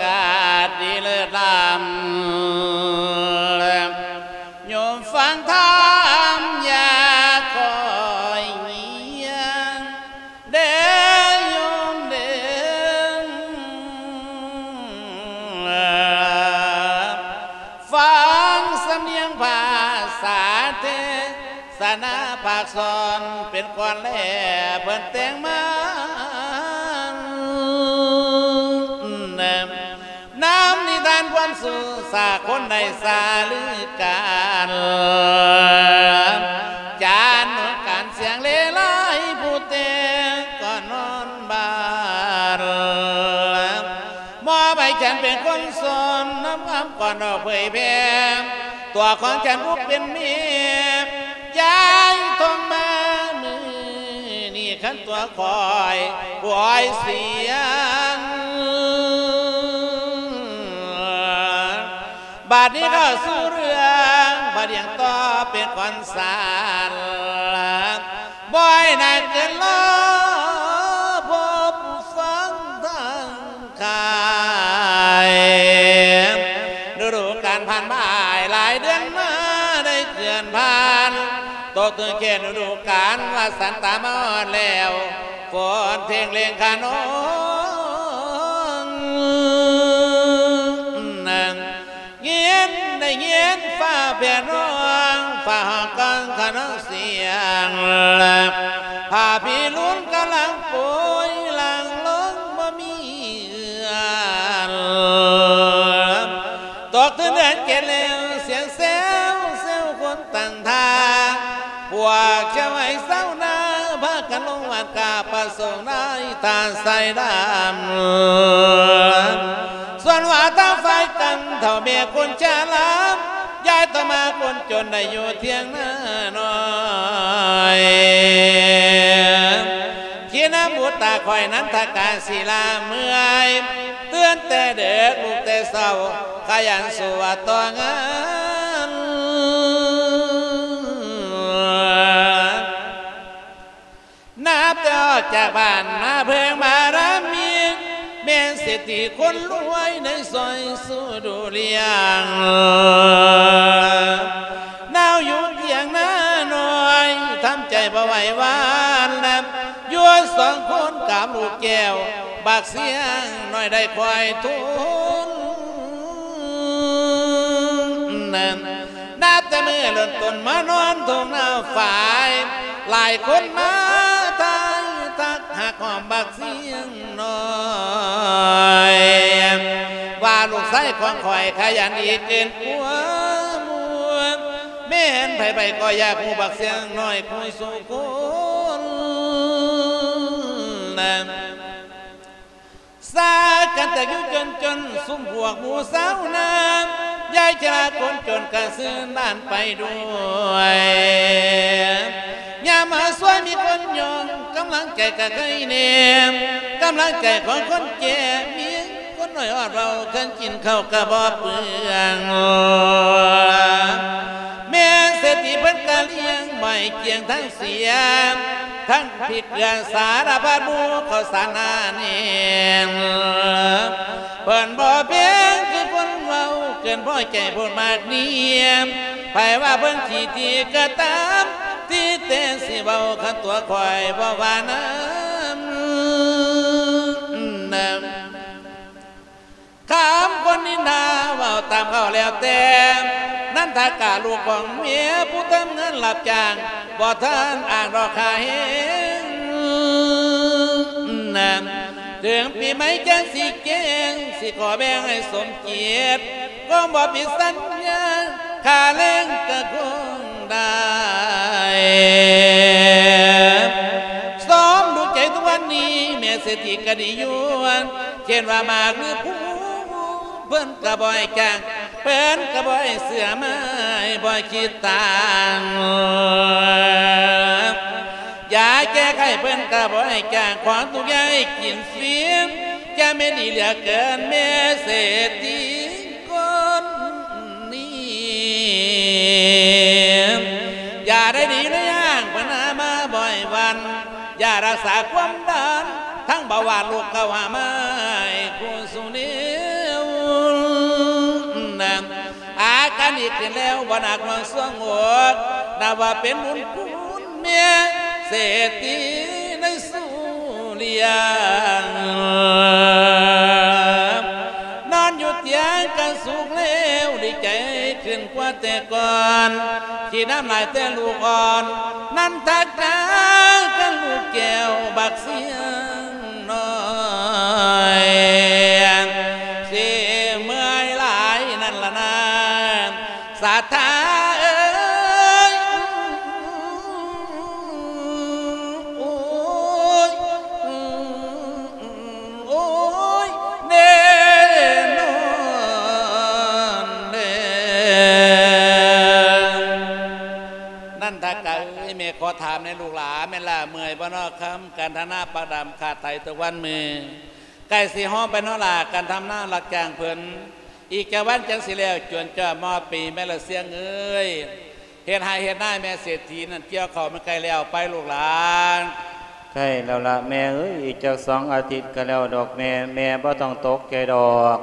ກາດດີເລີດລ້ຳ ໂຍມຟັງທຳຢ່າຄ່ອຍ ເທສະໜາພາກສອນເປັນກ່ອນແລເພິ່ນແຕ່ງມາ ນຳນິທານຄວາມສຸສາຄົນໃນສາລືການ ຈານການສຽງເລໄລ ຜູ້ແຕ່ງກໍນອນບານ ມອບໃຫ້ແກ່ນເປັນຄົນສອນ ນຳຄຳກ່ອນອອກເຜີຍແຜ່ ຕົວຂອງແກ່ນຜູ້ເປັນແມ່ ຍາຍທອງມາ ມື້ນີ້ຄັນຕົວຂ້ອຍ ຂ້ອຍສຽງ ບາດນີ້ເຂົ້າສູ່ເລື່ອງ ບາດດຽງຕໍ່ເປັນກ່ອນສານ ບໍ່ໃຫ້ນານເກີນລໍ ພົບຟັງທັງ ຂາຍ ລະດູການຜ່ານມາຫຼາຍເດືອນມາໄດ້ເຄື່ອນຜ່ານ ຕົກເຖິງແກ່ລະດູການວ່າສັນຕາມາຮອດແລ້ວ ຝົນເພງເລັງຂະນອງ ຍິນໄດ້ຍິນຟ້າແຜ່ຮ້ອງ ຟ້າຮ້ອງກອງຂະນອງສຽງ ພາພິລຸນກຳລັງໂປຍຫຼັງລົງບໍ່ມີ ເອືອນ ຕົກເຖິງເດືອນເຈັດແລ້ວ ສຽງແຊວແຊວຄົນຕັ້ງທ່າ ພວກຊາວໄຮ່ຊາວນາ ພາກັນລົງວັດກາບພະສົງໃນທ່າໄຊດຳ ສ່ວນວ່າທາງຝ່າຍກັນເຖົ້າແມ່ຄົນຊະລາ ຍາຍຕໍ່ມາຄົນຈົນໄດ້ຢູ່ທຽງນານ້ອຍ ທີ່ນຳບຸດຕາຂ້ອຍນັນທະການສີລາເມື່ອຍ ຕື່ນແຕ່ເດິກລຸກແຕ່ເຊົ້າ ຂະຫຍັນສູ້ວ່າຕໍ່ງານ ນັບແຕ່ອອກຈາກບ້ານມາເພິ່ງບາລະມີ ແມ່ນເສດຖີຄົນລວຍໃນຊອຍສຸດຸລຽງ ນາວຢູ່ທຽງນານ້ອຍ ທຳໃຈບໍ່ໄຫວຫວານນຳ ຢູ່ສອງຄົນກັບລູກແກ້ວ ບັກສຽງນ້ອຍໄດ້ຄອຍທົນ ນັບແຕ່ມື້ເລີ່ມຕົ້ນມານອນທົ່ງນາຝາຍ ຫຼາຍຄົນມາທາຍທັກຮັກຫອມບັກສຽງນ້ອຍ ວ່າລູກຊາຍຂອງຂ້ອຍຂະຫຍັນດີເກີນກວ່າໝູ່ ແມ່ນໃຜໆກໍຢາກຮູ້ບັກສຽງນ້ອຍຄູ່ສູ່ຄົນ ສາກັນແຕກຢູ່ຈົນໆ ຊຸມພວກໝູ່ຊາວນາ ຍາຍຊະລາຄົນຈົນກະຊື່ນບ້ານໄປດ້ວຍ ຍາມມາຊ່ວຍມີຄົນຍ້ອງ ກຳລັງໃຈກະໄຄແນມ ກຳລັງໃຈຂອງຄົນແກ່ ມີຄົນນ້ອຍອອດເວົ້າ ຄັນກິນເຂົ້າກະບໍ່ເປືອງ ແມ່ເສດຖີເພິ່ນກະລ້ຽງ ບໍ່ໃຫ້ກ້ຽງທັງ ສຽມ ທັງພິກເກືອສາລະພັດໝູ່ເຂົ້າສານໜາແໜ້ນ ເພິ່ນບໍ່ແພງຄືຄົນເວົ້າ ເກີນພໍໃຈໂພດມາກນຽມ ໃຜວ່າເພິ່ນຂີ້ຖີກະຕາມ ທີ່ແຕ່ຊິເວົ້າຄັນຕົວຂ້ອຍບໍ່ວ່ານຳ ນຳ ຄຳຄົນນິນທາເວົ້າຕາມເຂົາແລ້ວແຕ່ ນັນທະກາລູກຂອງເມຍ ຜູ້ທຳງານຮັບຈ້າງ ບໍ່ທັນອ່າງດອກຄ່າແຮງ ເຖິງປີໃໝ່ຈັ່ງຊິແຈ້ງ ຊິຂໍແບ່ງໃຫ້ສົມເກຍດ ຄົງບໍ່ຜິດສັນຍາ ຄ່າແຮງກະຄົງໄດ້ ສົມດູໃຈທຸກວັນນີ້ ແມ່ເສດຖີກະດີຢູ່ ເຊັ່ນວ່າໝາກຫຼືພູ ເພິ່ນກະບໍ່ໃຫ້ຈ້າງ ເພິ່ນກະບໍ່ໃຫ້ເຊື່ອມາຍ ບໍ່ຄິດຕ່າງ ຢາແກ້ໄຂເພິ່ນກະບໍ່ໃຫ້ຈ້າງ ຂອງທຸກຢ່າງໃຫ້ກິນຟຣີ ຈະແມ່ນດີເຫຼືອເກີນ ແມ່ເສດຖີຄົນນີ້ ຢາໄດ້ດີໃນຢ່າງເພິ່ນຫາມາບໍ່ໃຫ້ວັນ ຢາຮັກສາຄວາມດັນ ທັງເບົາຫວານໂລກເກົ່າຫາມາໃຫ້ຄູ່ສູ່ແນວ ອາການດີຂຶ້ນແລ້ວ ບໍ່ໜັກໜ່ວງຊວງອົກ ນັບວ່າເປັນບຸນຄຸນແມ່ເສດຖີໃນສຸລຽງ ນອນຢູ່ຕຽງກະສຸກແລ້ວ ດີໃຈ ຂຶ້ນກວ່າແຕ່ກ່ອນ ຂີ້ນ້ຳຫຼາຍແຕ່ລູກອ່ອນ ນັນທະກາ ກັບລູກແກ້ວບັກຊຽງນ້ອຍ ຊິເມື່ອຍຫຼາຍນັ້ນລະນາ ສາທາເອີຍ ໂອ້ຍ ໂອ້ຍ ແນ່ນອນແລ້ວ ນັນທະກະເອີຍ ແມ່ຂໍຖາມແດ່ລູກຫຼານ ແມ່ນຫຼ້າເມື່ອຍບໍ່ນໍຄຳ? ການທຳນາປາກດຳຂາດໄຖທຸກວັນມື້ ໃກ້ຊິຮອດໄປນໍຫຼ້າ ການທຳນາຮັບຈ້າງເພິ່ນ ອີກຈັກວັນຈັ່ງຊິແລ້ວ ຈວນຈອດມາຮອດປີແມ່ນລະຊຽງເອີຍ ເຮັດໄຮ່ເຮັດນາແມ່ເສດຖີນັ້ນ ກ່ຽວເຂົ້າມັນໃກ້ແລ້ວໄປລູກຫຼານ. ໃກ້ແລ້ວລະແມ່ເອີຍ ອີກຈັກສອງອາທິດກະແລ້ວດອກແມ່ ແມ່ບໍ່ຕ້ອງຕົກໃຈດອກ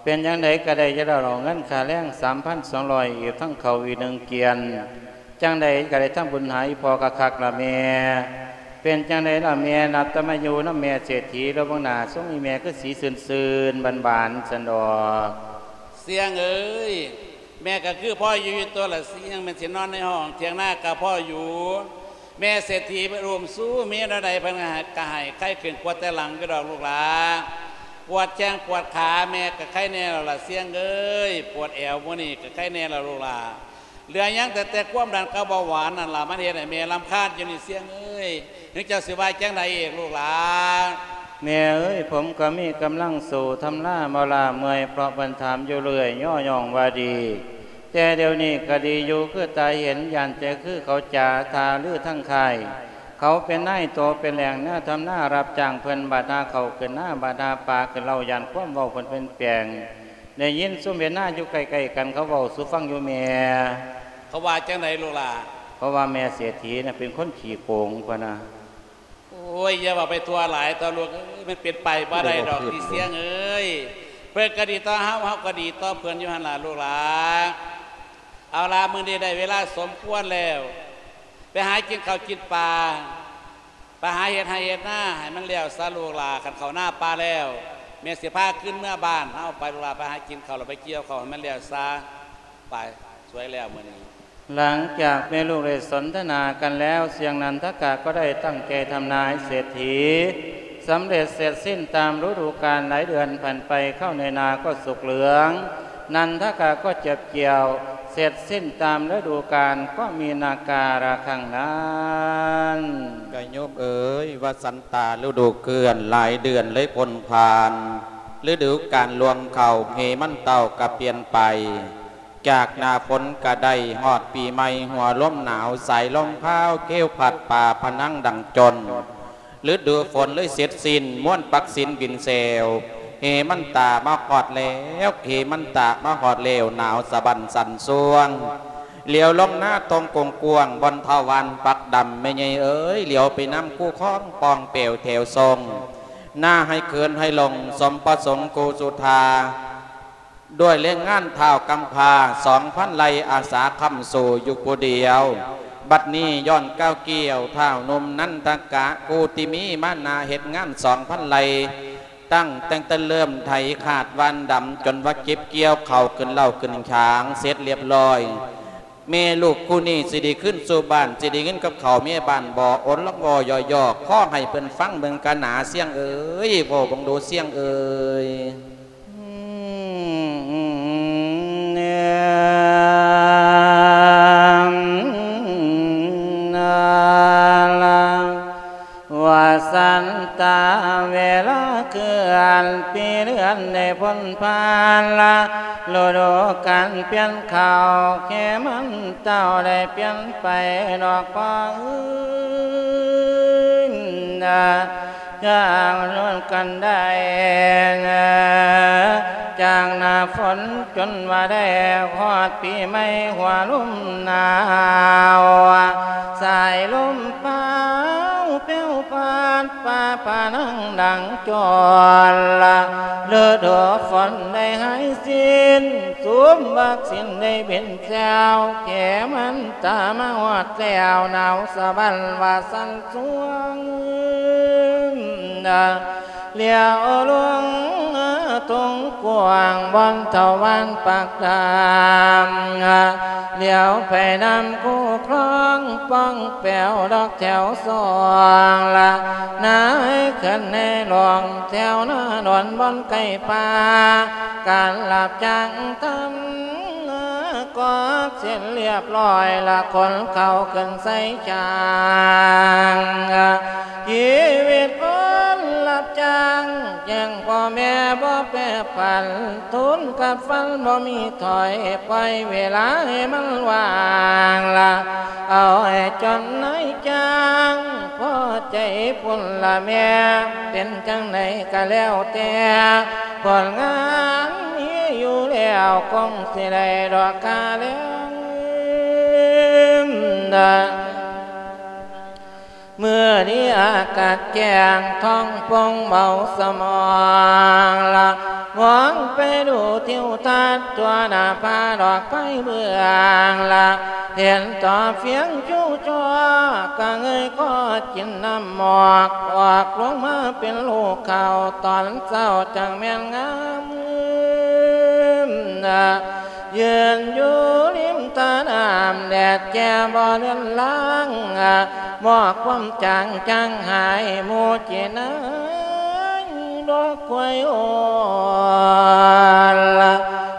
ເປັນຈັ່ງໃດກະໄດ້ຢູ່ແລ້ວດອກ ເງິນຄ່າແຮງສາມພັນສອງຮ້ອຍ ອີກທັງເຂົ້າອີກໜຶ່ງກຽນ ຈັ່ງໃດກະໄດ້ທຳບຸນຫາອີ່ພໍ່ຄັກໆລະແມ່. ເປັນຈັ່ງໃດລະແມ່ ນັບແຕ່ມາຢູ່ນຳແມ່ເສດຖີແລ້ວ ເບິ່ງໜ້າຊົງອີ່ແມ່ຄືສີຊື່ນໆ ບານໆ ຊັ້ນດອກ. ຊຽງເອີຍ ແມ່ກະຄືພໍຢູ່ຢູ່ຕົວະລະຊຽງ ແມ່ນຊິນອນໃນຫ້ອງຖຽງນາກະພໍຢູ່ ແມ່ເສດຖີເພິ່ນອຸ້ມຊູເມຍແນວໃດເພິ່ນກະໃຫ້ ໄຄຂຶ້ນກວ່າແຕ່ຫຼັງຢູ່ດອກລູກຫຼານ ປວດແຂ້ງປວດຂາແມ່ກະໄຄແນ່ແລ້ວລະຊຽງເອີຍ ປວດແອວມື້ນີ້ກະໄຄແນ່ແລ້ວລູກຫຼານ ເຫຼືອຍັງແຕ່ ແຕ່ຄວາມດັນກັບເບົາຫວານນັ້ນລະ ມັນເຮັດໃຫ້ແມ່ລຳຄານຢູ່ນີ້ຊຽງເອີຍ ເຖິງເຈົ້າຊິວ່າຈັ່ງໃດອີກລູກຫຼານ. ແມ່ເອີຍ ຜົມກະມີກຳລັງສູ້ທຳນາບໍ່ລ້າເມື່ອຍ ເພາະເພິ່ນຖາມຢູ່ເລື້ອຍຍໍຍ້ອງວ່າດີ ແຕ່ດຽວນີ້ກະດີຢູ່ຄືຕາເຫັນ ຢ້ານແຕ່ຄືເຂົາຈາທ່າລືທາງຄ້າຍ ເຂົາເປັນນາຍໂຕເປັນແຫຼງແນວທຳນາ ຮັບຈ້າງເພິ່ນ ບາດຫາເຂົ້າຂຶ້ນນາ ບາດຫາປາຂຶ້ນເລົ້າ ຢ້ານຄວາມເວົ້າເພິ່ນປ່ຽນແປງ ໄດ້ຍິນຊຸມເຮັດນາຢູ່ໃກ້ໆກັນ ເຂົາເວົ້າສູ່ຟັງຢູ່ແມ່. ເຂົາວ່າຈັ່ງໃດລູກຫຼານ? ເຂົາວ່າແມ່ເສດຖີນະເປັນຄົນຂີ້ໂກງ ພະນະ. ໂອ້ຍ ຢ່າເວົ້າໄປທົ່ວຫຼາຍເຖາະລູກເອີຍ ມັນເປັນໄປບໍ່ໄດ້ດອກຕິຊຽງເອີຍ ເພິ່ນກະດີຕໍ່ເຮົາ ເຮົາກະດີຕໍ່ເພິ່ນຢູ່ຫັ້ນລະລູກຫຼານ. ເອົາລະ ມື້ນີ້ໄດ້ເວລາສົມຄວນແລ້ວ ໄປຫາກິນເຂົ້າກິນປາ ໄປຫາເຮັດໄຮ່ເຮັດນາໃຫ້ມັນແລ້ວຊະລູກຫຼານ ຄັນເຂົ້ານາປາແລ້ວ ແມ່ຊິພາຄືນເມືອບ້ານເຮົາໄປລູກຫຼານ ໄປຫາກິນເຂົ້າແລ້ວໄປກ່ຽວເຂົ້າໃຫ້ມັນແລ້ວຊະ ໄປ ສວຍແລ້ວມື້ນີ້. ຫຼັງຈາກແມ່ລູກໄດ້ສົນທະນາກັນແລ້ວ ຊຽງນັນທະກະກໍໄດ້ຕັ້ງໃຈທຳນາຍເສດຖີ ສຳເລັດເສັດສິ້ນຕາມລະດູການ ຫຼາຍເດືອນຜ່ານໄປ ເຂົ້າໃນນາກໍສຸກເຫຼືອງ ນັນທະກະກໍເກັບກ່ຽວ ເສັດສິ້ນຕາມລະດູການ ກໍມີນາກາລະຄັ້ງນັ້ນ. ຍາດໂຍມເອີຍ ວະສັນຕາລະດູເຄື່ອນ ຫຼາຍເດືອນເລີຍພົ້ນຜ່ານ ລະດູການລວງເຂົ້າ ເຮມັນເຕົ້າກະປ່ຽນໄປ ຈາກໜ້າຝົນກະໄດ້ຮອດປີໃໝ່ ຫົວລົມໜາວ ສາຍລົມພາວ ເກວພັດປ່າພະນັງດັງຈົນ ລະດູຝົນເລີຍເສັດສິ້ນ ມ່ວນປັກສິນບິນແຊວ ເຮມັນຕາມາຮອດແລ້ວ ເຮມັນຕາມາຮອດແລ້ວ ໜາວສະບັ້ນສັ່ນຊວງ ຫຼຽວລົງໜ້າຕົງກວ້າງໆ ບ່ອນທ້າວຫວ່ານປັກດຳ ແມ່ໃຫຍ່ເອີຍ ຫຼຽວໄປນຳຄູຄອງປ່ອງແປວແຖວຊົງ ໜ້າໃຫ້ເຂີນໃຫ້ຫຼົງ ສົມປະສົງກູສຸທາ ດ້ວຍແຮງງານທ້າວກຳພ້າ ສອງພັນໄລ່ ອາສາຄ້ຳສູ້ຢູ່ຜູ້ດຽວ ບັດນີ້ຍ້ອນກ້າວກ່ຽວ ທ້າວໜຸ່ມນັນທະກະ ຜູ້ທີ່ມີມານະເຮັດງານສອງພັນໄລ່ ຕັ້ງ ຕັ້ງແຕ່ເລີ່ມໄຖຄາດຫວ່ານດຳ ຈົນວ່າເກັບກ່ຽວເຂົ້າຂຶ້ນເລົ້າຂຶ້ນຂາງເສັດລຽບລ້ອຍ ແມ່ລູກຄູ່ນີ້ຊິໄດ້ຄືນສູ່ບ້ານ ຊິໄດ້ເງິນກັບເຂົ້າເມຍບ້ານບໍ່? ໂອນລະວໍຢໍ້ໆ ຂໍໃຫ້ເພິ່ນຟັງເບິ່ງກະໜາ ຊຽງເອີຍ ເວົ້າເບິ່ງດູ ຊຽງເອີຍ. ວະສັນຕາ ເວລາເຄື່ອນ ປີເດືອນໄດ້ພົ້ນຜ່ານລະ ລະດູການປ່ຽນເຂົ້າ ເຄມັນເຕົ້າໄດ້ປ່ຽນໄປດອກພໍ່ເອີຍ ຈາກລຸ້ນກັນໄດ້ ຈາກໜ້າຝົນຈົນວ່າໄດ້ຮອດປີໃໝ່ ຫົວລົມໜາວ ສາຍລົມພາວແຜ່ວພາດ ຟ້າຜ່າໜັງດັງຈອນ ລະດູຝົນໄດ້ຫາຍສິ້ນ ສຸມບັກສິນໄດ້ບິນແຊວ ເຄມັນຕາມາຮອດແລ້ວ ໜາວສະບັ້ນວ່າສັ່ນ ຊ່ວງ ລຽວລົງ ສູງກວ້າງ ບ່ອນເຖົ້າວານປາກດຳ ຫຼຽວໄປນຳຄູ່ຄອງ ປ່ອງແປວດອກແຖວສອງລະ ນາຍເຂື່ອນໃນຫຼວງ ແຖວນາດອນບ່ອນໃກ້ປ່າ ການຮັບຈ້າງທຳ ກວາດເສັດລຽບຮ້ອຍລະ ຂົນເຂົ້າຂຶ້ນໃສ່ຊ່າງ ຊີວິດຄົນຮັບຈ້າງ ແຈ້ງພໍ່ແມ່ບໍ່ແປຜັນ ທົນກັດຟັນບໍ່ມີຖອຍ ປ່ອຍເວລາໃຫ້ມັນວ່າງລະ ເອົາໃຫ້ຈົນນາຍຈ້າງ ພໍໃຈພຸ້ນລະແມ່ ເປັນຈັ່ງໃດກະແລ້ວແຕ່ ຜົນງານມີຢູ່ແລ້ວ ຄົງຊິໄດ້ດອກຄ່າແລງ ເມື່ອນີ້ອາກາດແຈ້ງ ທ້ອງໂປ່ງເບົາສະໝອງລະ ມອງໄປດູທິວທັດ ທົ່ວໜ້າຜາດອກໄຟເບື້ອງລະ ເຫັນຕໍ່ຟຽງຈູ່ຈໍ້ ກະເງີຍຄໍກິນນ້ຳໝອກ ອອກລົງມາເປັນລູກເຂົ້າ ຕອນເຊົ້າຈັ່ງແມ່ນງາມ ຢືນຢູ່ລິມຕານ້ຳ ແດດແກ່ບໍ່ເລືອນລາງ ໝອກຄວາມຈາງຈາງຫາຍ ໝູ່ຈີນາຍດອກຄວາຍໂອນລະ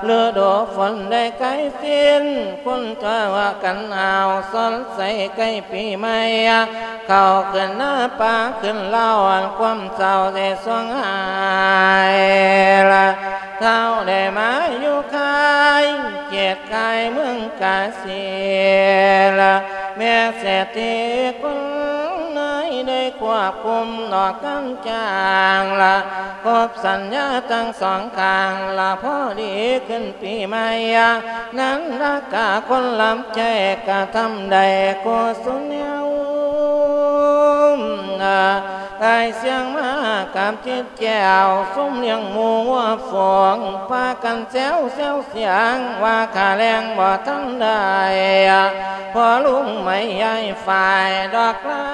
ລະດູຝົນໄດ້ໃກ້ສິ້ນ ຄົນຕົວວ່າກັນຫາວ ສົດໃສໃກ້ປີໃໝ່ ເຂົ້າຂຶ້ນໜ້າປ່າຂຶ້ນລາວ ອັນຄວາມເສົ້າໄດ້ສວງຫາຍລະ ເຮົາໄດ້ມາຢູ່ຄ້າຍ ເຂດຄ້າຍເມືອງກາສີລະ ແມ່ເສດຖີຄົນໃດໄດ້ຄວບຄຸມນອກການຈ້າງລະ ຄົບສັນຍາທັງສອງຂ້າງລະ ພໍດີຂຶ້ນປີໃໝ່ ນັນລະກະຄົນຮັບໃຊ້ກະທຳໄດ້ກຸສົນແນວ ອ້າຍສຽງມາກັບຈິດ ແກ້ວ ຊຸມລ້ຽງໝູງົວຝູງ ພາກັນແຊວແຊວສຽງ ວ່າຄ່າແລງບໍ່ທັນໄດ້ ພໍ່ລຸງໃໝ່ຍາຍຝ້າຍ ດອກຫຼາ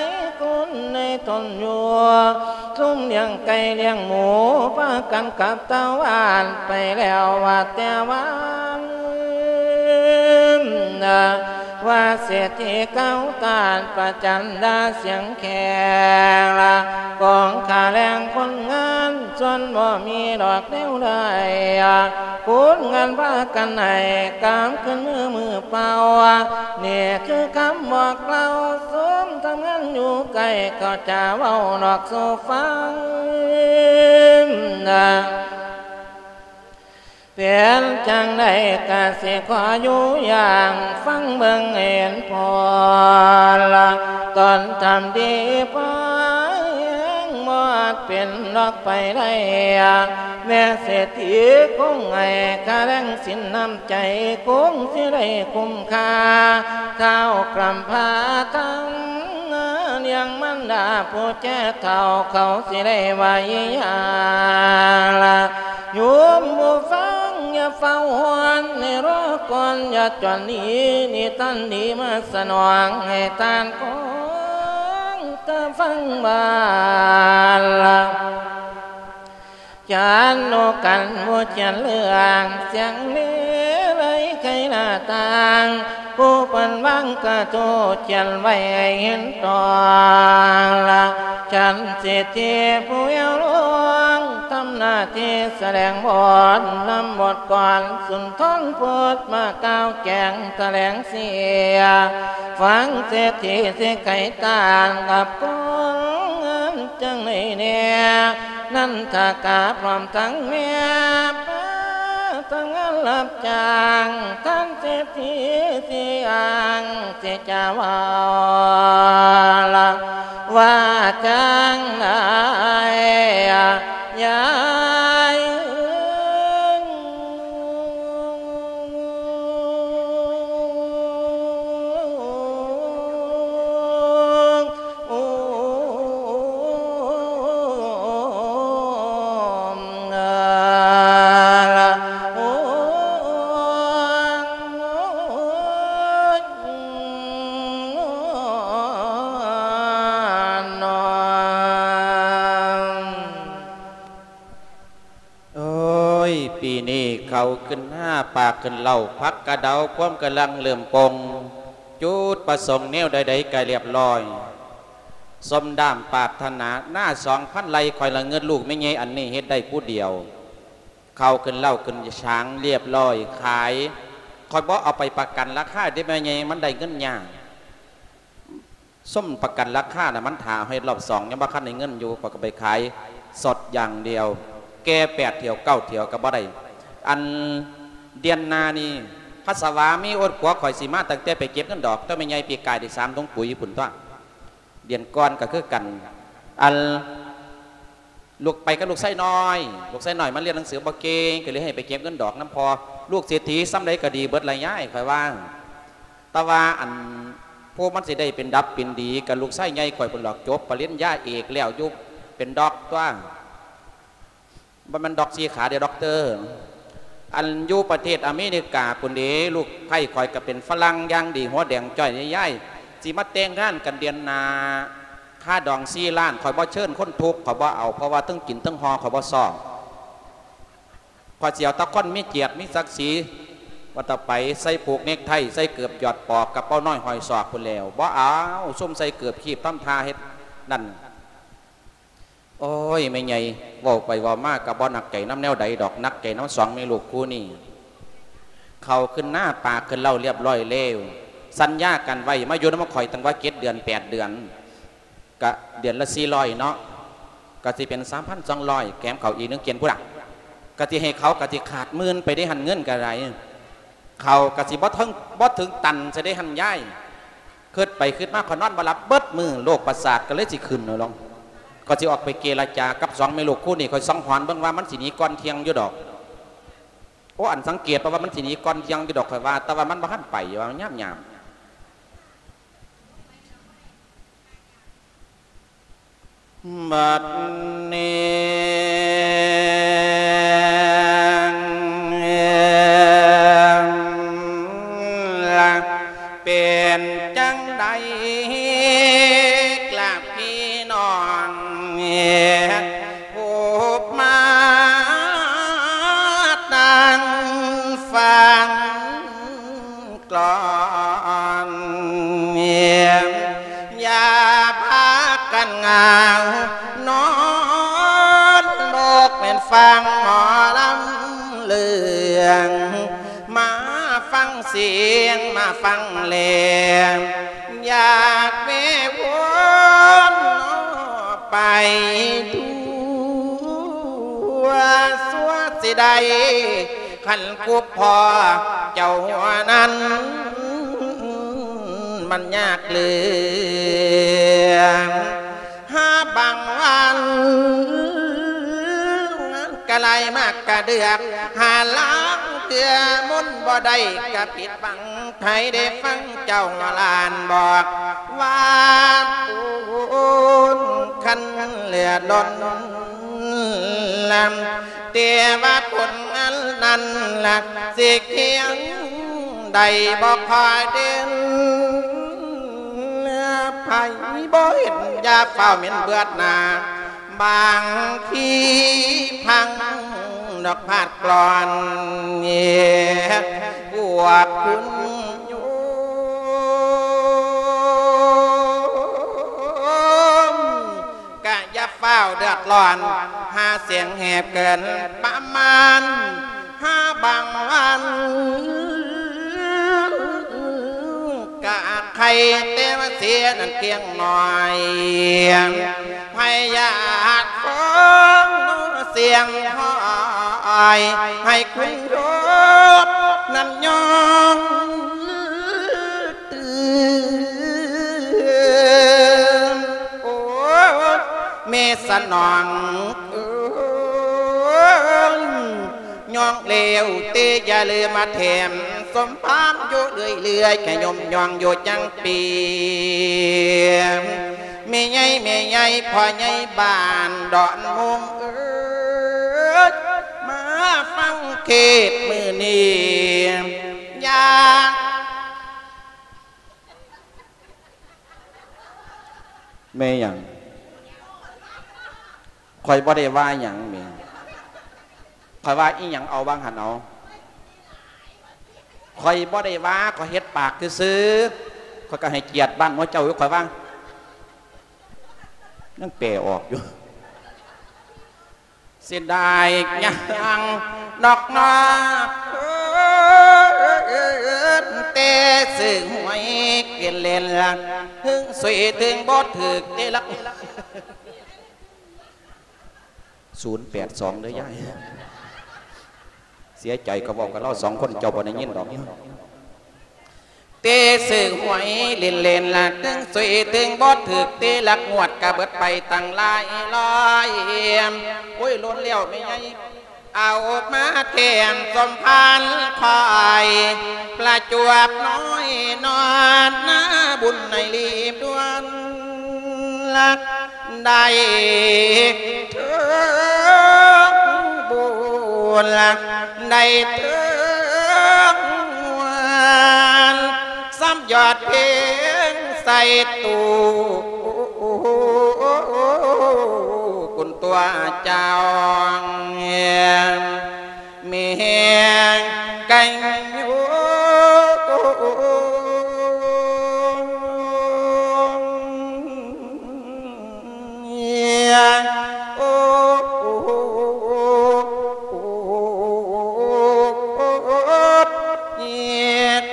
ຍຄົນໃນຕົນຢູ່ ຊຸມລ້ຽງໄກ່ລ້ຽງໝູ ພາກັນກັບຕາວານ ໄປແລ້ວວ່າແຕ່ວານ ວ່າເສດຖີເກົ່າຕ້ານປະຈັນດາສຽງແຂງລະ ກອງຄ່າແລງຄົນງານ ສ່ວນບໍ່ມີດອກແນວໃດ ຄົນງານພາກັນໃຫ້ ກາມຂຶ້ນມືມືເປົ່າ ນີ້ຄືຄຳບອກເລົ່າ ຊຸມທຳງານຢູ່ໃກ້ ເຂົາຈະເວົ້ານອກສູ່ຟັງ ເປັນຈັ່ງໃດກະຊິຂໍຢູ່ຢ່າງ ຟັງເບິ່ງເຫັນຜົນລະ ຕົນທຳດີພໍແຮງ ບໍ່ອາດເປັນດອກໄປໄດ້ ແມ່ເສດຖີຄົງໃຫ້ຄ່າແລງສິນນ້ຳໃຈ ຄົງຊິໄດ້ຄຸ້ມຄ່າ ທ້າວກຳພ້າທັງ ລ້ຽງມານດາຜູ້ແກ່ເຖົ້າ ເຂົາຊິໄດ້ວ່າອີຫຍັງລະ ໂຍມຜູ້ຟັງຢ່າຟ້າວຮ້ອນ ໃຫ້ລໍກ່ອນຢ່າຈວນໜີ ນິທານດີມາສະໜອງ ໃຫ້ທ່ານຄອງຕາຟັງບາດລະ ຈັນໂອກັນບໍ່ຈຽນເລື່ອງ ສຽງເລໄລໄຄລາຕ່າງ ຜູ້ເພິ່ນວາງກະທູຈຽນໄວ້ໃຫ້ເຫັນຕອນລະ ສັນເສດຖີຜູ້ແອວຫຼວງ ທຳໜ້າທີ່ສະແດງບົດ ນຳບົດກອນສຸນທອນພຸດ ມາກ່າວແຈງຖະແຫຼງເສຍ ຟັງເສດຖີຊິໄຂຕ່າງກັບຄົນງານ ຈັ່ງໃດແດ່ ນັນທະກາພ້ອມທັງແມ່ ພາທຳງານຮັບຈ້າງ ທ່ານເສດຖີຊິອ້າງ ຊິຈະເວົ້າລະວ່າຈັ່ງໃດ ຍາຍເອີຍ. ເຂົ້າຂຶ້ນນາ ປາກຂຶ້ນເລົາ ຜັກກະເດົາ ພວມກຳລັງເລີ່ມປົ່ງ ຈຸດປະສົງແນວໃດໆກະລຽບລ້ອຍ ສົມດາມປາດຖະໜາ ນາສອງພັນໄຮ່ ຂ້ອຍລະເງິດລູກແມ່ໃຫຍ່ອັນນີ້ເຮັດໄດ້ຜູ້ດຽວ ເຂົ້າຂຶ້ນເລົາຂຶ້ນສາງລຽບລ້ອຍ ຂາຍ ຂ້ອຍບໍ່ເອົາໄປປະກັນລາຄາເດ້ແມ່ໃຫຍ່ ມັນໄດ້ເງິນຍາກ. ຊຸມປະກັນລາຄານະ ມັນຖ້າເຮັດລອບສອງ ຍັງບໍ່ທັນໄດ້ເງິນຢູ່ ຂ້ອຍກໍໄປຂາຍສົດຢ່າງດຽວ ແກ່ແປດຖ້ຽວເກົ້າຖ້ຽວກໍບໍ່ໄດ້ ອັນເດືອນໜ້ານີ້ ພັດສະວາມີອົດຂົວ ຂ້ອຍຊິມາຕັ້ງແຕ່ໄປເກັບເງິນດອກ ແຕ່ແມ່ໃຫຍ່ປີກາຍໄດ້ສາມຖົງປຸ໋ຍພຸ້ນຕົວະ ເດືອນກ່ອນກໍຄືກັນ ອັນ ລູກໄປກັບລູກຊາຍນ້ອຍ ລູກຊາຍນ້ອຍມັນຮຽນໜັງສືບໍ່ເກັ່ງ ກໍເລີຍໃຫ້ໄປເກັບເງິນດອກນຳພໍ່ ລູກເສດຖີສ່ຳໃດກໍດີເບິດລະຍາຍ ຂ້ອຍວ່າ ແຕ່ວ່າອັນ ຜູ້ມັນຊິໄດ້ເປັນດັບເປັນດີກໍລູກຊາຍໃຫຍ່ຂ້ອຍພຸ້ນດອກ ຈົບປະລິນຍາເອກແລ້ວຢູ່ ເປັນດັອກຕົວະ ບໍ່ແມ່ນດັອກສີ່ຂາເດ້ ດັອກເຕີ ອັນຢູ່ປະເທດອາເມລິກາພຸ້ນເດ້ ລູກໃພ້ຂ້ອຍກໍເປັນຝຣັ່ງຢ່າງດີ ຫົວແດງຈ້ອຍຍາຍ ຊິມາແຕ່ງງານກັນເດືອນໜ້າ ຄ່າດອງສີ່ລ້ານ ຂ້ອຍບໍ່ເຊີນຄົນທຸກ ຂ້ອຍບໍ່ເອົາ ເພາະວ່າເທິງກິນເທິງຫໍ່ ຂ້ອຍບໍ່ຊອບ ຂ້ອຍຊິເອົາແຕ່ຄົນມີກຽດມີສັກສີ ວ່າແຕ່ໄປ ໃສ່ຜູກເນັກໄທ ໃສ່ເກີບຢອດປອກ ກະເປົານ້ອຍຫ້ອຍສອກພຸ້ນແຫຼ້ວ ບໍ່ເອົາ ຊຸມໃສ່ເກີບຄີບທຳທ່າເຮັດນັ້ນ ໂອ້ຍ ແມ່ໃຫຍ່ ເວົ້າໄປເວົ້າມາກໍບໍ່ໜັກໃຈນຳແນວໃດດອກ ໜັກໃຈນຳສອງແມ່ລູກຄູ່ນີ້ ເຂົ້າຂຶ້ນນາ ປາຂຶ້ນເລົາລຽບລ້ອຍແລ້ວ ສັນຍາກັນໄວ້ ມາຢູ່ນຳຂ້ອຍຕັ້ງວ່າເຈັດເດືອນແປດເດືອນ ກະເດືອນລະສີ່ຮ້ອຍເນາະ ກະຊິເປັນສາມພັນສອງຮ້ອຍ ແຖມເຂົ້າອີກໜຶ່ງກຽນພຸ້ນລະ ກະຊິໃຫ້ເຂົາ ກະຊິຂາດໝື່ນໄປເດ້ຫັ້ນ ເງິນກະໄດ້ ເຂົ້າກະຊິບໍ່ເຖິງ ບໍ່ເຖິງຕັນຊະເດ້ຫັ້ນຍາຍ ຄິດໄປຄິດມາຂ້ອຍນອນບໍ່ຫຼັບເບິດມື້ ໂລກປະສາດກໍເລີຍຊິຂຶ້ນເອົາລອງ ຂ້ອຍຊິອອກໄປເຈລະຈາກັບສອງແມ່ລູກຄູ່ນີ້ ຂ້ອຍສັງຫອນເບິ່ງວ່າມັນຊິໜີກ່ອນທ່ຽງຢູ່ດອກ ໂອ້ ອັນສັງເກດເພາະວ່າມັນຊິໜີກ່ອນທ່ຽງຢູ່ດອກ ຂ້ອຍວ່າ ແຕ່ວ່າມັນບໍ່ທັນໄປ ວ່າຍາມໆ ບັດນີ້ລະເປັນຈັ່ງໃດລະພີ່ນ້ອງ ຜູ້ມານັ່ງຟັງ ກ່ອນ ຢ່າພາກັນຫງາວ ນອນໂບກແມ່ນຟັງໝໍລຳເລື່ອງ ມາຟັງສຽງ ມາຟັງແລງ ຢາກເວວອນໄປທົ່ວ ຊົ່ວຊິໄດ້ ຄັນກຸບພໍ້ເຈົ້າຫົວນັ້ນ ມັນຍາກເຫຼືອ ຫາບາງວັນ ກະໄລ່ມາກະເດືອກ ຫາລາງເທື່ອມົນບໍ່ໄດ້ ກະຜິດຫວັງໃຜໄດ້ຟັງເຈົ້າຫຼານບອກວ່າ ໂອນຄັນເລືອດລົ້ນ ແຕ່ວ່າຜົນອັນນັ້ນລະ ຊິຄຽງໄດ້ບໍ່ຄ່ອຍເດັ່ນ ໃຜບໍ່ເຫັນຢ່າຟ້າວເໝັນເບືອດໜ້າ ບາງທີພັງດອກພາດກລອນ ພວກຄຸນໂຍມ ກະຢ່າຟ້າວເດືອດຮ້ອນ ຫາສຽງແຫບເກີນປະມານ ຫາບາງວັນ ກະໄຄແຕ່ວ່າເສຍນັ້ນພຽງໜ້ອຍ ພະຍາດຟ້ອງສຽງຫ້ອຍ ໃຫ້ຄຸນໂຍມນັ້ນຍອມ ໂອ້ ແມ່ສະໜອງເອີຍ ຍ້ອງແລ້ວເຕຢ່າລືມມາແຖມ ສົມພານຢູ່ເລື້ອຍໆ ຂະຍົມຍ້ອງຢູ່ຈັງປີ ແມ່ໃຫຍ່ ແມ່ໃຫຍ່ ພໍ່ໃຫຍ່ບ້ານດອນມຸງເອີຍ ມາຟັງເທດມື້ນີ້ ຢ່າ ແມ່ຫຍັງ? ຂ້ອຍບໍ່ໄດ້ວ່າຫຍັງແໝ່. ຂ້ອຍວ່າອີ່ຫຍັງເອົາວ່າງຫັ້ນເອົາ. ຂ້ອຍບໍ່ໄດ້ວ່າ ຂ້ອຍເຮັດປາກຊື່ໆ ຂ້ອຍກໍໃຫ້ກຽດບ້ານໝູ່ເຈົ້າຢູ່ ຂ້ອຍວ່າ ຍັງແປອອກຢູ່. ເສຍດາຍຫຍັງນອກນອກ ແຕ່ຊື້ຫວຍກິນເຫຼັ້ນລະ ເຖິງສຸຍເຖິງບໍ່ຖືກເຕລະ ສູນແປດສອງ ເດີຍາຍ. ເສຍໃຈ ເຂົາເວົ້າກັບລາວສອງຄົນ ເຈົ້າບໍ່ໄດ້ຍິນດອກ. ເຕະຊື້ຫວຍຫຼິ້ນໆ ລະ ເຖິງສຸຍເຖິງບໍ່ຖືກ ເຕະລັກງວດກະເບິດໄປຕັ້ງຫຼາຍຮ້ອຍ. ໂອ້ຍ ລົ້ນແລ້ວແມ່ໃຫຍ່ ເອົາມາແຖມສົມພານຂ້ອຍ ປະຈວບນ້ອຍນອນນາບຸນໃຫ້ລີບດ່ວນ ໄດ້ເຖິງບຸນ ໄດ້ເຖິງງວນ ຊ້ຳຍອດເພັງໃສ່ຕູ້ ຄຸນຕົວເຈົ້າ ແມ່ນກັນຢູ່ ໂອ້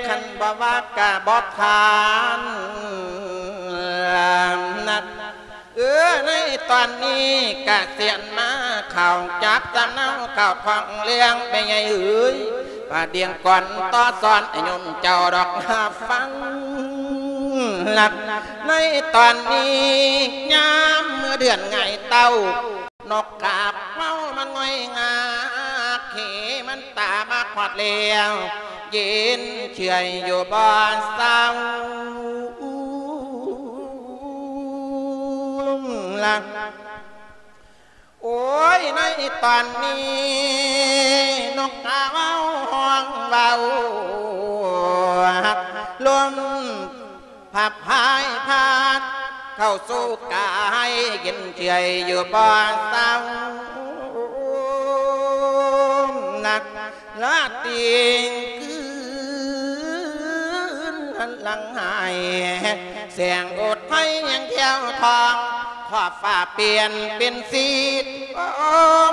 ຄັນບໍ່ວ່າກະບໍ່ທັນນະ. ເອີ ໃນຕອນນີ້ກະສຽນມາຂ່າວຈັກສຳເນົາ ຂ່າວຂອງເລື່ອງແມ່ໃຫຍ່ເອີຍ ວ່າດຽງກ່ອນຕໍ່ສອນໃຫ້ໂຍມເຈົ້າດອກຮັບຟັງ. ໃນຕອນນີ້ຍາມເມື່ອເດືອນຫງາຍເຕົ້າ ນົກກາບເມົາມັນງ່ອຍງາກ ເຂມັນຕາມາຮອດແລ້ວ ເຢັນເຊື່ອຍຢູ່ບໍ່ເຊົາລະ. ໂອ້ຍ ໃນຕອນນີ້ນົກກາເວົ້າຮ້ອງເວົ້າ ລົມ ພັບພາຍພັດເຂົ້າສູ່ກາຍ ເຢັນເຈື່ອຍຢູ່ບໍ່ເຊົາ ນັກລາຕີງຄືນຫັນຫຼັງໃຫ້ ແສງອົດໄພຍັງແຖວທອງ ຂອບຟ້າປ່ຽນເປັນສີທອງ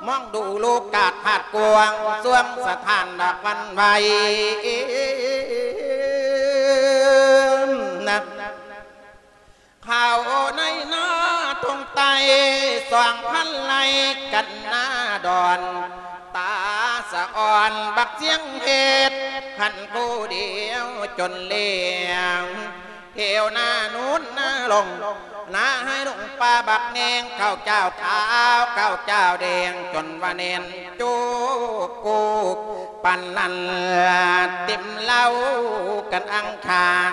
ມອງດູໂລກາທາດກວ້າງ ສວງສະຖານດອກວັນໄຫວ ນະ ເຂົ້າໃນນາທົ່ງໃຕ້ ສອງພັນໄຮ່ກັນນາດອນ ຕາສະອອນບັກສຽງເຮັດ ຫັນຜູ້ດຽວຈົນແລ້ວ ແຖວນານູນນາລົງ ນາໄຮ່ລົງປ່າບັກແນງ ເຂົ້າຈ້າວຂາວ ເຂົ້າຈ້າວແດງ ຈົນວ່າແໜ້ນໂຈກໂກກ ປານນັ້ນເຕັມເລົ້າກັນອັງຄາງ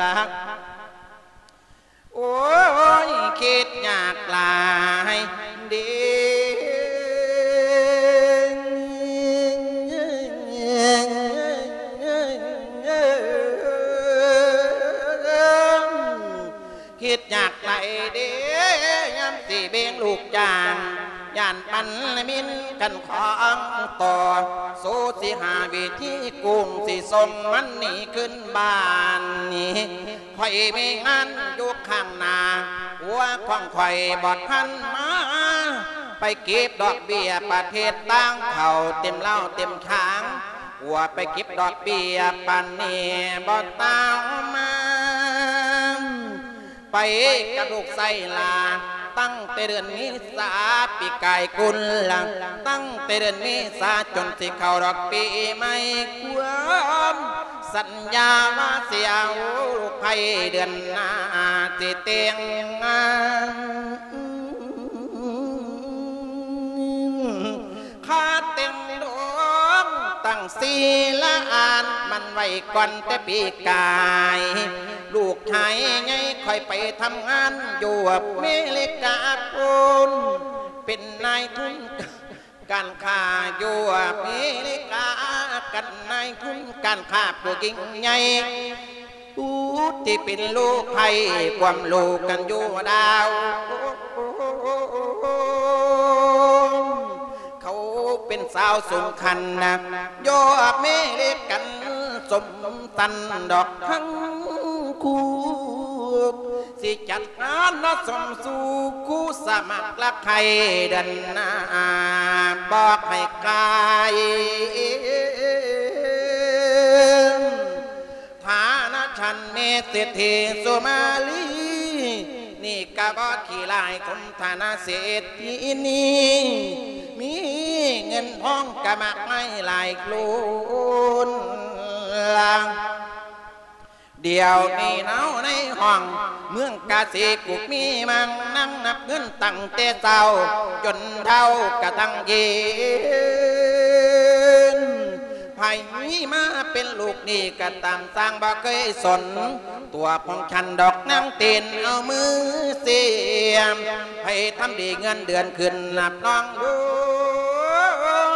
ລະ ໂອ້ຍ ຄິດຍາກຫຼາຍເດ້ ຄິດຍາກຫຼາຍເດ້ ຍາມຊິເບັງລູກຈ້າງ ຢ້ານມັນມິນກັນຂອງຕໍ່ ສູ້ຊິຫາວິທີກຸງ ຊິສົ່ງມັນໜີຂຶ້ນບ້ານນີ້ ຂ້ອຍມີງານຢູ່ຂ້າງໜ້າ ຜົວຂອງຂ້ອຍບໍ່ທັນມາ ໄປເກັບດອກເບ້ຍປະເທດຕ່າງເຂົ້າ ເຕັມເລົ້າເຕັມຄາງ ຜົວໄປເກັບດອກເບ້ຍປານນີ້ບໍ່ຕາມມາ ໄປກັບລູກໄສ້ຫຼານ ຕັ້ງແຕ່ເດືອນເມສາປີກາຍກຸນລະ ຕັ້ງແຕ່ເດືອນເມສາຈົນຊິເຂົ້າດອກປີໃໝ່ ຄວາມສັນຍາວ່າຊິເອົາລູກໃຜເດືອນໜ້າຊິແຕ່ງງານ ຄາແຕ່ງດອງຕັ້ງສີລະອານ ມັນໄວ້ກ່ອນແຕ່ປີກາຍ ລູກຊາຍໃຫຍ່ຂ້ອຍໄປທຳງານຢູ່ອາເມລິກາພຸ້ນ ເປັນນາຍທຶນການຄ້າຢູ່ອາເມລິກາ ກັນນາຍທຶນການຄ້າຜູ້ຍິ່ງໃຫຍ່ ຜູ້ທີ່ເປັນລູກໃຜ ຄວາມລູກກັນຢູ່ດາວ ເຂົາ ນສາວສົງຄັນນະ ຢອກເມເລກັນສົມສັນດອກທັງຄູ່ ຊິຈັດງານນະສົມສູ່ຄູ່ສະໝັກລະໄຄເດືອນໜ້າ ບອກໃຫ້ກາຍ ຖານະຊັ້ນແມ່ເສດຖີສຸມາລີ ນີ້ກະບໍ່ຂີ້ຮ້າຍສົມຖານະເສດຖີນີ້ ມີເງິນທອງກະມາກມາຍຫຼາຍໂລນລະ ດຽວນີ້ເນາະໃນຫ້ອງເມືອງກາສີກຸກມີມັງນັ່ງນັບເງິນຕັ້ງແຕ່ເຊົ້າຈົນເຖົ້າກະທັງເຢັນ ໃຜມາເປັນລູກໜີ້ກະຕາມ ຊ່າງບໍ່ເຄີຍສົນ ຕົວຂອງຊັ້ນດອກນາງເຕັ້ນເອົາມືສຽມ ໃຜທຳດີເງິນເດືອນຂຶ້ນນັບນ້ອງເອີ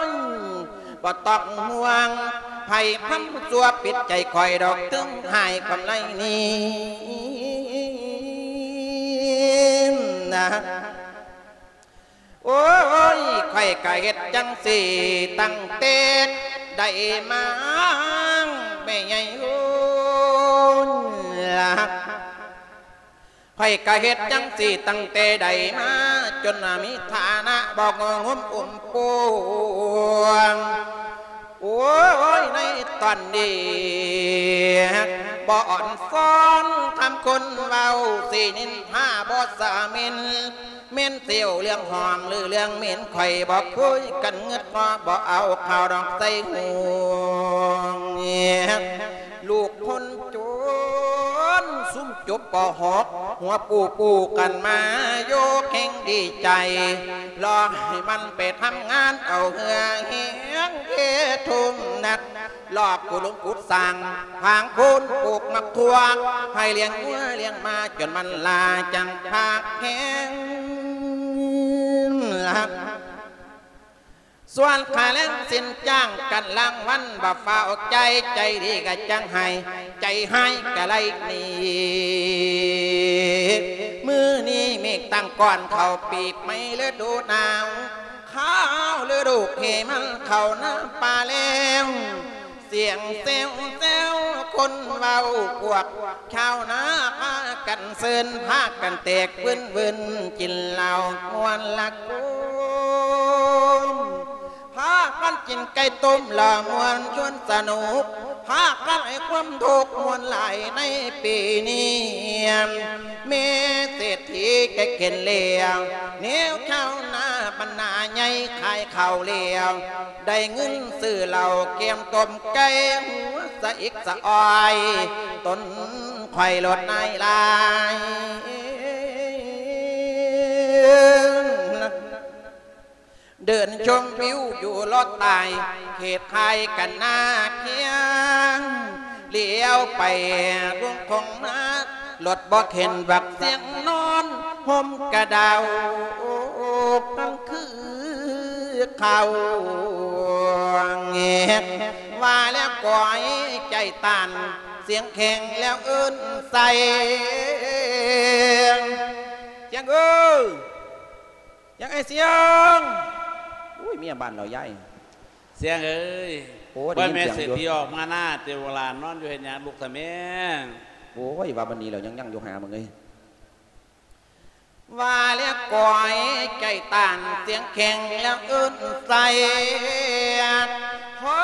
ຍ ບໍ່ຕ້ອງຫ່ວງ ໃຜທຳຊົ່ວປິດໃຈຂ້ອຍດອກ ເຖິງຮ້າຍຄວາມໄລນີ້ນະ. ໂອ້ຍ ຂ້ອຍກະເຮັດຈັ່ງຊີ້ຕັ້ງແຕ່ໄດ້ມາ ແມ່ໃຫຍ່ເອີຍ ຂ້ອຍກະເຮັດຈັ່ງຊີ້ຕັ້ງແຕ່ໄດ້ມາ ຈົນວ່າມີຖານະບໍ່ງົມອຸ້ມປົວງ ໂອ້ຍ ໃນຕອນນີ້ ບໍ່ອ່ອນຊອນຄຳຄົນເວົ້າ ຊິນິນທາບໍ່ສາມິນ ແມ່ນຊິເວົ້າເລື່ອງຫອມ ຫຼື ເລື່ອງເໝັນ ຂ້ອຍບໍ່ຄຸຍກັນ ງຶດບໍ່ ບໍ່ເອົາເຂົ້າດອກໃສ່ຫວງ ລູກຄົນຈົນ ຊຸມຈົບ ປໍຫົກ ຫົວປູປູກັນມາ ໂຍກແຮງດີໃຈ ລໍໃຫ້ມັນໄປທຳງານເອົາເຫື່ອແຮງເທທຸ່ມໜັກ ລອບຂຸດຫຼຸມຂຸດສ້າງ ຖາງໂຄນປູກໝາກຖົ່ວ ໃຫ້ລ້ຽງງົວລ້ຽງໝາ ຈົນມັນຫຼ້າຈັ່ງພາກແຮງ ສ່ວນຄ່າແຮງສິນຈ້າງກັນລາງວັນ ບໍ່ຟ້າວຈ່າຍ ໃຈດີກະຈັ່ງໃຫ້ ໃຈຮ້າຍກະໄລ່ໜີ ມື້ນີ້ເມກຕັ້ງກ້ອນ ເຂົ້າປີໃໝ່ລະດູໜາວ ຄາວລະດູເຄມັນເຂົ້ານາປ່າແລ້ວ ສຽງແຊວແຊວຄົນເວົ້າ ພວກຊາວນາພາກັນເຊີນ ພາກັນແຕກວືນໆ ກິນເຫຼົ້າມ່ວນລະໂກມ ພາກັນກິນໄກ່ຕົ້ມ ລະມ່ວນຊວນສະໜຸກ ພາກັນໃຫ້ຄວາມທຸກມ່ວນຫຼາຍໃນປີນີ້ ແມ່ເສດຖີແກເຫັນແລ້ວ ແນວຊາວນາບັນດາໃຫຍ່ຂາຍເຂົ້າແລ້ວ ໄດ້ເງິນຊື້ເຫຼົ້າແກ້ມຕົ້ມໄກ່ ຫົວສະອິກສະອອຍ ຕົນຂ້ອຍໂລດນາຍຫຼາຍ ເດີນຊົມວິວຢູ່ລອດໃຕ້ ເຂດຄ້າຍກັນນາຄຽງ ຫຼຽວໄປວງຄົງມາ ລົດບໍ່ເຫັນ ບັກສຽງນອນ ຫົ່ມກະດາວ ມັນຄືເຂົາ ວ່າແລ້ວກອຍໃຈຕ້ານ ສຽງແຂງແລ້ວເອີ້ນໃສ່ ສຽງເອີຍ ສຽງ ອ້າຍສຽງ ໂອ້ຍ ເມຍບ້ານເຮົາຍາຍ ສຽງເອີຍ ໂອ້ ໄດ້ຍິນສຽງຢູ່ ແມ່ເສດຖີອອກມານາ ເຕໂວລານອນຢູ່ເຮັດຫຍັງ ລຸກຊະແມ່. ໂອ້ຍ ວ່າບັດນີ້ແລ້ວຍັງ ຍັງຢູ່ຫາມຶງເອີຍ ວ່າແລ້ວກອຍໃຈຕ້ານ ສຽງແຂງແລ້ວເອີ້ນໃສ່ ພໍ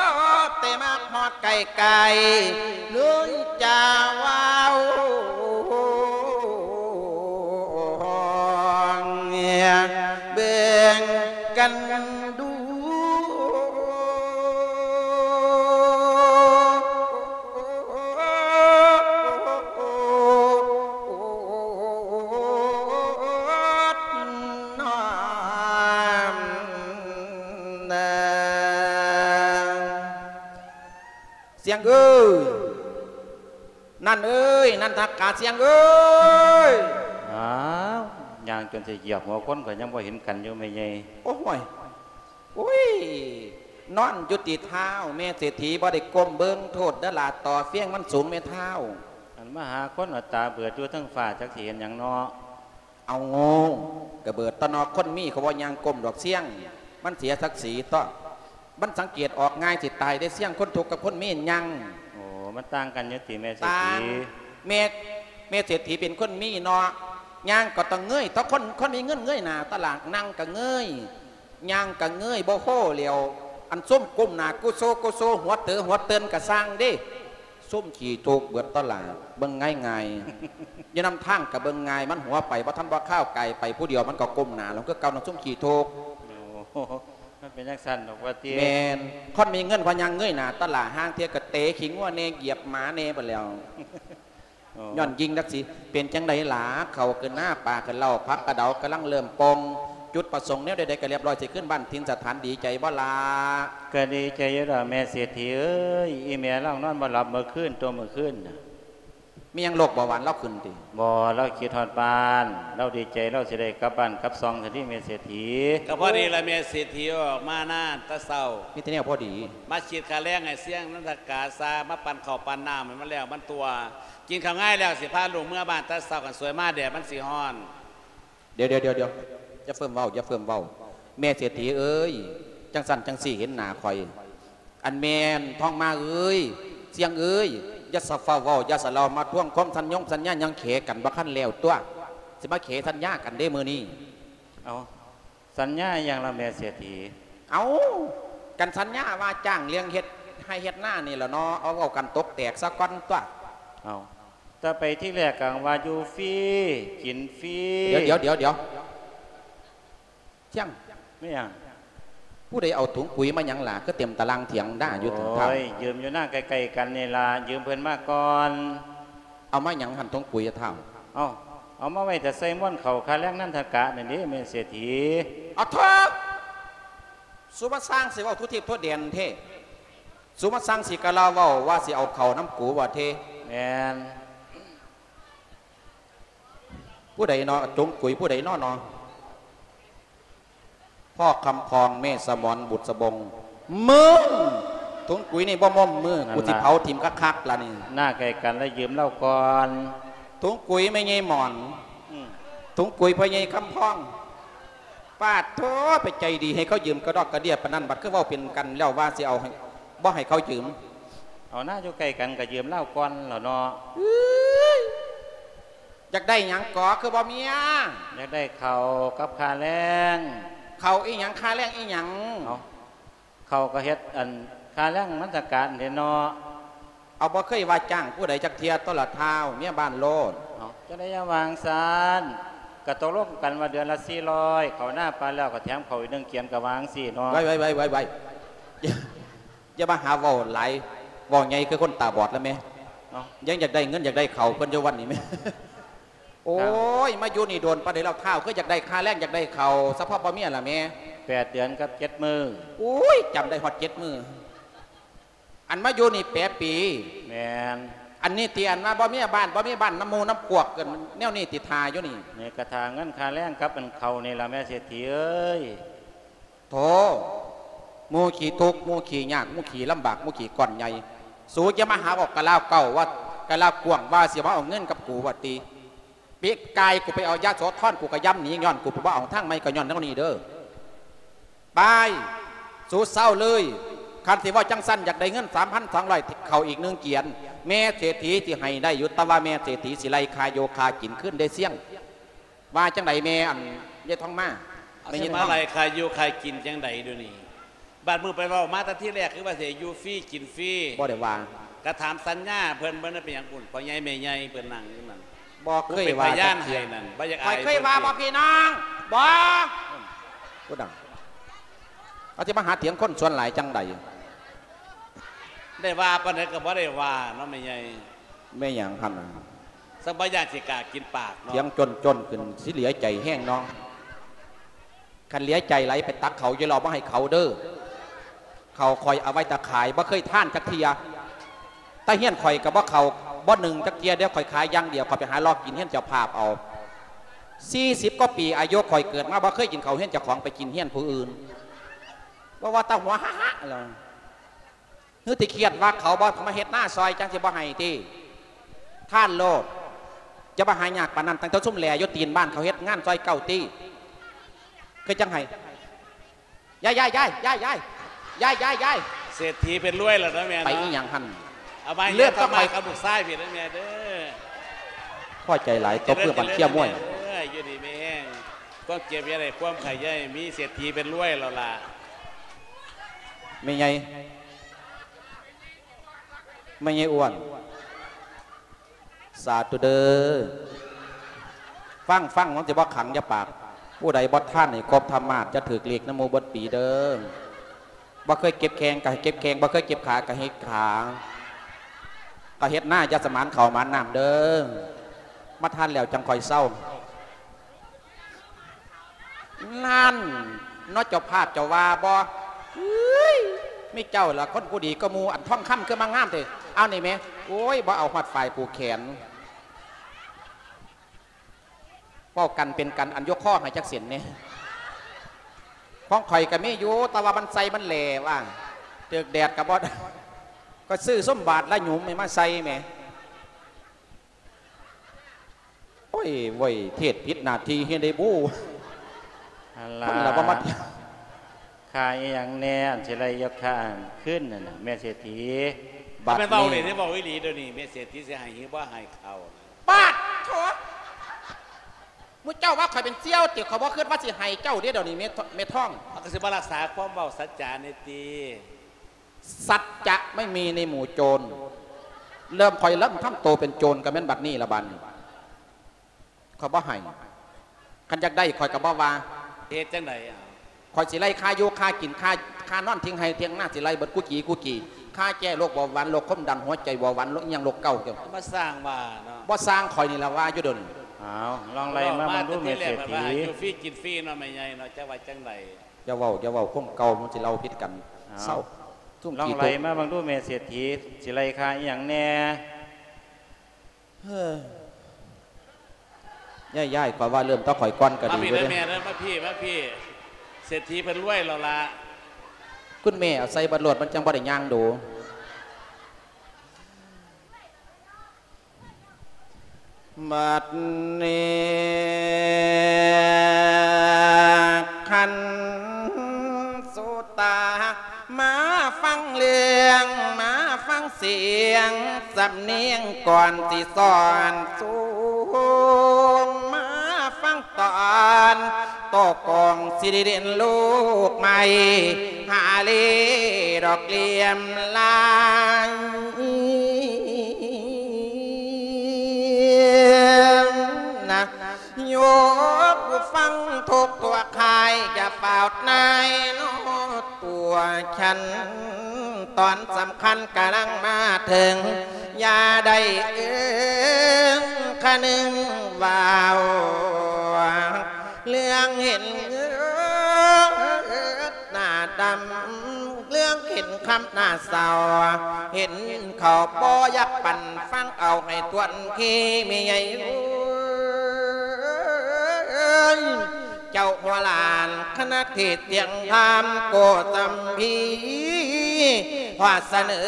ແຕ່ມາຮອດໃກ້ໆ ເລີຍຈະເວົ້າ ເບິ່ງກັນດູ ສຽງເອີຍ ນັນເອີຍ ນັນທະກາ ສຽງເອີຍ. ອ້າວ ຍ່າງຈົນຊິຢຽບຫົວຄົນ ກໍຍັງບໍ່ເຫັນກັນຢູ່ແມ່ໃຫຍ່. ໂອ້ຍ ໂອ້ຍ ນອນຢູ່ຕິເທ້າແມ່ເສດຖີ ບໍ່ໄດ້ກົ້ມເບິ່ງ ໂທດເດີຫຼ້າ ຕໍ່ຟຽງມັນສູງແມ່ທ້າວ. ອັນມາຫາຄົນເອົາຕາເບີດຢູ່ເທິງຟ້າ ຈັກຊິເຫັນຫຍັງເນາະ. ເອົາໂງ່ ກະເບີດຕົວະເນາະ ຄົນມີເຂົາບໍ່ຍ່າງກົ້ມດອກ ສຽງ ມັນເສຍສັກສີຕົວະ. ມັນສັງເກດອອກງ່າຍຊິຕາຍເດ້ ສຽງຄົນທຸກກັບຄົນມີຍັງ. ໂອ້ ມັນຕ່າງກັນຢູ່ຕິແມ່ເສດຖີ? ຕ່າງ. ແມ່ ແມ່ເສດຖີເປັນຄົນມີເນາະ ຍ່າງກໍຕ້ອງເງຍ ຖ້າຄົນ ຄົນມີເງິນເງຍໜ້າຕະຫຼາດ ນັ່ງກໍເງຍ ຍ່າງກໍເງຍ ບໍ່ໂຮແລ້ວ. ອັນຊຸມກົ້ມໜ້າກຸໂຊກຸໂຊ ຫົວເຕີຫົວເຕີນກໍຊ່າງເດ້ ຊຸມຂີ້ທຸກເບິດຕະຫຼາດ ເບິ່ງງ່າຍໆ ຢູ່ນຳທາງກໍເບິ່ງງ່າຍ ມັນຫົວໄປບໍ່ທັນບໍ່ຄາວ ກາຍໄປຜູ້ດຽວ ມັນກໍກົ້ມໜ້າລົງຄືເກົ່າ ນຳຊຸມຂີ້ທຸກ. ໂອ້ ມັນເປັນຈັ່ງຊັ້ນດອກວ່າຕິ. ແມ່ນ ຄົນມີເງິນພະຍັງເງຍໜ້າຕະຫຼາດ ຫ້າງເທື່ອກໍເຕະຂີ້ງົວແດ່ ຢຽບໝາແດ່ບັດແລ້ວ. ໂອ້ ຍ້ອນຍິ່ງນັກຊິ ເປັນຈັ່ງໃດຫຼາ ເຂົ້າຂຶ້ນນາ ປາຂຶ້ນເລົ້າ ຜັກກະເດົາກຳລັງເລີ່ມປົ່ງ ຈຸດປະສົງແນວໃດໆກໍລຽບຮ້ອຍ ຊິຂຶ້ນບ້ານຖິ່ນສະຖານ ດີໃຈບໍ່ຫຼາ? ກໍດີໃຈຢູ່ດອກແມ່ເສດຖີເອີຍ ອີແມ່ລາວນອນບໍ່ຫຼັບມື້ຄືນ ຕົວະມື້ຄືນນະ. ມີຫຍັງໂລກເບົາຫວານລາວຂຶ້ນຕິ? ບໍ່ ລາວຄິດຮອດບ້ານ ລາວດີໃຈ ລາວຊິໄດ້ກັບບ້ານກັບຊ່ອງຊັ້ນຕິແມ່ເສດຖີ. ກໍພໍດີລະແມ່ເສດຖີອອກມານາແຕ່ເຊົ້າ ມີແຕ່ແນວພໍດີ ມາຄິດຄ່າແຮງໃຫ້ສຽງນັນທະກາຊະ ມາປັ່ນເຂົ້າປັ່ນນ້ຳໃຫ້ມັນແລ້ວມັນຕົວະ ກິນເຂົ້າງາຍແລ້ວ ຊິພາລູກເມືອບ້ານແຕ່ເຊົ້າ ຄັນສວຍມາແດດມັນຊິຮ້ອນ. ດຽວໆໆໆ ຢ່າເຟີ້ມເວົ້າ ຢ່າເຟີ້ມເວົ້າ ແມ່ເສດຖີເອີຍ ຈັ່ງຊັ້ນຈັ່ງຊີ້ເຫັນໜ້າຂ້ອຍ ອັນແມ່ນທອງມາເອີຍ ສຽງເອີຍ ຢ່າສະຟ້າວເວົ້າ ຢ່າສະເລົ່າມາທວງຄວາມສັນຍົງສັນຍາ ຍັງເຂກັນບໍ່ທັນແລ້ວຕົວະ ຊິມາເຂສັນຍາກັນເດ້ມື້ນີ້. ເອົ້າ ສັນຍາອີ່ຫຍັງລະແມ່ເສດຖີ? ເອົ້າ ກັນສັນຍາວ່າຈ້າງເລື່ອງເຮັດໄຮ່ເຮັດນານີ້ລະເນາະ ເອົາເວົ້າກັນຕົກແຕກສາກ່ອນຕົວະ. ເອົ້າ ແຕ່ໄປທີແລກກໍວ່າຢູ່ຟຣີ ກິນຟຣີ. ດຽວໆໆ ສຽງ ແມ່ນຫຍັງ? ຜູ້ໃດເອົາຖົງປຸຍມາຫຍັງລະ ຄືເຕັມຕາລ່າງຖຽງນາຢູ່? ໂອ້ຍ ຢືມຢູ່ນາໃກ້ໆກັນນີ້ລະ ຢືມເພິ່ນມາກ່ອນ. ເອົາມາຫຍັງຫັ້ນຖົງປຸຍອະທ້າວ? ເອົ້າ ເອົາມາໄວ້ຖ້າໃສ່ມວນເຂົ້າຄ່າແຮງນັນທະກະນັ້ນເດ້ແມ່ເສດຖີ. ອະເທີ! ສຸມາຊ່າງຊິເວົ້າທົ່ວທິບທົ່ວແດນເທ ສຸມາຊ່າງຊິກະລາເວົ້າວ່າຊິເອົາເຂົ້ານຳກູວ່າເທ. ແມ່ນ. ຜູ້ໃດເນາະ ຖົງປຸຍຜູ້ໃດເນາະເນາະ? ພໍ່ຄຳພອງ ແມ່ສະໝອນ ບຸດສະບົງ. ມຶງ! ຖົງປຸຍນີ້ບໍ່ມົ້ມມື ນັ້ນລະ ກູຊິເຜົາຖິ້ມຄັກໆລະນີ້. ນາໃກ້ກັນລະຢືມລາວກ່ອນ. ຖົງປຸຍແມ່ໃຫຍ່ໝອນ. ອືມ ຖົງປຸຍພໍ່ໃຫຍ່ຄຳພອງ. ປາດໂທ້ ໄປໃຈດີໃຫ້ເຂົາຢືມກະດອກກະເດຍປານນັ້ນ ບັດຄືເວົ້າເປັນກັນແລ້ວວ່າຊິເອົາໃຫ້ ບໍ່ໃຫ້ເຂົາຢືມ. ເອົານາ ຢູ່ໃກ້ກັນກະຢືມລາວກ່ອນແລ້ວເນາະ. ອືຍ ຢາກໄດ້ຫຍັງກໍຄືບໍ່ເມຍ? ຢາກໄດ້ເຂົ້າກັບຄ່າແຮງ. ເຂົ້າອີ່ຫຍັງ? ຄ່າແຮງອີ່ຫຍັງ? ເອົ້າ ເຂົ້າກໍເຮັດອັນຄ່າແຮງມັນສະການເດ້ເນາະ. ເອົາ ບໍ່ເຄີຍວ່າຈ້າງຜູ້ໃດຈັກເທື່ອ ໂຕລະທ້າວ ເມຍບ້ານໂລດ. ເອົ້າ ຈັ່ງໃດຢ່າວ່າຈັ່ງຊັ້ນ ກະຕົກລົງກັນວ່າເດືອນລະສີ່ຮ້ອຍ ເຂົ້ານາປານແລ້ວກໍແຖມເຂົ້າອີກໜຶ່ງກຽນ ກໍວ່າຈັ່ງຊີ້ເນາະ. ໄວ້ໆໆໆ ຢ່າມາຫາເວົ້າຫຼາຍ ເວົ້າໃຫຍ່ຄືຄົນຕາບອດລະແມ່. ເອົ້າ ຍັງຢາກໄດ້ເງິນຢາກໄດ້ເຂົ້າເພິ່ນຢູ່ວັດນີ້ແມ່. ໂອ້ຍ ມາຢູ່ນີ້ໂດນປານໃດແລ້ວທ້າວ ຄືຢາກໄດ້ຄ່າແຮງ ຢາກໄດ້ເຂົ້າ ສະເພາະບໍ່ເມຍລະແມ່. ແປດເດືອນກັບເຈັດມື້. ໂອ້ຍ ຈຳໄດ້ຮອດເຈັດມື້. ອັນມາຢູ່ນີ້ແປດປີ. ແມ່ນ. ອັນນີ້ຕິ ອັນວ່າບໍ່ມີບ້ານ ບໍ່ມີບ້ານນຳໝູ່ນຳພວກກັນແນວນີ້ຕິ ຖ້າຢູ່ນີ້. ນີ້ກະຖ້າເງິນຄ່າແຮງກັບອັນເຂົ້ານີ້ລະແມ່ເສດຖີເອີຍ. ໂທ້ ໝູ່ຂີ້ທຸກ ໝູ່ຂີ້ຍາກ ໝູ່ຂີ້ລຳບາກ ໝູ່ຂີ້ກ້ອນໃຫຍ່ ສູຢ່າມາຫາເວົ້າກະລາວເກົ່າວ່າ ກະລາວກວ້າງວ່າຊິມາເອົາເງິນກັບກູວ່າຕິ. ປີກາຍກູໄປເອົາຢະໂສທອນ ກູກະຢ້ຳໜີ ຍ້ອນກູໄປບໍ່ເອົາທາງໃໝ່ ກະຍ້ອນແນວນີ້ເດີ. ໄປ ສູເຊົາເລີຍ ຄັນຊິເວົ້າຈັ່ງຊັ້ນ ຢາກໄດ້ເງິນສາມພັນສອງຮ້ອຍ ເຂົ້າອີກໜຶ່ງກຽນ ແມ່ເສດຖີຊິໃຫ້ໄດ້ຢູ່ ແຕ່ວ່າແມ່ເສດຖີຊິໄລ່ຄ່າຢູ່ຄ່າກິນຄືນເດ້ ສຽງ. ວ່າຈັ່ງໃດແມ່ ອັນ ຍາຍທອງມາ? ແມ່ ຊິມາໄລ່ຄ່າຢູ່ຄ່າກິນຈັ່ງໃດດຽວນີ້? ບາດມື້ໄປເວົ້າມາແຕ່ທີແລກ ຄືວ່າຊິຢູ່ຟຣີກິນຟຣີ. ບໍ່ໄດ້ວ່າ. ກະຖາມສັນຍາເພິ່ນ ເພິ່ນເປັນຫຍັງພຸ້ນ ພໍ່ໃຫຍ່ແມ່ໃຫຍ່ເພິ່ນນັ່ງຢູ່ນັ້ນ. ບໍ່ເຄີຍວ່າຈັກເທື່ອ. ຂ້ອຍເຄີຍວ່າບໍ່ພີ່ນ້ອງ? ບໍ່. ຜູ້ດັງ ເຂົາຊິມາຫາຖຽງຄົນສ່ວນຫຼາຍຈັ່ງໃດ? ໄດ້ວ່າປານໃດກໍບໍ່ໄດ້ວ່າເນາະແມ່ໃຫຍ່. ແມ່ຫຍັງຫັ້ນນະ? ສະບາຍາຊິກາກິນປາກເນາະ. ຖຽງຈົນໆຂຶ້ນ ຊິເຫຼືອໃຈແຮງເນາະ. ຄັນເຫຼືອໃຈຫຼາຍ ໄປຕັກເຂົ້າຢູ່ລາວມາໃຫ້ເຂົາເດີ. ເຂົ້າຂ້ອຍເອົາໄວ້ແຕ່ຂາຍ ບໍ່ເຄີຍທານຈັກເທື່ອ. ແຕ່ເຮືອນຂ້ອຍກໍບໍ່ເຂົ້າ ບໍ່ໜຶ້ງຈັກເທື່ອເດ້ ຂ້ອຍຂາຍຢ່າງດຽວ. ຂ້ອຍໄປຫາເລາະກິນເຮືອນເຈົ້າພາບເອົາ. ສີ່ສິບກວ່າປີອາຍຸຂ້ອຍເກີດມາ ບໍ່ເຄີຍກິນເຂົ້າເຮືອນເຈົ້າຂອງ ໄປກິນເຮືອນຜູ້ອື່ນ. ບໍ່ວ່າແຕ່ຫົວຫະໆລະ ຫຼືຕິຄຽດວ່າເຂົາບໍ່ມາເຮັດນາຊ່ອຍ ຈັ່ງຊິບໍ່ໃຫ້ຕິ? ທ່ານໂລດ ຈະມາຫາຍາກປານນັ້ນ ຕັ້ງແຕ່ຊຸມແຫຼຢູ່ຕີນບ້ານເຂົາເຮັດງານຊ່ອຍເຈົ້າຕິ ຄືຈັ່ງໃຫ້. ຢາຍ ຢາຍ ຢາຍ ຢາຍ ຢາຍ. ຍາຍ ຍາຍ ຍາຍ ເສດຖີເພິ່ນລວຍແລ້ວເນາະແມ່ເນາະ ໄປອີ່ຫຍັງຫັ້ນ? ເອົາມາເລື່ອນຕໍ່ໄປກັບລູກຊາຍພີ້ເດີແມ່ເດີ. ພໍໃຈຫຼາຍ ຕົບມືບັນເຊຍມວຍ. ເອີ ຢູ່ດີມີແຮງ ຄວາມເຈັບຢ່າໄດ້ ຄວາມໄຂ້ຢ່າໃຫ້ມີ ເສດຖີເພິ່ນລວຍແລ້ວລະ. ແມ່ໃຫຍ່ ແມ່ໃຫຍ່ອ້ວນ ສາທຸເດີ. ຟັງ ຟັງ ມັນຊິບໍ່ຂັງ ຢ່າປາກ. ຜູ້ໃດບໍ່ທານໃຫ້ຄົບທຳມາດ ຈະຖືກເລກນຳໝູ່ເບິດປີເດີ. ບໍ່ເຄີຍເກັບແຂ້ງກໍໃຫ້ເກັບແຂ້ງ ບໍ່ເຄີຍເກັບຂາກໍເຮັດຂາ ກໍເຮັດນາຢ່າສະໝານເຂົ້າໝານນ້ຳເດີ. ມາທານແລ້ວຈັ່ງຄ່ອຍເຊົາ. ນັ້ນເນາະ ເຈົ້າພາບເຈົ້າວ່າບໍ່? ເອີຍ ມີເຈົ້າລະຄົນຜູ້ດີກວ່າໝູ່ ອັນທອງຄຳຄືມາງາມແທ້. ເອົານີ້ແໝ່ ໂອ້ຍ ບໍ່ເອົາຮອດຝ້າຍຜູກແຂນ. ເວົ້າກັນເປັນກັນ ອັນຍົກຄໍໃຫ້ຈັກເສັ້ນແດ່. ຂອງຂ້ອຍກໍມີຢູ່ ແຕ່ວ່າມັນໃສ່ມັນແຫຼວ່າ ຖືກແດດກໍບໍ່ໄດ້ ກໍຊື້ສົມບາດລະຫຍຸມໃຫ້ມາໃສ່ແໝ່. ໂອ້ຍ ເວີ້ຍ ເທດຜິດໜ້າທີ່ເຮັດໄດ້ບູ. ຫັ້ນລະ ມັນລະບໍ່ມາ ຄ່າອີ່ຫຍັງແດ່ ອັນຊິໄລ່ຍົກຄ່າຄືນນັ້ນນະ ແມ່ເສດຖີ? ບັດນີ້ ແມ່ນເວົ້າເລີຍເດ້ ເວົ້າອີ່ຫຼີດຽວນີ້ ແມ່ເສດຖີຊິໃຫ້ ຫຼືບໍ່ໃຫ້ເຂົາ? ປາດໂທ້ ໝູ່ເຈົ້າວ່າຂ້ອຍເປັນສ່ຽວຕິ? ຂ້ອຍບໍ່ຄິດວ່າຊິໃຫ້ເຈົ້າເດ້ດຽວນີ້ ແມ່ ແມ່ທອງ. ເຮົາກໍຊິມາຮັກສາຄວາມເວົ້າສັດຈານີ້ຕິ. ສັດຈະໄມ່ມີໃນໝູ່ໂຈນ. ເລີ່ມ ຂ້ອຍເລີ່ມທຳໂຕເປັນໂຈນກໍແມ່ນບັດນີ້ລະ ບັດນີ້ຂ້ອຍບໍ່ໃຫ້. ຄັນຢາກໄດ້ຂ້ອຍກໍບໍ່ວ່າ. ເຮັດຈັ່ງໃດ? ຂ້ອຍຊິໄລ່ຄ່າຢູ່ຄ່າກິນ ຄ່າ ຄ່ານອນ ເຖິງໄຮ່ເຖິງນາ ຊິໄລ່ເບິດກູຈີກູຈີ. ຄ່າແກ້ໂລກເບົາຫວານ ໂລກຄວາມດັນ ຫົວໃຈເບົາຫວານ ໂລກອີ່ຫຍັງ ໂລກເກົ່າ. ມາສ້າງວ່າເນາະ. ບໍ່ສ້າງ ຂ້ອຍນີ້ລະວ່າຢູ່ດຽວນີ້. ອ້າວ ລອງໄລ່ມາເບິ່ງດູແມ່ເສດຖີ. ຢູ່ຟຣີກິນຟຣີເນາະ ແມ່ໃຫຍ່ເນາະ ຈັກວ່າຈັ່ງໃດ? ຢ່າເວົ້າ ຢ່າເວົ້າ ຄວາມເກົ່າມັນຊິເລົ່າຜິດກັນ. ເອົ້າ ເຊົາ. ລອງໄລ່ມາເບິ່ງດູແມ່ເສດຖີ ຊິໄລ່ຄ່າອີ່ຫຍັງແດ່? ເຮີ້ຍ ຍາຍໆ ຂ້ອຍວ່າເລີ່ມແຕ່ຂ້ອຍກ່ອນກໍດີຢູ່ເດ້. ມາພີ້ເດີແມ່ເດີ ມາພີ້ ມາພີ້ ເສດຖີເພິ່ນລວຍແລ້ວລະ. ຄຸນແມ່ເອົາໃສ່ເບິດໂລດ ມັນຈັ່ງບໍ່ໄດ້ຍ່າງດູ. ບັດນີ້ຄັນສຸຕາ ມາຟັງເລື່ອງ ມາຟັງສຽງສຳນຽງ ກ່ອນຊິສອນສູງ ມາຟັງຕອນ ໂຕກອງຊິໄດ້ເດັ່ນລູກໃໝ່ ຫາເລດອກຫຼຽມລາຍ ນະ ໂຍມຜູ້ຟັງທຸກທົ່ວຄ້າຍ ຢ່າຟ້າວນາຍເນາະ ຕົວຄັນຕອນສຳຄັນກຳລັງມາເຖິງ ຢ່າໄດ້ເອີງຄະນຶງເວົ້າ ເລື່ອງເຫັນເງິນໜ້າດຳ ເລື່ອງເຫັນຄຳໜ້າເສົ້າ ເຫັນເຂົາບໍ່ຢາກປັນ ຟັງເອົາໃຫ້ຖ້ວນທີແມ່ໃຫຍ່ເອີຍ ເຈົ້າຫົວຫຼານຄະນະເທດສຽງທາມໂກສຳພີ ຂໍສະເໜີ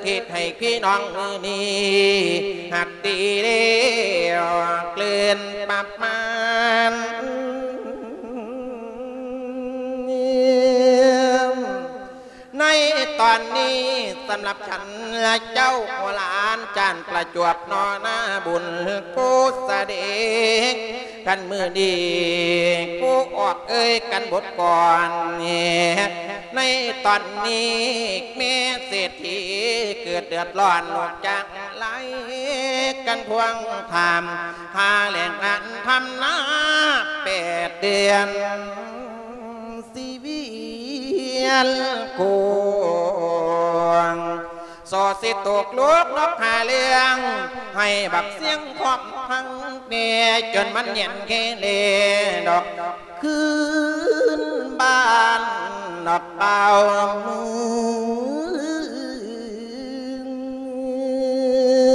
ເທດໃຫ້ພີ່ນ້ອງມື້ນີ້ ຮັກດີແລ້ວເກິ່ນປະມານ ໃນຕອນນີ້ສຳລັບ ເຈົ້າຫົວຫຼານຈານປະຈວບ ນໍນາບຸນໂກສະເດກ ຄັນມື້ນີ້ກູອອກເອີຍກັນບົດກ່ອນ ໃນຕອນນີ້ແມ່ເສດຖີເກີດເດືອດຮ້ອນ ລູກຈາກໄລ່ກັນທວງຖາມ ຫາແຫຼ່ງອັນທຳນາແປດເດືອນ ຊິວຽນໂກງ ສໍຊິຕົກລູກນອກຫາເລື່ອງ ໃຫ້ບັກຊຽງຄອບພັງແດ່ ຈົນມັນແຫຍນເຄເລດອກ ຄືນບ້ານນອກເປົ່າເມື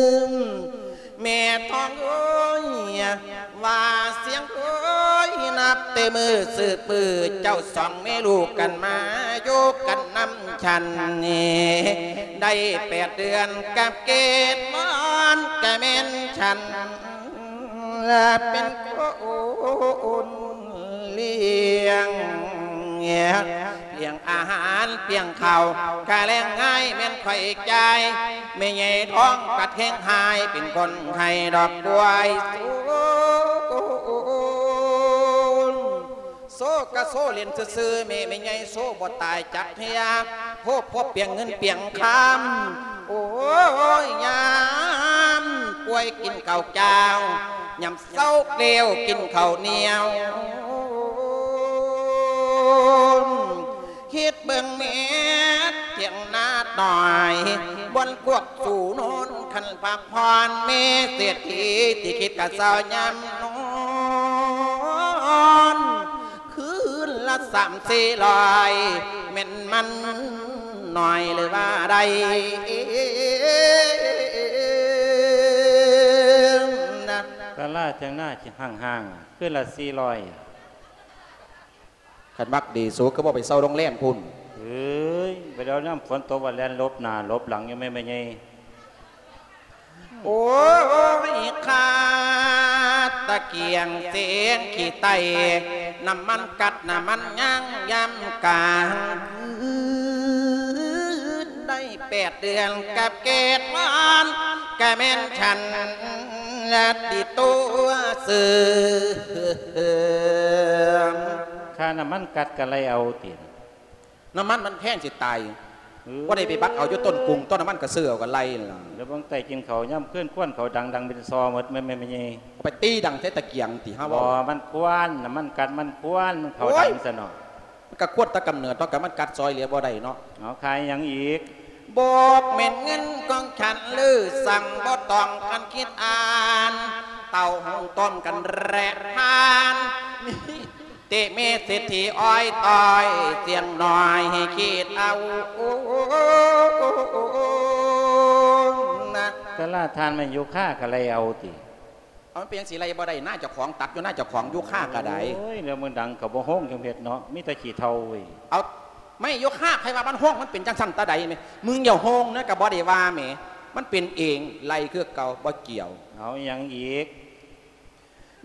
ອງ ແມ່ທອງເອີຍ ວ່າຊຽງເອີຍ ນັບແຕ່ມື້ສືບມື ເຈົ້າສອງແມ່ລູກກັນມາ ຢູ່ກັນນຳສັນນີ້ ໄດ້ແປດເດືອນກັບເກດມອນ ກະແມ່ນສັນເປັນຄົນລ້ຽງ ອງອາຫານປຽງເຂົ້າ ກະແລງງາຍແມ່ນຂ້ອຍຈ່າຍ ແມ່ໃຫຍ່ທອງກະແທງຫາຍ ເປັນຄົນໃຫ້ດອກກວຍ ໂຊກະໂຊເລ່ນຊື່ໆ ແມ່ ແມ່ໃຫຍ່ໂຊບໍ່ຕາຍຈັກເທື່ອ ໂພບພວກປຽງເງິນປຽງຄຳ ໂອ້ຍ ຍາມປ່ວຍກິນເຂົ້າຈ້າວ ຍາມເຊົາແລ້ວກິນເຂົ້າໜຽວ ຄິດເບິ່ງແມ່ຖຽງນານ້ອຍ ບ່ອນພວກສູ່ນອນ ຄັນພັກຜ່ອນ ແມ່ເສດຖີທີ່ຄິດກະເຊົາຍາມນອນ ຄືນລະສາມສີ່ຮ້ອຍ ແມ່ນມັນໜ້ອຍຫຼືວ່າໃດນະ? ສາລາຖຽງນາຫ້າງໆ ຄືນລະສີ່ຮ້ອຍ. ຄັນມັກດີ ສູຄືບໍ່ໄປເຊົ່າໂຮງແຮມພຸ້ນ? ເອີຍ ໄປແລ້ວຍາມຝົນຕົກວ່າແລ່ນຫຼົບໜ້າຫຼົບຫຼັງຢູ່ແມ່ ແມ່ໃຫຍ່. ໂອ້ຍ ຄາດຕະກຽງເສນຂີ້ໄຕ ນ້ຳມັນກັດນ້ຳມັນຍາງ ຍາມກາງຄືນໄດ້ແປດເດືອນ ກັບເກດວານ ກະແມ່ນສັນລະຕິຕົວເສີມ. ຄ່ານ້ຳມັນກັດກະໄລ່ເອົາຕິ? ນ້ຳມັນມັນແພງຊິຕາຍ ເອີ ບໍ່ໄດ້ໄປບັກເອົາຢູ່ຕົ້ນກຸງ ຕົ້ນນ້ຳມັນກະຊື້ເອົາກະໄລ່ນັ້ນລະ. ແລ້ວເບິ່ງໃຕ້ກິນເຂົ້າຍາມຄືນ ຄວັນເຂົາດັງໆເປັນຊໍໝົດ ແມ່ນ ແມ່ນ ແມ່ໃຫຍ່. ໄປຕີດັງໃສ່ຕະກຽງຕິເຮົາ ບໍ່ ເວົ້າ ມັນຄວັນ ນ້ຳມັນກັດມັນຄວັນ ມັນເຂົ້າ ໂອ້ຍ ດັງຊັ້ນເນາະ. ມັນກະຄວັນແຕ່ກຳເນີດເນາະ ກະມັນກັດຊ່ອຍເຫຼືອບໍ່ໄດ້ເນາະ. ເອົາ ຂາຍຫຍັງອີກ? ບໍ່ແມ່ນເງິນຂອງສັນ ຫຼື ສັ່ງບໍ່ຕ້ອງກັນຄິດອ່ານ ເຕົ້າຫຸງຕົ້ມກັນແລະທານ ມີແຕ່ແມ່ເສດຖີອ້ອຍຕ້ອຍ ສຽງນ້ອຍໃຫ້ຄິດເອົານະ. ສາລາຖານແມ່ນຢູ່ຄາກະໄລ່ເອົາຕິ? ເອົາ ມັນເປັນຫຍັງຊິໄລ່ບໍ່ໄດ້ ນາເຈົ້າຂອງຕັດຢູ່ນາເຈົ້າຂອງ ຢູ່ຄາກະໄດ້. ໂອ້ຍ ແລ້ວມັນດັງກະບໍ່ໂຮງຈັ່ງເຮັດເນາະ ມີແຕ່ຂີ້ເຖົ່າເວີຍ. ເອົາ ໄມ້ຢູ່ຄາໃຜວ່າມັນໂຮງ ມັນເປັນຈັ່ງຊັ້ນຕາໃດແມ? ມຶງຢ່າໂຮງນະ ກະບໍ່ໄດ້ວ່າແມ ມັນເປັນເອງ ໄລ່ຄືເກົ່າ ບໍ່ກ່ຽວ. ເອົາ ອີຫຍັງອີກ?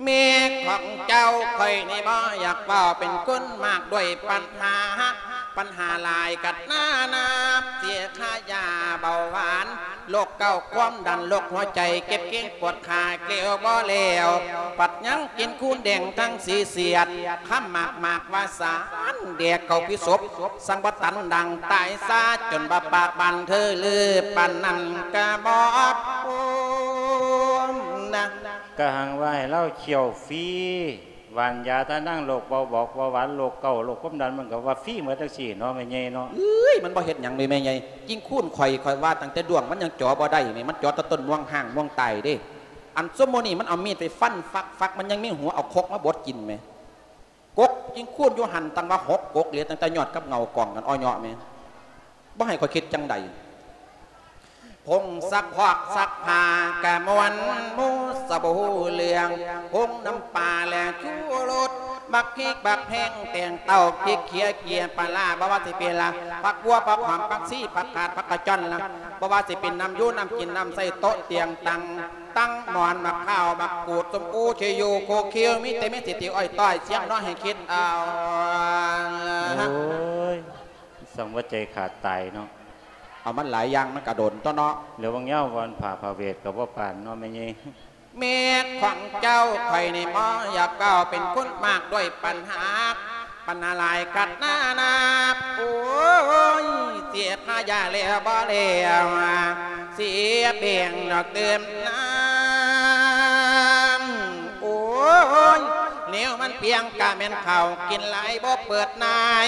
ແມ່ຂອງເຈົ້າ ຂ້ອຍນີ້ບໍ່ຢາກເວົ້າ ເປັນຄົນມາກດ້ວຍປັນຫາ ປັນຫາຫຼາຍກັນນານາ ເສຍຄ່າຢາເບົາຫວານ ໂລກເກົາຄວາມດັນ ໂລກຫົວໃຈ ເຈັບເກງປວດຂາ ແກ້ວບໍ່ແລ້ວ ບັດຍັງກິນຄູນແດງທັງສີສຽດ ຄຳໝາກໝາກວ່າສານ ແດກເຂົ້າພິສົບ ສັ່ງບໍ່ຕັນດັງຕາຍຊາ ຈົນບໍ່ປາກບານເທີລື ປານນັ້ນກະບໍ່ພົ້ນນະ. ກະຮັ່ງວ່າໃຫ້ລາວຄ້ຽວຟຣີ ຫວ່ານຢາທານາງໂລກເບົາ ບອກເບົາຫວານ ໂລກເກົາ ໂລກຄວາມດັນ ມັນກະວ່າຟຣີໝົດຈັ່ງຊີ້ເນາະ ແມ່ໃຫຍ່ເນາະ. ເອີຍ ມັນບໍ່ເຮັດຫຍັງເລີຍແມ່ໃຫຍ່. ຈິງຄູນຂ້ອຍ ຂ້ອຍວ່າຕັ້ງແຕ່ດວງມັນຍັງຈໍບໍ່ໄດ້ແມ່ ມັນຈໍແຕ່ຕົ້ນມ່ວງຮ້າງມ່ວງຕາຍເດ້. ອັນ ຊຸມມື້ນີ້ມັນເອົາມີດໄປຟັນຟັກໆ ມັນຍັງມີຫົວ ເອົາຄົກມາບົດກິນແໝ. ກົກຈິງຄູນຢູ່ຫັ້ນຕັ້ງວ່າຫົກກົກເລີຍ ຕັ້ງແຕ່ຍອດກັບເຫງົ້າກອງກັນ ອໍ້ເຍາະແໝ. ບໍ່ໃຫ້ຂ້ອຍຄິດຈັ່ງໃດ. ຜົງຊັກພອກຊັກຜ້າກະມ່ວນໝູ່ສະບໍ່ຮູ້ເລື່ອງ ຜົງນ້ຳປາແລະຊູລົດ ບັກພິກບັກແພງແຕງເຕົ້າ ພິກເຂຍເກຍປາລາ ບໍ່ວ່າຊິເປັນລະ ຜັກບົ່ວ ຜັກຫອມ ຜັກຊີ ຜັກຂາດ ຜັກກະຈອນລະ ບໍ່ວ່າຊິເປັນນ້ຳຢູ່ນ້ຳກິນ ນ້ຳໃຊ້ໂຕະຕຽງຕັ່ງ ຕັ້ງໝອນ ໝາກພ້າວ ໝາກກູດ ສົ້ມອູ ເຊໂຍ ໂຄເຄວ ມີແຕ່ເມັດເສດຖີອ້ອຍຕ້ອຍ ສຽງນ້ອຍໃຫ້ຄິດເອົາ. ໂອ້ຍ ສັງວ່າໃຈຂາດຕາຍເນາະ. ເອົາ ມັນຫຼາຍຢ່າງ ມັນກະດົນຕົວະເນາະ. ແລ້ວບາງຍາມວັນພະພະເວດກະບໍ່ປານເນາະແມ່ໃຫຍ່. ແມ່ຂອງເຈົ້າ ຂ້ອຍນີ້ບໍ່ຢາກເວົ້າ ເປັນຄົນມາກດ້ວຍປັນຫາ ບັນຫາຫຼາຍກັດນານາ ໂອ້ຍ ເສຍຄ່າຢາແລ້ວບໍ່ແລ້ວ ເສຍແບ່ງດອກຕື່ມນ້ຳ ໂອ້ຍ ແນວມັນປຽງກະແມ່ນເຂົ້າ ກິນຫຼາຍບໍ່ເປີດນາຍ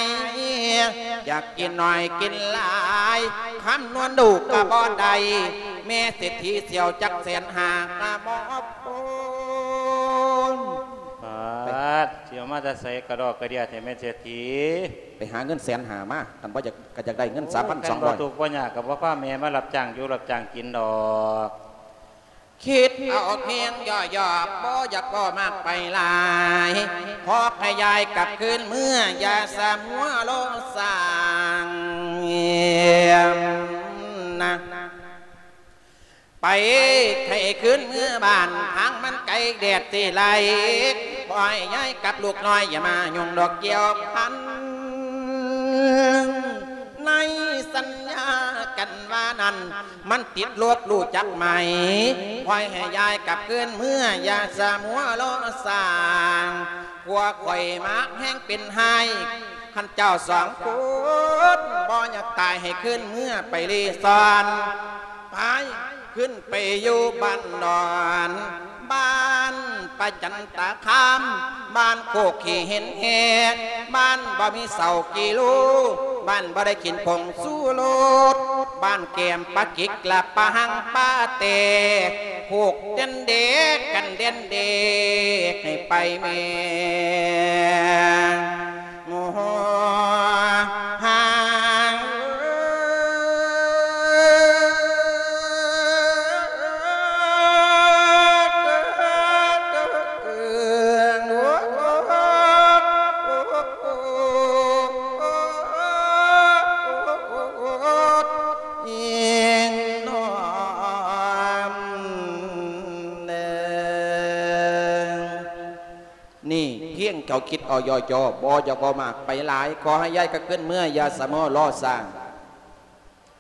ຢາກກິນໜ້ອຍກິນຫຼາຍ ຄຳນວນດູກະບໍ່ໄດ້ ແມ່ເສດຖີສ່ຽວຈັກແສນຫ້າກະບໍ່ ໂອ້ຍ ປາດ ຊິເອົາມາແຕ່ໃສກະດອກກະເດຍແທ້ແມ່ເສດຖີ? ໄປຫາເງິນແສນຫ້າມາ ຄັນບໍ່ຢາກ ກະຢາກໄດ້ເງິນສາມພັນສອງຮ້ອຍ ຄັນບໍ່ທຸກບໍ່ຍາກກະບໍ່ພາແມ່ມາຮັບຈ້າງຢູ່ຮັບຈ້າງກິນດອກ. ຄິດເອົາພຽງຫຍໍ້ໆ ບໍ່ຢາກເວົ້າມາກໄປຫຼາຍ ຂໍໃຫ້ຍາຍກັບຄືນເມືອ ຢ່າສະຫົວໂລສ້າງນະ. ໄປໃຫ້ຄືນເມືອບ້ານ ທາງມັນໄກແດດຊິໄລ່ ຂໍໃຫ້ຍາຍກັບລູກນ້ອຍ ຢ່າມາຫຍຸ້ງດອກກ່ຽວພັນ ໃນສັນຍາກັນວ່ານັ້ນ ມັນຕິດລົບຮູ້ຈັກໄໝ? ປ່ອຍໃຫ້ຍາຍກັບຄືນເມືອ ຢ່າສະມົວລໍຊ້າ. ຜົວຂ້ອຍມັກແຮງເປັນຮ້າຍ ຄັນເຈົ້າສອງຄົນບໍ່ຢາກຕາຍ ໃຫ້ຄືນເມືອໄປລີ້ຊ່ອນ ໄປ ຂຶ້ນໄປຢູ່ບ້ານດອນ ບ້ານປະຈັນຕະຄາມ ບ້ານໂຄກຂີ້ເຫັນແຮ ບ້ານບໍ່ມີເສົາກິໂລ ບ້ານບໍ່ໄດ້ກິນຜົງຊູລົດ ບ້ານແກ້ມປາກິກ ລະປາຫັງປາແຕ ໂຄກເດັ່ນເດກ ກັນເດັ່ນເດກ ໃຫ້ໄປແມ່. ໂອ້ ຫາງ ນີ້ພຽງເຈົ້າຄິດເອົາຍໍ່ໆ ບໍ່ຢາກເວົ້າມາກໄປຫຼາຍ ຂໍໃຫ້ຍາຍກັບຄືນເມືອ ຢ່າສະມົວລໍຊ້າ.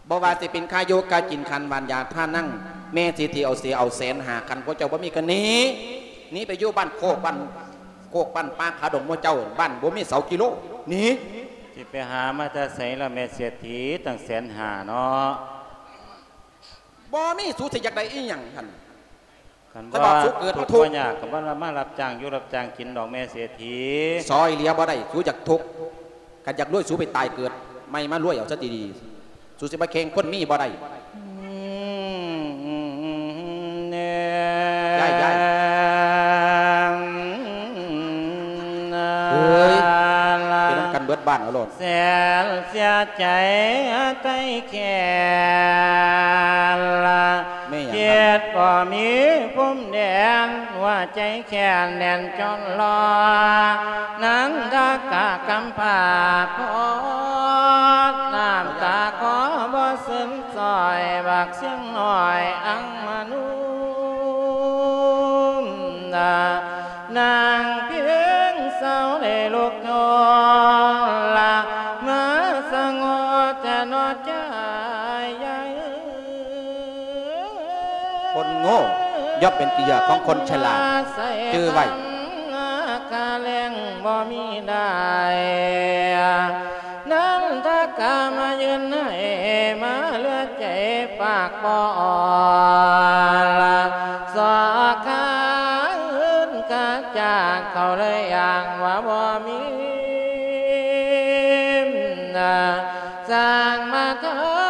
ບໍ່ວ່າຊິເປັນຄ່າຢູ່ຄ່າກິນ ຄັນຫວ່ານຢາທານນັງ ແມ່ເສດຖີເອົາເສຍເອົາແສນຫ້າ ຄັນພວກເຈົ້າບໍ່ມີກໍໜີ ໜີໄປຢູ່ບ້ານໂຄກ ບ້ານໂຄກ ບ້ານປ່າ ຄາດົງໝູ່ເຈົ້າ ບ້ານບໍ່ມີເສົາກິໂລ ໜີ. ຊິໄປຫາມາແຕ່ໃສລະແມ່ເສດຖີ ຕັ້ງແສນຫ້າເນາະ? ບໍ່ມີ ສູຊິຢາກໄດ້ອີ່ຫຍັງຫັ້ນ? ຄັນ ຄັນວ່າ ວ່າ ສູເກີດມາທຸກ ທຸກ ບໍ່ຍາກ ກໍບໍ່ລະມາຮັບຈ້າງຢູ່ຮັບຈ້າງກິນດອກແມ່ເສດຖີ. ຊ່ອຍເຫຼືອບໍ່ໄດ້ ສູຢາກທຸກ ຄັນຢາກລວຍ ສູໄປຕາຍເກີດໃໝ່ມາລວຍເອົາຊະດີໆ ສູຊິມາແຂ່ງຄົນມີບໍ່ໄດ້. ອືມ ແນ່ ຍາຍ ຍາຍ ເອີຍ ເປັນນຳກັນເບິດບ້ານເອົາໂລດ. ແສນເສຍໃຈໄຕ້ແຄ້ນລະ ແມ່ຫຍັງ ເຂດບໍ່ມີພົມແດນ ຫົວໃຈແຄ້ນແໜ້ນຈົນລໍ ນັນທະກະກຳພ້າພອດ ນ້ຳຕາຂໍບໍ່ເຊິ່ງຊ່ອຍ ບັກຊຽງນ້ອຍອັງມະນຸມນາ ນາງພຽງເຊົາໄດ້ລຸກໂຍນລະ ມາສະຫງົດແຕ່ໜໍ່ໃຈໃຫຍ່. ຄົນໂງ່ຍ່ອມເປັນເຫຍື່ອຂອງຄົນສະຫຼາດ ຈື່ໄວ້. ຄ່າແລງບໍ່ມີໄດ້ ນັນທະກະມາຢືນໃຫ້ ມາເຫຼືອໃຈປາກບໍ່ອ່ອນລະ ສອກຄາອື່ນກະຈ້າງ ເຂົາເລີຍອ້າງວ່າບໍ່ມີນາ ສ້າງມາທ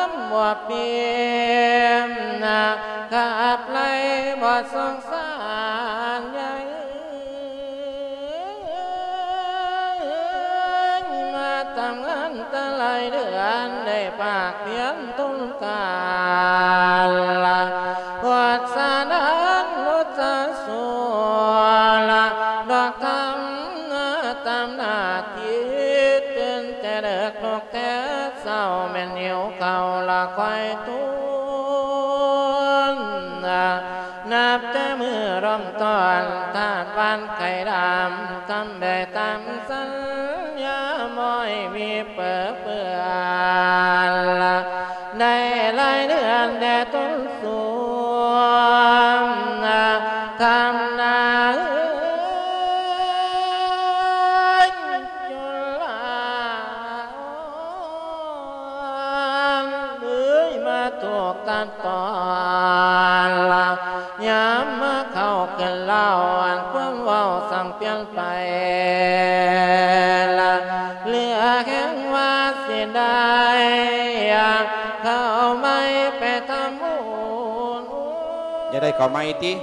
ຳອວບປີ້ນາ ຂັບໄລ່ບໍ່ສົງສານໃຫຍ່. ມາຕາມງານແຕ່ຫຼາຍເດືອນ ໄດ້ພາກພຽນທົນການລະ ພວດສະໜານລຸດສະສວນລະ ດອກທຳໜ້າຕາມໜ້າທີ່ ຕື່ນແຕ່ເດິກລຸກແຕ່ເຊົ້າ ແມ່ນຫິວເຂົ້າລະຄວາຍຕຸນນາ ນັບແຕ່ມື້ເລີ່ມຕົ້ນ ທາດຫວານໄຂ່ດຳ ທຳໄດ້ຕາມສັນຍາ ບໍ່ໃຫ້ມີເປິເປື້ອນລະ ໄດ້ຫຼາຍເດືອນແດ່ຕົນສວມນາ ທຳນາເອີຍ ຈົນລາ ເອີຍ ມາຖືກຕັດຕອນລະ ຍາມມາເຂົ້າຂຶ້ນເລົ່າ ອັນຄວາມເວົ້າສັງປ່ຽນໄປລະ ເຫຼືອແຮງວ່າຊິໄດ້ ເຂົ້າໄມ້ໄປທຳບຸນ. ຢ່າໄດ້ເຂົ້າໄມ້ຕິ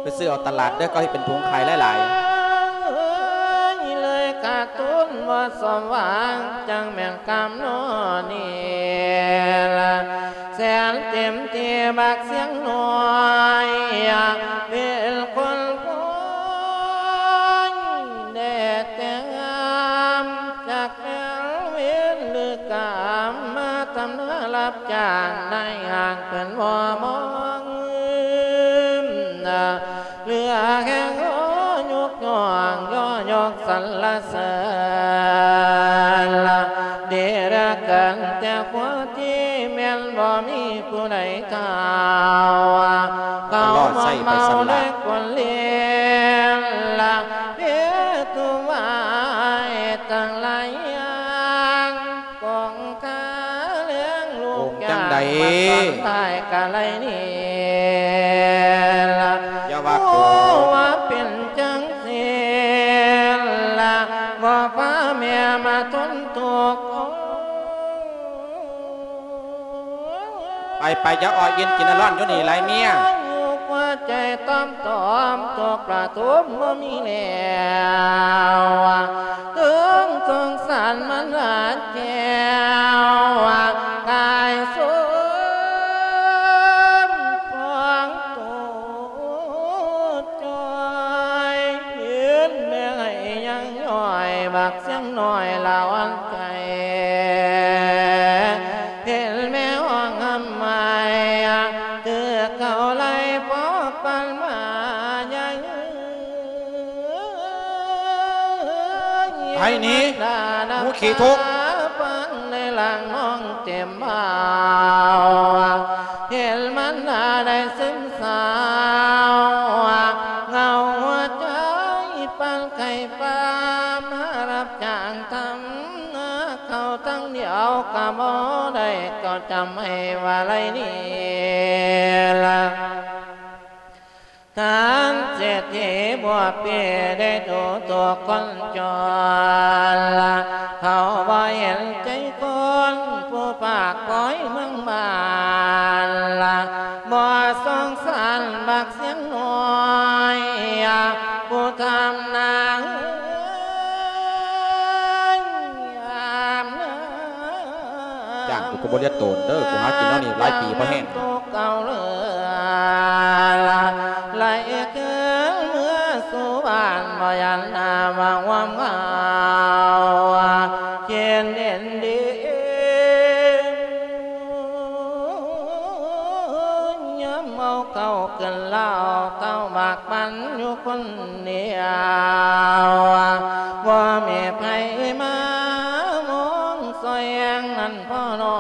ໄປຊື້ເອົາຕະຫຼາດເດີ ເຂົາເຮັດເປັນຖົງຂາຍຫຼາຍໆ. ເອີຍ ເລີຍຂາດທຶນບໍ່ສົມຫວັງ ຈັ່ງແມ່ນກຳນໍນີ້ລະ ແສນເຕັມທີ່ບັກຊຽງນ້ອຍ ເປັນຄົນພອຍ ແດ່ແຕ່ງງາມ ຈັກແມ່ນເວນຫຼືກຳ ມາທຳນາຮັບຈ້າງ ນາຍຫ້າງເພິ່ນບໍ່ມອງ ເຫຼືອແຮງຂໍຍົກຍ້ອງ ຍໍຍົກສັນລະເສີນລະ ລໍໃຊ້ໄປຊັ້ນລະ ເມຕວາຍທັງຫຼາຍຢ່າງ ກອງຂ້າແລງລູກ ໂກງຈັ່ງໃດ ຍາມມາສອນທ້າຍກະໄລນີ້ລະ ຢ່າວ່າໂກງ ຮູ້ວ່າເປັນຈັ່ງຊີ້ລະ ບໍ່ພາແມ່ມາທົນທຸກ ໄປໆ ຢ່າອ້ອຍອິນກິນອາລອນຢູ່ນີ້ຫຼາຍເມຍ ຢູ່ຫົວໃຈຕ້ອມໆ ຕົກປະທຸມບໍ່ມີແລ້ວ ເຖິງສົງສານມັນລາແກ້ວ ກາຍສົມປອງໂຕຈ່ອຍ ເຫັນແມ່ໄຫ້ຍັງຍ້ອຍ ບັກສຽງນ້ອຍລະອ່ອນໃຈ ເຫັນແມ່ຮ້ອງຮ່ຳໄຫ້ ຖືກເຂົາໄລ່ພໍປັນມາຍັງ ໄປໜີ ໝູຂີ້ທຸກ ປານໃນຫຼັງນ້ອງເຕັມເບົາ ເຫັນມັນດາໄດ້ຊຶມເສົ້າ ເຫງົາຫົວໃຈປານໄຂ້ປ່າ ມາຮັບຈ້າງທຳນາເຂົ້າທັງດຽວກະບໍ່ໄດ້ ກໍຈຳໃຫ້ວ່າໄລນີ້ລະ ທ່ານເສດຖີບົວປີໄດ້ດູຖືກຄົນຈົນ ເຂົາບໍ່ເຫັນໃຈຄົນຜູ້ພາກຜອຍເມືອງບ້ານ ບໍ່ສົງສານບັກສຽງນ້ອຍ ຜູ້ທຳນາ ຈ້າງກູກໍບໍ່ເລັດໂຕນເດີ ກູຫາກິນແນວນີ້ຫຼາຍປີພໍແຮງ ເກົ່າເລີລະ ໄລ່ຄືນເມືອສູ່ບ້ານ ບໍ່ຢ້ານໜ້າວ່າງວາມເຫງົາ ເຈັນເດັ່ນດີ ຍາມເມົາເຂົ້າກິນເຫຼົ້າ ເຕົ້າໝາກມັນຢູ່ຄົນດຽວ ບໍ່ມີໃຜມາມອງຊ່ອຍແຮງນັ້ນພໍນ້ອ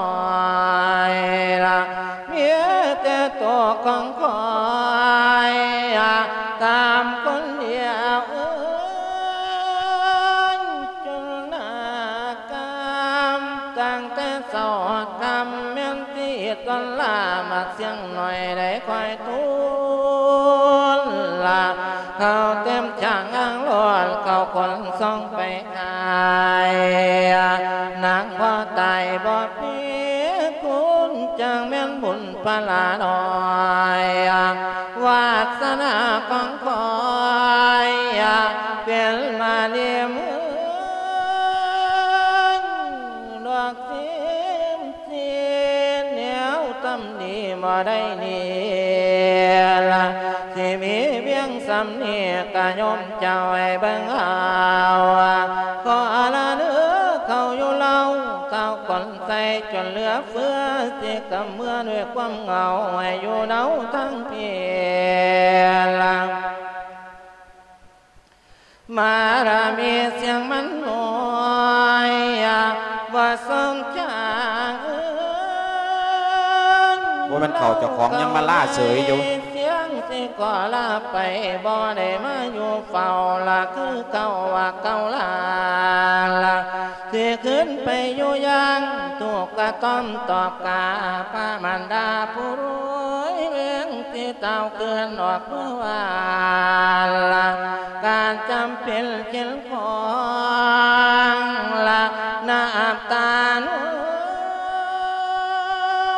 ຍລະ ມີແຕ່ໂຕຂອງຂ້ອຍ ຕາມຄົນດຽວເອີຍ ຈົນໜ້າກາມ ຕັ້ງແຕ່ເຊົ້າຮອດຄ່ຳ ແມ່ນທີ່ຕົນລາ ໝາກສຽງໜ້ອຍໄດ້ຄອຍທູນລະ ເຂົ້າເຕັມຈາງອ່າງລ້ອນ ເຂົ້າຄົນສົ່ງໄປ ຂາຍ ນາງບໍ່ຕາຍບໍ່ເປັນຄຸນ ຈັ່ງແມ່ນບຸນພາລານ້ອຍ ວາສະໜາຂອງຂ້ອຍ ເປັນມາລີເມືອງ ດອກສິນ ສິນແນວທຳດີບໍ່ໄດ້ນີ້ລະ ຊິມີພຽງສ່ຳນີ້ກະໂຍມເຈົ້າໃຫ້ເບິ່ງເອົາ ຂໍລະເດີເຂົ້າຢູ່ເລົ່າ ເຂົ້າຄົນໃສ່ຈົນເຫຼືອເຟືອ ຊິກຳເມືອດ້ວຍຄວາມເຫງົາ ໃຫ້ຢູ່ເນົາທາງພີລະ ມາລະມີສຽງມັນນ້ອຍ ບໍ່ສົນຈາງ ບໍ່ແມ່ນເຂົາເຈົ້າຂອງຍັງມາລາເສີຍຢູ່ ສຽງຊິຂໍລາໄປ ບໍ່ໄດ້ມາຢູ່ເຝົ້າລະ ຄືເກົ່າວ່າເກົ່າລາລະ ຊິຂຶ້ນໄປຢູ່ຢ່າງ ທຸກກະຕ້ອມຕອບກາ ພະມານດາຜູ້ລວຍແວງ ທີ່ຕ່າວເກີນອອກເມື່ອວານລະ ການຈຳເປັນເຂັນຂອງລະ ນ້ຳຕານວ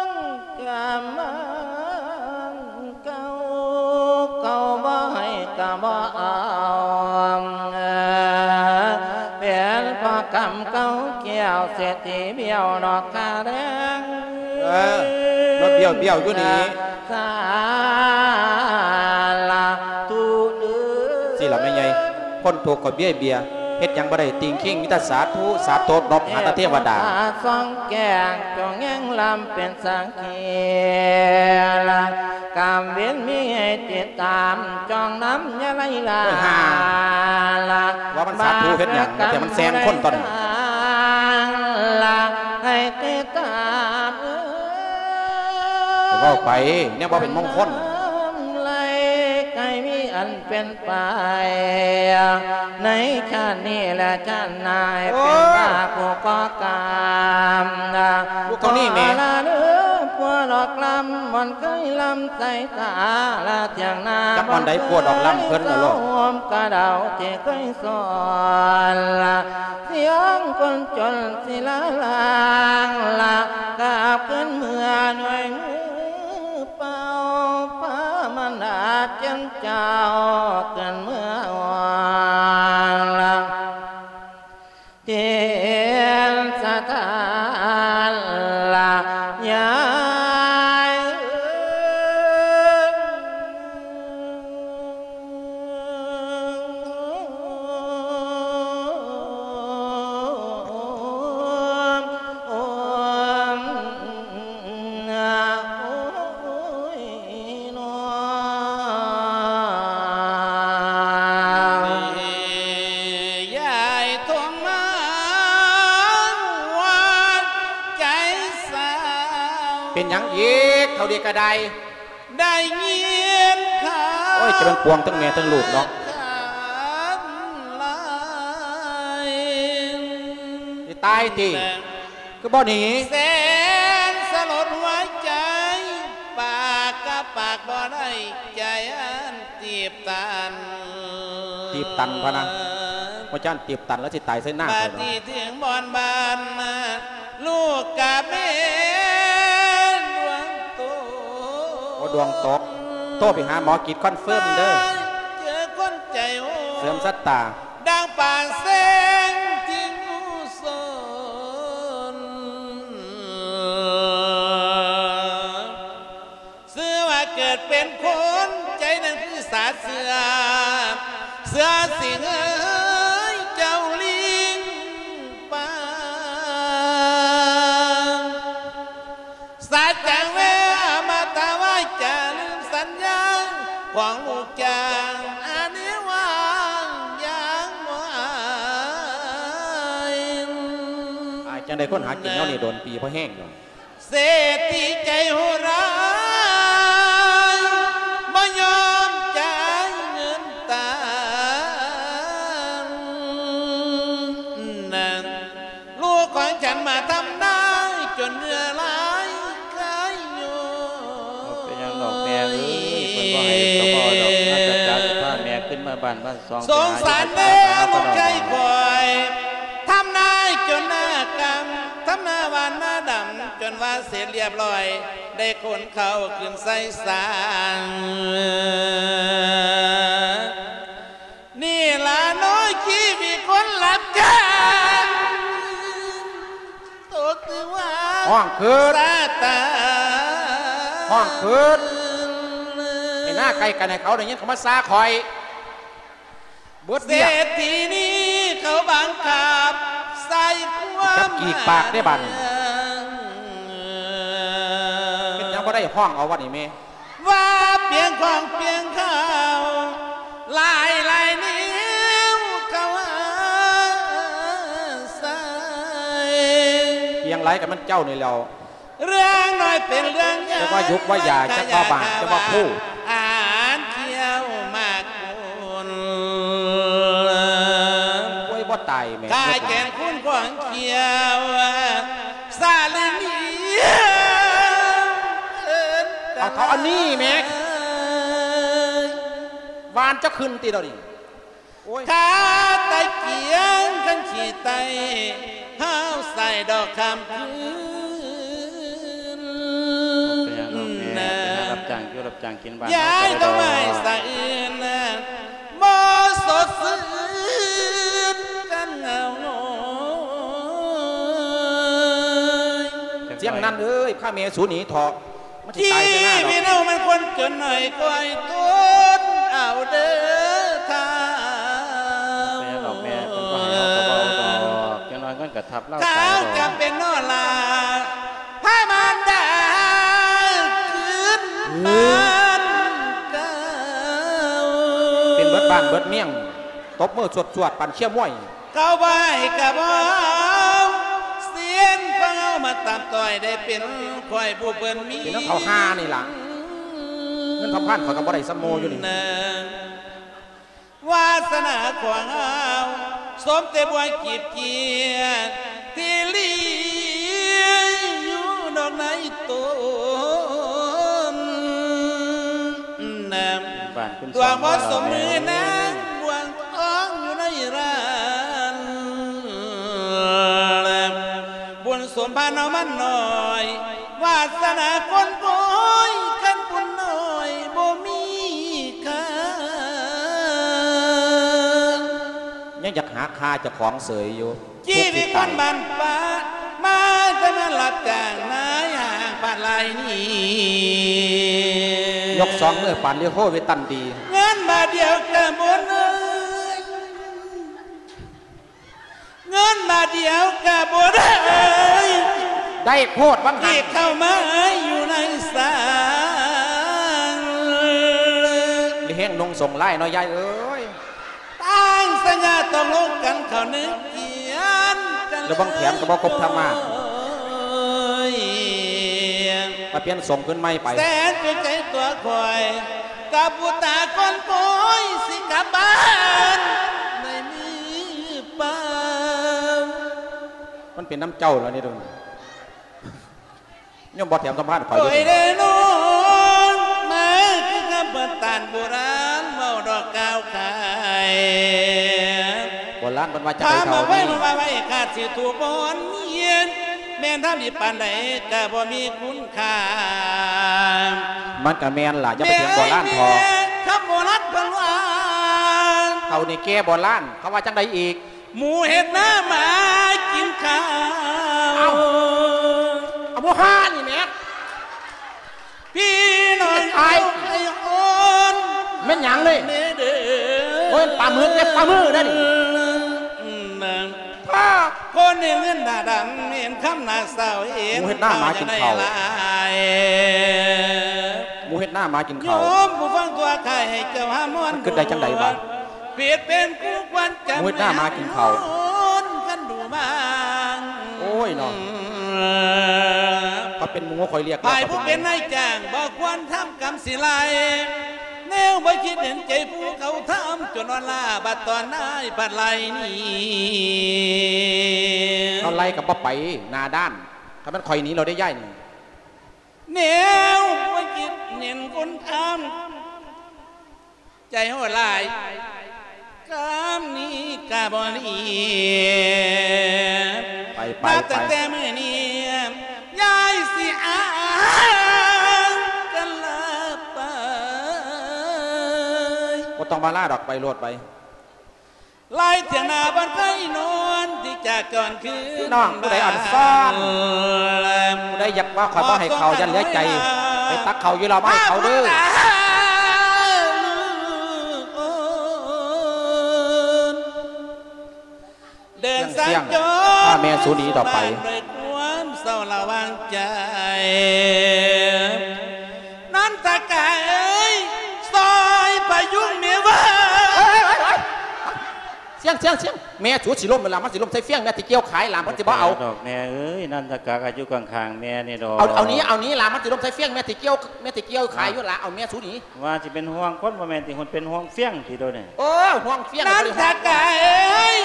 ງກຳມັນເກົ່າ ເຂົາບໍ່ໃຫ້ກະບໍ່ເອົາ ເປັນເພາະກຳເກົ່າ ແກ້ວເສດຖີບ້ຽວດອກຄ່າແຮງ ເອີ ມາບ້ຽວໆຢູ່ນີ້ ສາລະທຸເດີ ຊີ້ລະແມ່ໃຫຍ່ ຄົນທຸກກໍເບ້ຍໆ ເຮັດຫຍັງບໍ່ໄດ້ ຕິງຄິງມີແຕ່ສາທຸ ສາໂຕ ນົບຫາແຕ່ເທວະດາ ສອງແກ້ງ ຈົ່ງແຍງລຳເປັນສັກ ເຄລະ ກຳເວັນມີໃຫ້ຕິດຕາມ ຈ້ອງນຳຢ່າໄລ່ລາ ໂອ້ຍ ຫ່າ ລະ ວ່າມັນສາທຸເຮັດຫຍັງ ແຕ່ມັນແຊງຄົນຕົວນີ້ ລະ ໃຫ້ຕິດຕາມ ເອີຍ ເວົ້າໄປ ແນວບໍ່ເປັນມົງຄົນ ນຳລະ ເປັນໄປ ໃນຊາດນີ້ແລະຊາດໜ້າ ໃຫ້ເປັນວ່າຜູ້ກໍ່ກຳ ລູກເທົ່ານີ້ແມ່ ຂໍລະເດີ ພວກດອກລຳ ບ່ອນເຄີຍລຳໃສ່ຕາ ລະທຽງນາ ຈັບບ່ອນໃດພວກດອກລຳເພິ່ນລະໂລດ ໂຮມກະເດົາທີ່ເຄີຍສອນ ສຽງຄົນຈົນສິລາລາງ ລະກາບຄືນເມືອດ້ວຍມື ເປົ່າພາມານາເຈັນເຈົ້າ ຂຶ້ນເມືອອ່ອນລະ ເທດສະຖານລະຍາຍ. ເປັນຫຍັງອີກ ເທົ່າເດກະໄດ? ໄດ້ຍິນຂ່າວ ໂອ້ຍ ຈະແມ່ນປວງທັງແມ່ທັງລູກເນາະ ຊິຕາຍຕິ ຄືບໍ່ໜີ ແສນສະຫຼົດຫົວໃຈ ປາກກະປາກບໍ່ໄດ້ ໃຈອັນຕີບຕັນ ຕີບຕັນພະນະ ວ່າຈັ່ງຕີບຕັນແລ້ວຊິຕາຍໃສ່ໜ້າ ບາດນີ້ເຖິງບ່ອນບ້ານ ລູກກະແມ່ດວງຕົກ ໂອ້ ດວງຕົກ ໂທໄປຫາໝໍກິດຄອນເຟີມເດີ ເຈີຄົນໃຈໂຫດ ເສີມຊະຕາ ດັ່ງປາງແສງທີ່ງູຊົນ ຊື່ວ່າເກີດເປັນຄົນ ໃຈນັ້ນຄືສາດເຊື່ອ ເຊື່ອສິງເອີຍເຈົ້າລິງປ່າ ສັດຈັງເວ ອະມະຕະວາຈາ ລືມສັນຍາຂອງລູກຈ້າງ ອັນນີ້ຫວັງຢ່າງບໍ່ອາຍ ອາຍຈັ່ງໃດ ຄົນຫາກິນແນວນີ້ໂດນປີພໍແຮງດອກ ເສດຖີໃຈໂຫດຮ້າຍ ບໍ່ຍອມຈ່າຍເງິນຕານ ລູກຂອງສັນມາທຳນາ ຈົນເຫື່ອໄຫຼໄຄໂຍ ບໍ່ເປັນຫຍັງດອກແມ່ເອີຍ ເພິ່ນບໍ່ໃຫ້ກໍບໍ່ເອົາດອກ ມາຈັດການຊິພາແມ່ຂຶ້ນເມືອບ້ານ ສອງ ສົງສານແດ່ລູກຊາຍຂ້ອຍ ທຳນາຈົນນາກຳ ທຳນາຫວ່ານນາດຳ ຈົນວ່າເສັດລຽບລ້ອຍ ໄດ້ຂົນເຂົ້າຂຶ້ນໃສ່ສາງ ນີ້ລະເນາະຊີວິດຄົນຮັບຈ້າງ ໂຕຄືວ່າ ຮ້ອງຄືດ ຊາຕາ ຮ້ອງຄືດ ໃຫ້ໜ້າໃກ້ກັນ ໃຫ້ເຂົາໄດ້ຍິນ ເຂົາມາຊາຂ້ອຍ ເບິດວຽກ ເສດຖີນີ້ເຂົາບັງຄັບໃສ່ຄວາມ ຈັບກີກປາກເດ້ບາດນີ້ ເຮັດຫຍັງບໍ່ໄດ້ ຮ້ອງເອົາວັດນີ້ແມ່ ວ່າປຽງຂອງປຽງເຂົາ ຫຼາຍຫຼາຍແນວເຂົາອາໄສ ປຽງຫຼາຍກໍແມ່ນເຈົ້ານີ້ແຫຼ້ວ ເລື່ອງນ້ອຍເປັນເລື່ອງໃຫຍ່ ຈັກວ່າຍຸກວ່າຢາ ຈັກວ່າບາງ ຈັກວ່າຄູ່ ອາຫານຂ້ຽວໝາກຄຸນ ໂອ້ຍ ບໍ່ຕາຍແມ່ ຂ້າແກ່ນຄຸນຂອງຂ້ຽວ ສາລີນີ ເອີ້ນກັນ ເອົາເທົ່າອັນນີ້ແມ່ ວານເຈົ້າຂຶ້ນຕິດອກນີ້ ໂອ້ຍ ຄາຕະກຽງຄັນຂີ້ໄຕ ຫາວໃສ່ດອກຄຳຄືນ ເປັນຫຍັງດອກແມ່ ໄປຫາຮັບຈ້າງຢູ່ຮັບຈ້າງກິນບ້ານເຮົາກໍໄດ້ດອກ ຢາດອກໄມ້ສະອື່ນ ບໍ່ສົດຊື່ນກັນເຫງົາໂງຍ ສຽງນັ້ນເອີຍ ພາແມ່ສູໜີເຖາະ ມັນຊິຕາຍໃສ່ໜ້າດອກ ຊີວິດເຮົາມັນຄົນຈົນໜ້ອຍ ຄ່ອຍທົນເອົາເດີທ່ານ ເປັນຫຍັງດອກແມ່ ເພິ່ນບໍ່ໃຫ້ເຮົາກໍບໍ່ເອົາດອກ ຢ່າງໜ້ອຍເງິນກໍທັບລາວຕາຍດອກ ເຂົາຈຳເປັນເນາະລະ ພາມານດາຄືນບ້ານເກົ່າ ເປັນເບິດບ້ານເບິດເມືອງ ຕົບມືສວດໆ ປານເຊຍມວຍ ເຂົາບໍ່ໃຫ້ກະບໍ່ເອົາ ເສຍນຂອງເຮົາມາຕາມຕ້ອຍ ໄດ້ເປັນຂ້ອຍຜູ້ເພິ່ນມີ ເປັນນຳເຂົາຫານີ້ລະ ເງິນສຳພັນຂ້ອຍກໍບໍ່ໄດ້ສ່ຳໝູ່ຢູ່ນີ້ ນາງ ວາສະໜາຂອງເຮົາ ສົມແຕ່ບົວກີບກຽນ ທີ່ລີຢູ່ດອກໃນຕົ້ນ. ດວງບໍ່ສົມມືນາງ ບົວທອງຢູ່ໃນຮ້ານ ບຸນສົມພານເຮົາມັນໜ້ອຍ ວາສະໜາຄົນໂພຍ ຄັນບຸນໜ້ອຍບໍ່ມີຄ່າ. ຍັງຢາກຫາຂ້າເຈົ້າຂອງເສີຍຢູ່. ຊີວິດຄົນບ້ານປ່າ ມາແຕ່ມາຮັບຈ້າງນາຍຫ້າງປານລາຍນີ້ ຍົກສອງມືປານລິໂຮເວຕັນດີ ເງິນບາດດຽວກະບໍ່ເລີຍ ເງິນບາດດຽວກະບໍ່ໄດ້ ໄດ້ໂພດວ່າງຫັ້ນ ທີ່ເຂົ້າມາຢູ່ໃນສາງ ລິເຮງນຸ່ງສົງລາຍເນາະຍາຍເອີຍ. ຕັ້ງສັນຍາຕົກລົງກັນເຂົ້າໜຶ່ງກຽນກັນ ລະວັງແຖມກະບໍ່ຄົບທຳມາ ມາປ່ຽນສົງຄືນໃໝ່ໄປ ແສນເປັນໃຈຕົວຂ້ອຍ ກັບບຸດຕາຄົນໂພຍ ຊິກັບບ້ານໃນມືເປົ່າ. ມັນເປັນນຳເຈົ້າລະນີ້ ໂຍມບໍ່ແຖມສຳພາດຂ້ອຍເດີ. ໂອ້ຍ ແນ່ນອນ ມາຄືຄຳເພິ່ນຕານໂບລານ ເວົ້າດອກກ່າວຂາຍ ໂບລານເພິ່ນວ່າຈັ່ງໃດເຖົ້ານີ້ ຄຳວ່າໄວ້ ວ່າໄວ້ ຂ້າຊິຖືກບ່ອນເຮັດ ແມ່ນທຳດີປານໃດກະບໍ່ມີຄຸນຄ່າ. ມັນກະແມ່ນລະ ຢ່າໄປຖຽງໂບລານເຖາະ ແມ່ນຄຳໂບລານເພິ່ນວ່າ ເຖົ້ານີ້ແກ່ໂບລານ ເຂົາວ່າຈັ່ງໃດອີກ? ໝູເຮັດນາໝາກິນເຂົ້າ. ເອົ້າ ເອົາບໍ່ຫານີ້ແໝ່ ພີ່ນ້ອງ ໄອ້ ໄອ້ອ່ອນ ແມ່ນຫຍັງນີ້? ເດີ ໂອ້ຍ ປາໝຶກເດ້ ປາໝຶກເດ້ນີ້ ພາ ຄົນໜຶ່ງເງິນໜ້າດຳ ເຫັນຄຳໜ້າເສົ້າ ເຫັນ ໝູເຮັດນາໝາກິນເຂົ້າ ເຂົ້າຢ່າງໃດຫຼາຍ ໝູເຮັດນາໝາກິນເຂົ້າ ໂຍມຜູ້ຟັງຕົວຂ້າ ໃຫ້ເຈົ້າຫາມອນ ມັນຄິດໄດ້ຈັ່ງໃດວະ? ຜິດເປັນຄູ່ຄວນຈຳ ໝູເຮັດນາໝາກິນເຂົ້າ ກັນດູບາງ. ໂອ້ຍເນາະ ຂ້ອຍເປັນໝູຂ້ອຍລຽກ ໃຜຜູ້ເປັນນາຍຈ້າງ ບໍ່ຄວນທຳກຳຊິໄລ່ ແນວບໍ່ຄິດເຫັນໃຈຜູ້ເຂົາທຳ ຈົນອ່ອນລ້າ ບັດຕອນນາຍພັດໄລ່ໜີ ເຮົາໄລ່ກໍບໍ່ໄປ ໜ້າດ້ານ ຄັນແມ່ນຂ້ອຍໜີແລ້ວເດ້ຍາຍນີ້ ແນວບໍ່ຄິດເຫັນຄົນທຳ ໃຈໂຫດຫຼາຍ ກຳນີ້ກະບໍ່ດີ ໄປ ໄປ ນັບຕັ້ງແຕ່ມື້ນີ້ ຍາຍຊິອາກັນລາໄປ ບໍ່ຕ້ອງມາລາດອກ ໄປໂລດ ໄປ ລາຍທ່ຽງນາບ້ານໄຄນວນ ທີ່ຈາກຈອນຄືນ ພີ່ນ້ອງຜູ້ໃດອ່ອນຊອນ ຜູ້ໃດຢາກວ່າຂ້ອຍບໍ່ໃຫ້ເຂົ້າ ຢ້ານເຫຼືອໃຈ ໄປຕັກເຂົ້າຢູ່ລາວມາໃຫ້ເຂົາເດີ. ເດີນສັນຈອນ ພາແມ່ສູໜີຕໍ່ໄປ ດ້ວຍຄວາມເສົ້າລະຫວ່າງໃຈ ນັນທະກາເອີຍ ຊ່ອຍພະຍຸງແມ່ເວີ້ຍ. ໂອ້ຍ ໂອ້ຍ ໂອ້ຍ ໂອ້ຍ ສຽງ ສຽງ ສຽງ ແມ່ສູຊິລົ້ມແລ້ວລະ ມັນຊິລົ້ມໃສ່ຟຽງ ແມ່ຊິກ່ຽວຂາຍລະ ມັນຊິບໍ່ເອົາດອກ ແມ່ເອີຍ ນັນທະກາກະຢູ່ຂ້າງໆແມ່ນີ້ດອກ ເອົາ ເອົາໜີ ເອົາໜີລະ ມັນຊິລົ້ມໃສ່ຟຽງ ແມ່ຊິກ່ຽວ ແມ່ຊິກ່ຽວຂາຍຢູ່ລະ ເອົາແມ່ສູໜີ. ວ່າຊິເປັນຫ່ວງຄົນ ບໍ່ແມ່ນຕິ ຫົນເປັນຫ່ວງຟຽງຕິໂດນີ້. ໂອ້ ຫ່ວງຟຽງ ນັນທະກາເອີຍ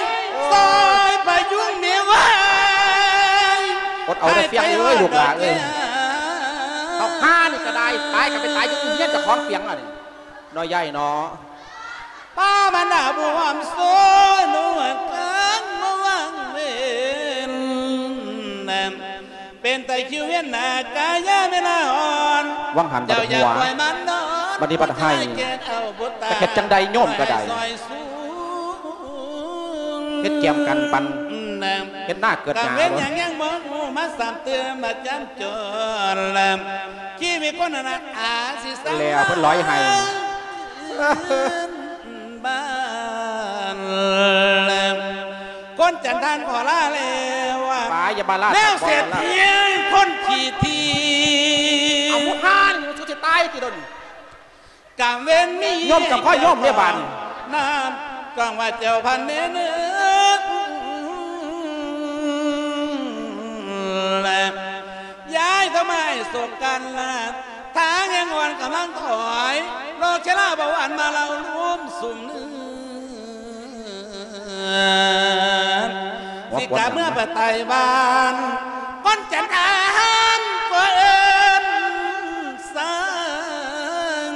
ຊ່ອຍພະຍຸງແມ່ເວີ້ຍ ອົດເອົາເດີຟຽງເອີຍ ລູກຫຼາເອີຍ ເອົາຫານີ້ກະໄດ້ ຕາຍກະໄປຕາຍຢູ່ເຮືອນເຈົ້າຂອງຟຽງລະນີ້ ນ້ອຍໃຫຍ່ເນາະ. ປາມານາບວມໂຊນວດກາງມາວັງເວັນ ເປັນຕາຄິວວຽນໜ້າກາຍາເວລາອ່ອນ ຫວັງຫັນບັດຫົວ ບັດນີ້ບັດໄຫ້ ຈັກເຮັດຈັ່ງໃດໂຍມກະໄດ້ ເຮັດແກມກັນປັນ ເຮັດນາເກີດຫຍ້າ ເວນຫຍັງຍັງບໍ່ຮູ້ ມາຊ້ຳເຕີມມາຈຳຈອນ ຊີວິດຄົນອະນາດອາຊິສັງ ແລ້ວເພິ່ນລອຍໄຫ້ ບ້ານ ຄົນຈັນທານຂໍລາແລ້ວ ປາຢ່າມາລາ ແນວເສດເພຍງຄົນຂີ້ຖີ່ ເອົາໝູ່ຫ້ານີ້ ສູຊິຕາຍຕິໂດນີ້ ກຳເວັນມີ ໂຍມກະພໍໂຍມເດ້ບາດນີ້ ນານ ກອງວ່າເຈົ້າພັນແນ່ເນີ ຍາຍທຳໄມສົກກັນລະ ທາງແຫ່ງອ່ອນກຳລັງຖອຍ ໂລເຄລາບໍ່ຫວັ່ນມາເລົ່າລວມຊຸມໜຶ່ງ สิกลับเมือไปไต้หวัน คนจันทานก็เอิ้นสั่ง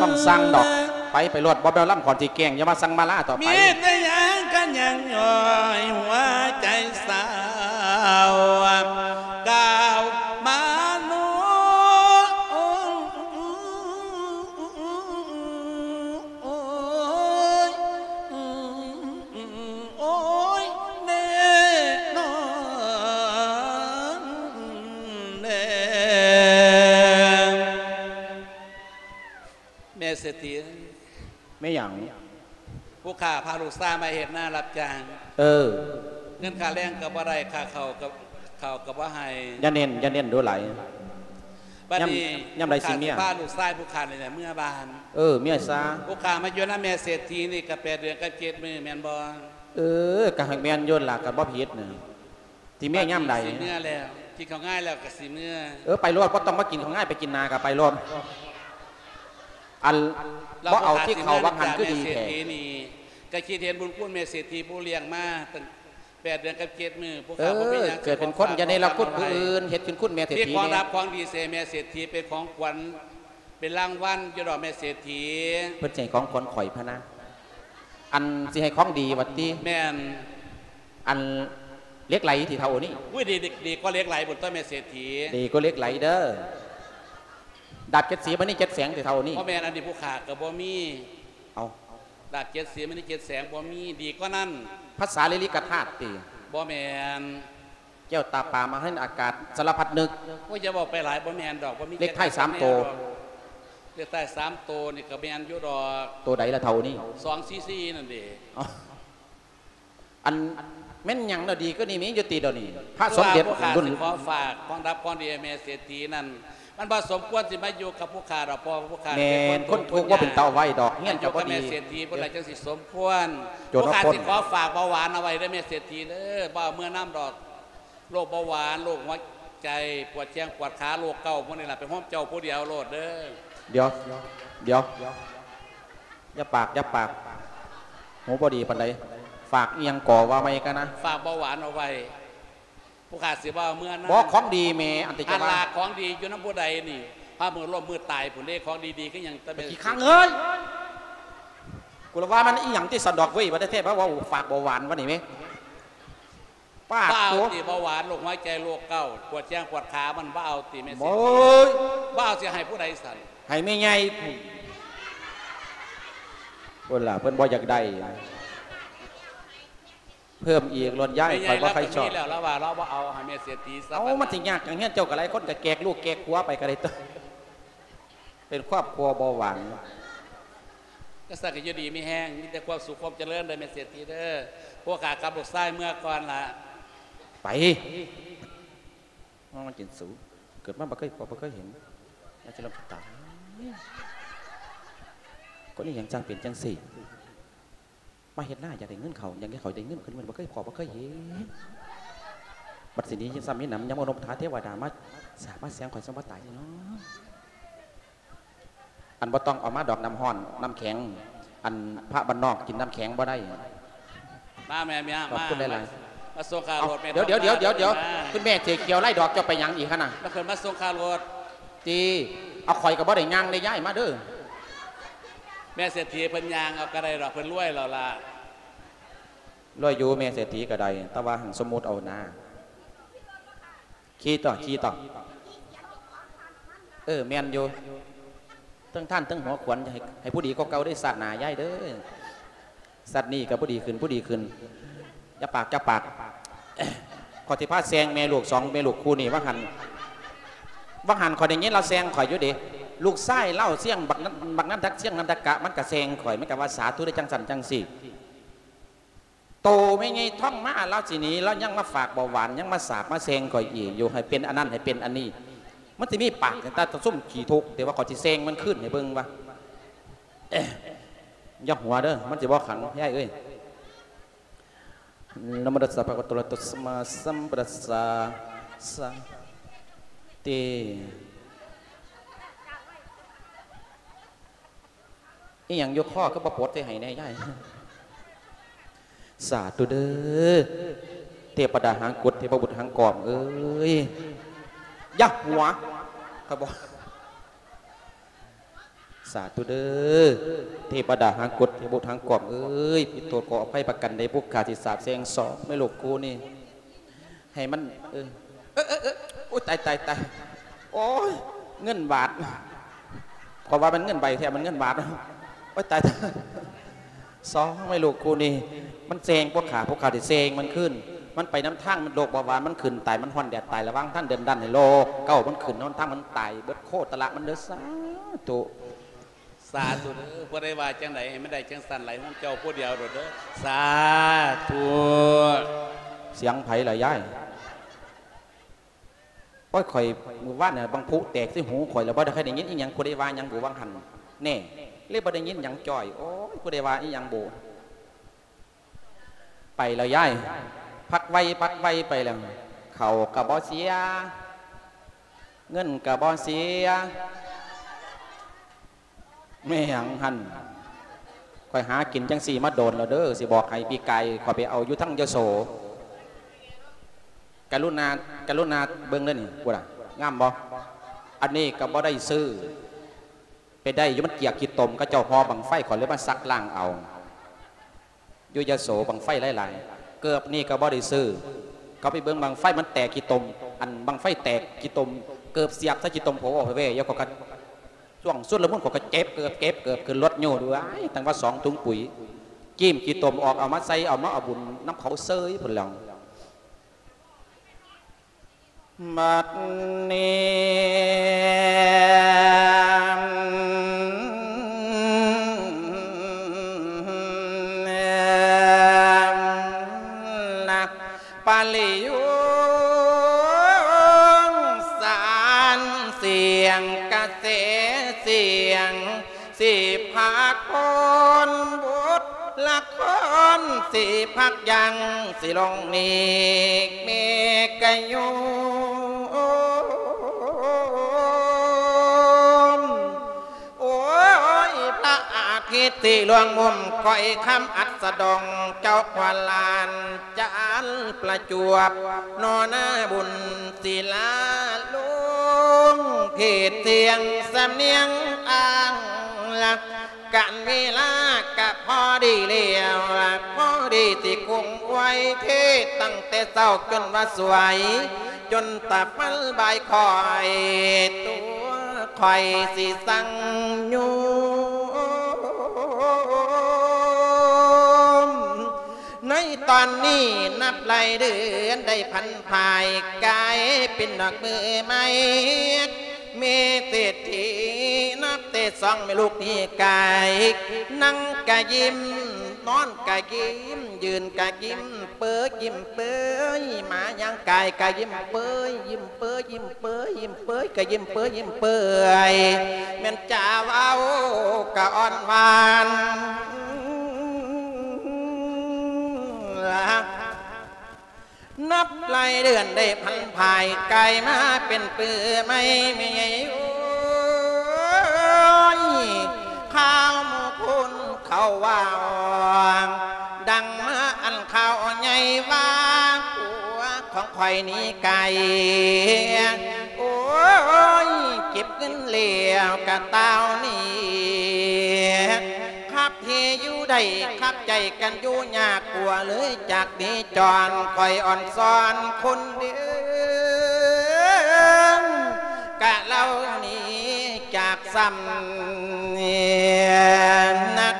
บ่ต้องสั่งดอก ไป ไปโลด บ่แม่นลำขอนสิแกล้ง อย่ามาสั่งมาลาต่อไป มีแต่หยังกันยังย้อยหัวใจสาว ก้าวมาโน โอ้ย โอ้ย แน่นอนแน่ แม่เศรษฐี แม่หยัง ผู้ข้าพาลูกชายมาเฮ็ดนารับจ้าง เออ เงินค่าแรงก็บ่ได้ ค่าข้าวก็ ข้าวก็บ่ให้ อย่าเน้น อย่าเน้นดูหลาย บัดนี้ ยาม ยามใดสิเมีย ผู้ข้าสิพาลูกชายผู้ข้านี่แหละเมือบ้าน เออ เมียซะ ผู้ข้ามาอยู่นำแม่เศรษฐีนี่ก็แปดเดือนกับเจ็ดมื้อแม่นบ่ เออ ก็ให้แม่นอยู่ล่ะ ก็บ่ผิดน่ะ สิเมียยามใด สิเมือแล้ว กินข้าวงายแล้วก็สิเมือ เออ ไปโลด บ่ต้องมากินข้าวงาย ไปกินนาก็ไปโลด อัน บ่เอาที่เขาวังหันคือดีแท้ แม่เศรษฐีนี่ ก็คิดเห็นบุญคุณแม่เศรษฐีผู้เลี้ยงมาตั้งแปดเดือนกับเจ็ดมื้อ ผู้ข้าบ่มีหยัง เออ เกิดเป็นคนอย่าเนรคุณผู้อื่น เฮ็ดคุณคุณแม่เศรษฐี มีของรับของดีใส่แม่เศรษฐีเป็นของขวัญ เป็นรางวัลอยู่ดอกแม่เศรษฐี เพิ่นสิให้ของขวัญข่อยพะนะ อันสิให้ของดีว่าติ แม่น อันเหล็กไหลที่เท่านี้ อุ้ย ดี ดี ดีกว่าเหล็กไหลพุ้นตั๊วแม่เศรษฐี ดีกว่าเหล็กไหลเด้อ ดาบเจ็ดสีมันนี่เจ็ดแสงที่เท่านี้ บ่แม่น อันนี้ผู้ข้าก็บ่มี เอา ดาบเจ็ดสีมันนี่เจ็ดแสงบ่มี ดีกว่านั้น พระสารีริกธาตุติ บ่แม่น แก้วตาปามาให้อากาศสารพัดนึก โอ้ย อย่าเว้าไปหลาย บ่แม่นดอก บ่มี เลขท้ายสามโต เลขท้ายสามโตนี่ก็แม่นอยู่ดอก โตใดล่ะเท่านี้ สองสี่สี่ นั่นเด้ อ๋อ อันแม่นหยังเนาะ ดีกว่านี้มีอยู่ติเดี๋ยวนี้ พระสมเด็จ คือว่าผู้ข้า รุ่น สิขอฝากของรับของดีให้แม่เศรษฐีนั่น มันบ่สมควรสิมาอยู่กับผู้ข้าดอก เพราะว่าผู้ข้า แม่น เป็นคน คนทุกข์ บ่เป็นตาเอาไว้ดอก เฮียนก็บ่ดี อยู่กับแม่เศรษฐี ผู้ใดจังสิสมควร โจร ผู้ข้า ปล้น สิขอฝากเบาหวานเอาไว้เด้อแม่เศรษฐีเด้อ บ่เอาเมือนำดอก โรคเบาหวาน โรคหัวใจ ปวดแข้งปวดขา โรคเกาต์ พวกนี้ล่ะ ไปโฮมเจ้าผู้เดียวโลดเด้อ เดี๋ยว เดี๋ยว อย่าปาก อย่าปาก หูบ่ดีปานใด ฝากอีหยังก่อว่าใหม่กะนะ ฝากเบาหวานเอาไว้ ผู้ข้าสิบ่เอาเมือนำ บ่ ของดีแม่ อันที่ อั จะ น ว่า ลาของดีอยู่นำผู้ใดนี่ พามือล้มมือตายพุ้นเด้ ของดีๆ คือหยัง แต่แม่ ขี้ข้างเอ้ย กูละว่ามันอีหยังที่สันดอกเว้ย ว่าแท้ๆ ว่าเว้าฝากเบาหวานว่านี่แม่ ปาด บ่เอา ตัว ติ เบาหวาน โรคหัวใจ โรคเกาต์ ปวดแข้งปวดขา มันบ่เอาติแม่เศรษฐี โอ้ย บ่เอาสิให้ผู้ใดสั่น ให้แม่ใหญ่พุ้น พุ้นล่ะ เพิ่นบ่อยากได้ เพิ่มอีกโลดยาย แม่ใหญ่ ข้อยบ่ใคร่ชอบ ลาวก็มีแล้ว ลาวว่าลาวบ่เอา ให้แม่เศรษฐีซะ เอ้า มันสิยากหยัง เฮือนเจ้าก็หลายคน ก็แจกลูกแจกผัวไปก็ได้ตั๊ว เป็นครอบครัวเบาหวาน จั่งซั้นก็อยู่ดีมีแฮง มีแต่ความสุขความเจริญเด้อแม่เศรษฐีเด้อ พวกข้ากับลูกชายเมือก่อนล่ะ ไป มากินสู เกิดมาบ่เคยพบบ่เคยเห็น น่าจะลำตา คนนี้ยังจังเป็นจังซี่ มาเฮ็ดนาอยากได้เงินเข้า อยากให้ข้อยได้เงินขึ้น มันบ่เคยพ้อบ่เคยเห็น บัดสินี้ซ้ำมีหนำ ยังมานบถาเทวดามาสาบมาแสงข้อย ซ้ำบ่ตายเนาะ อันบ่ต้องเอามาดอกน้ำร้อน น้ำแข็ง อันพระบ้านนอกกินน้ำแข็งบ่ได้ มาแม่ มา ขอบคุณหลายๆ มาส่งค่ารถแม่ เดี๋ยว เดี๋ยว เดี๋ยว เดี๋ยว มา คุณแม่เจ๊เขียวไล่ดอกเจ้าไปหยังอีกหั่นน่ะ มาขึ้นมาส่งค่ารถ ติ เอาข้อยก็บ่ได้ย่างได้ย้ายมาเด้อ แม่เศรษฐีเพิ่นย่างเอาก็ได้ดอก เพิ่นรวยแล้วล่ะ รวยอยู่แม่เศรษฐีก็ได้ แต่ว่าหั่นสมมุติเอานะ ขี่ต่อ ขี่ต่อ เออ แม่นอยู่ เทิงท่านเทิงหัวขวัญ ให้ ให้ผู้ดีกว่าเก่าเด้อ ชาติหน้ายายเด้อ ชาตินี้ก็ผู้ดีขึ้น ผู้ดีขึ้น อย่าปาก อย่าปาก ข้อยสิพาแซงแม่ลูกสองแม่ลูกคู่นี้ ว่าหั่น ว่าหั่นข้อยได้ยินลาวแซงข้อยอยู่เด้ ลูกชายลาวเสียงบักนั้น บักนั้นทักเสียงนันทกะ มันก็แซงข้อย มันก็ว่าสาธุได้จังซั่นจังซี่ โตแม่ใหญ่ท้องมา ลาวสิหนี ลาวยังมาฝากเบาหวาน ยังมาสาบมาแซงข้อยอีกอยู่ ให้เป็นอันนั้น ให้เป็นอันนี้ มันสิมีปากแต่ซุมขี้ทุกข์ แต่ว่าข้อยสิแซงมันคืนให้เบิ่งว่า เอ๊ะ อย่าหัวเด้อ มันสิบ่ขัง ยายเอ้ย นะโมตัสสะ ภะคะวะโต อะระหะโต สัมมาสัมพุทธัสสะ สะ ติ อีหยังอยู่คอคือบ่ปลดใส่ให้แหน่ยาย ສາທຸເດີ ເທວະດາຫາງກົດ ເທວະບຸດຫາງກອມເອີຍ ຢ່າຫົວ ຂ້ອຍບອກ ສາທຸເດີ ເທວະດາຫາງກົດ ເທວະບຸດຫາງກອມເອີຍ ຜິດໂທດຂໍອະໄພປະການໃດ ພວກຂ້າຊິສາບແຊ່ງສອງແມ່ລູກຄູ່ນີ້ ໃຫ້ມັນ ເອີ ເອີ ເອີ ເອີ ໂອ້ຍ ຕາຍ ຕາຍ ຕາຍ ໂອ້ຍ ເງິນບາດ ຂ້ອຍວ່າມັນເງິນໃບແທ້ ມັນເງິນບາດ ໂອ້ຍ ຕາຍ ຕາຍ ສອງແມ່ລູກຄູ່ນີ້ ມັນແຊ່ງພວກຂ້າ ພວກຂ້າຊິແຊ່ງມັນຄືນ ມັນໄປນຳທາງໂລກເບົາຫວານ ມັນຂຶ້ນຕາຍ ມັນຮ້ອນແດດຕາຍ ລະວັງທາງເດີນດັນໃນໂລກເກົ້າ ມັນຂຶ້ນນຳທາງ ມັນຕາຍເບິດໂຄດຕະລະມັນເດີ ສາທຸ. ສາທຸເດີ ຜູ້ໃດວ່າຈັ່ງໃດໃຫ້ມັນໄດ້ຈັ່ງຊັ້ນໄຫຼ ຂອງເຈົ້າຜູ້ດຽວໂດດເດີ ສາທຸ. ສຽງໃຜລະຍາຍ? ໂອ້ຍ ຂ້ອຍ ມື້ວານນີ້ບັກຜຸແຕກໃສ່ຫູຂ້ອຍ ແລ້ວບໍ່ໄດ້ຄ່ອຍໄດ້ຍິນອີ່ຫຍັງ ຜູ້ໃດວ່າຫຍັງບຸວ່າງຫັ້ນ ແນ່ ເລີຍບໍ່ໄດ້ຍິນຫຍັງຈ້ອຍ ໂອ້ຍ ຜູ້ໃດວ່າອີ່ຫຍັງບຸ. ໄປແລ້ວຍາຍ ພັກໄວ ພັກໄວໄປແລ້ວ ເຂົ້າກະບໍ່ເສຍ ເງິນກະບໍ່ເສຍ ແມ່ນຫຍັງຫັ້ນ ຂ້ອຍຫາກິນຈັ່ງຊີ້ມາໂດນແລ້ວເດີ ຊິບອກໃຫ້ ປີກາຍຂ້ອຍໄປເອົາຢູ່ທາງຍະໂສ ກະລຸນາ ກະລຸນາເບິ່ງເດີນີ້ ພຸ້ນນະ ງາມບໍ່? ອັນນີ້ກະບໍ່ໄດ້ຊື້ ໄປໄດ້ຢູ່ ມັນເກຍຂີ້ຕົມ ເຂົາເຈົ້າຫໍ່ບັ້ງໄຟ ຂ້ອຍເລີຍມາສັກລ້າງເອົາ ຢູ່ຍະໂສບັ້ງໄຟຫຼາຍໆ ເກີບນີ້ກໍບໍ່ໄດ້ຊື້ ເຂົາໄປເບິ່ງບັ້ງໄຟມັນແຕກຂີ້ຕົມ ອັນບັ້ງໄຟແຕກຂີ້ຕົມ ເກີບສຽບໃສ່ຂີ້ຕົມໂພເວ ແລ້ວເຂົາກໍ ຊ່ວງຊຸນລະມຸນ ເຂົາກໍເກັບເກີບ ເກັບເກີບຂຶ້ນລົດໂຍດ ເອີຍ ຕັ້ງວ່າສອງຖົງປຸ໋ຍ ຈີ້ມຂີ້ຕົມອອກ ເອົາມາໃສ່ ເອົາມາເອົາບຸນນຳເຂົາເຊີຍພຸ້ນແລ້ວ. ບັດນີ້ນະ ປະລິໂຍກສານ ສຽງກະແສ ສຽງ ຊິພາກອນບົດລະຄອນ ຊິພັກຢັ້ງ ຊິລົງນີ້ເມກະໂຍມ ໂອ້ຍ ພະອາທິດຊິລ່ວງມຸມ ຂ້ອຍຄຳອັດສະດອງ ເຈົ້າຂວັນຫຼານ ຈານປະຈວບ ນໍນາບຸນ ສີລາລຸງ ເພດສຽງສຳນຽງອ້າງລະ ການເວລາກະພໍດີແລ້ວລະ ພໍດີຊິຄົງໄວ້ເທດ ຕັ້ງແຕ່ເຊົ້າຈົນວ່າສວຍ ຈົນຕາຟັນບ່າຍ ຂ້ອຍຕົວຂ້ອຍຊິສັ່ງໂຍມ. ໃນຕອນນີ້ນັບໄລ່ເດືອນໄດ້ຜັນຜ່າຍ ກາຍເປັນດອກມືໃໝ່ ແມ່ເສດຖີນັບແຕ່ສອງແມ່ລູກນີ້ກາຍ ນັ່ງກະຍິ້ມ ນອນກະຍິ້ມ ຢືນກະຍິ້ມເປີຍ ຍິ້ມເປີຍ ມາຍ່າງກາຍກະຍິ້ມເປີຍ ຍິ້ມເປີຍ ຍິ້ມເປີຍ ຍິ້ມເປີຍ ກະຍິ້ມເປີຍ ຍິ້ມເປີຍ ແມ່ນຈາເວົ້າກະອ່ອນຫວານ ນັບໄລ່ເດືອນໄດ້ຜັນຜ່າຍ ກາຍມາເປັນປືໃໝ່ ແມ່ໃຫຍ່ເອີຍ ຂ່າວໝູ່ຄົນເຂົາເວົ້າ ດັງມາອັນຂ່າວໃຫຍ່ວ່າ ຜົວຂອງຂ້ອຍໜີໄກ ໂອ້ຍ ເກັບເງິນແລ້ວກະຕ່າວໜີ ຄັບທີ່ຢູ່ໄດ້ ຄັບໃຈກັນຢູ່ຍາກ ກົວເລີຍຈາກໜີຈອນ ຂ້ອຍອ່ອນຊອນຄົນເດີ ກະເລົ່າໜີຈາກຊ້ຳນັກ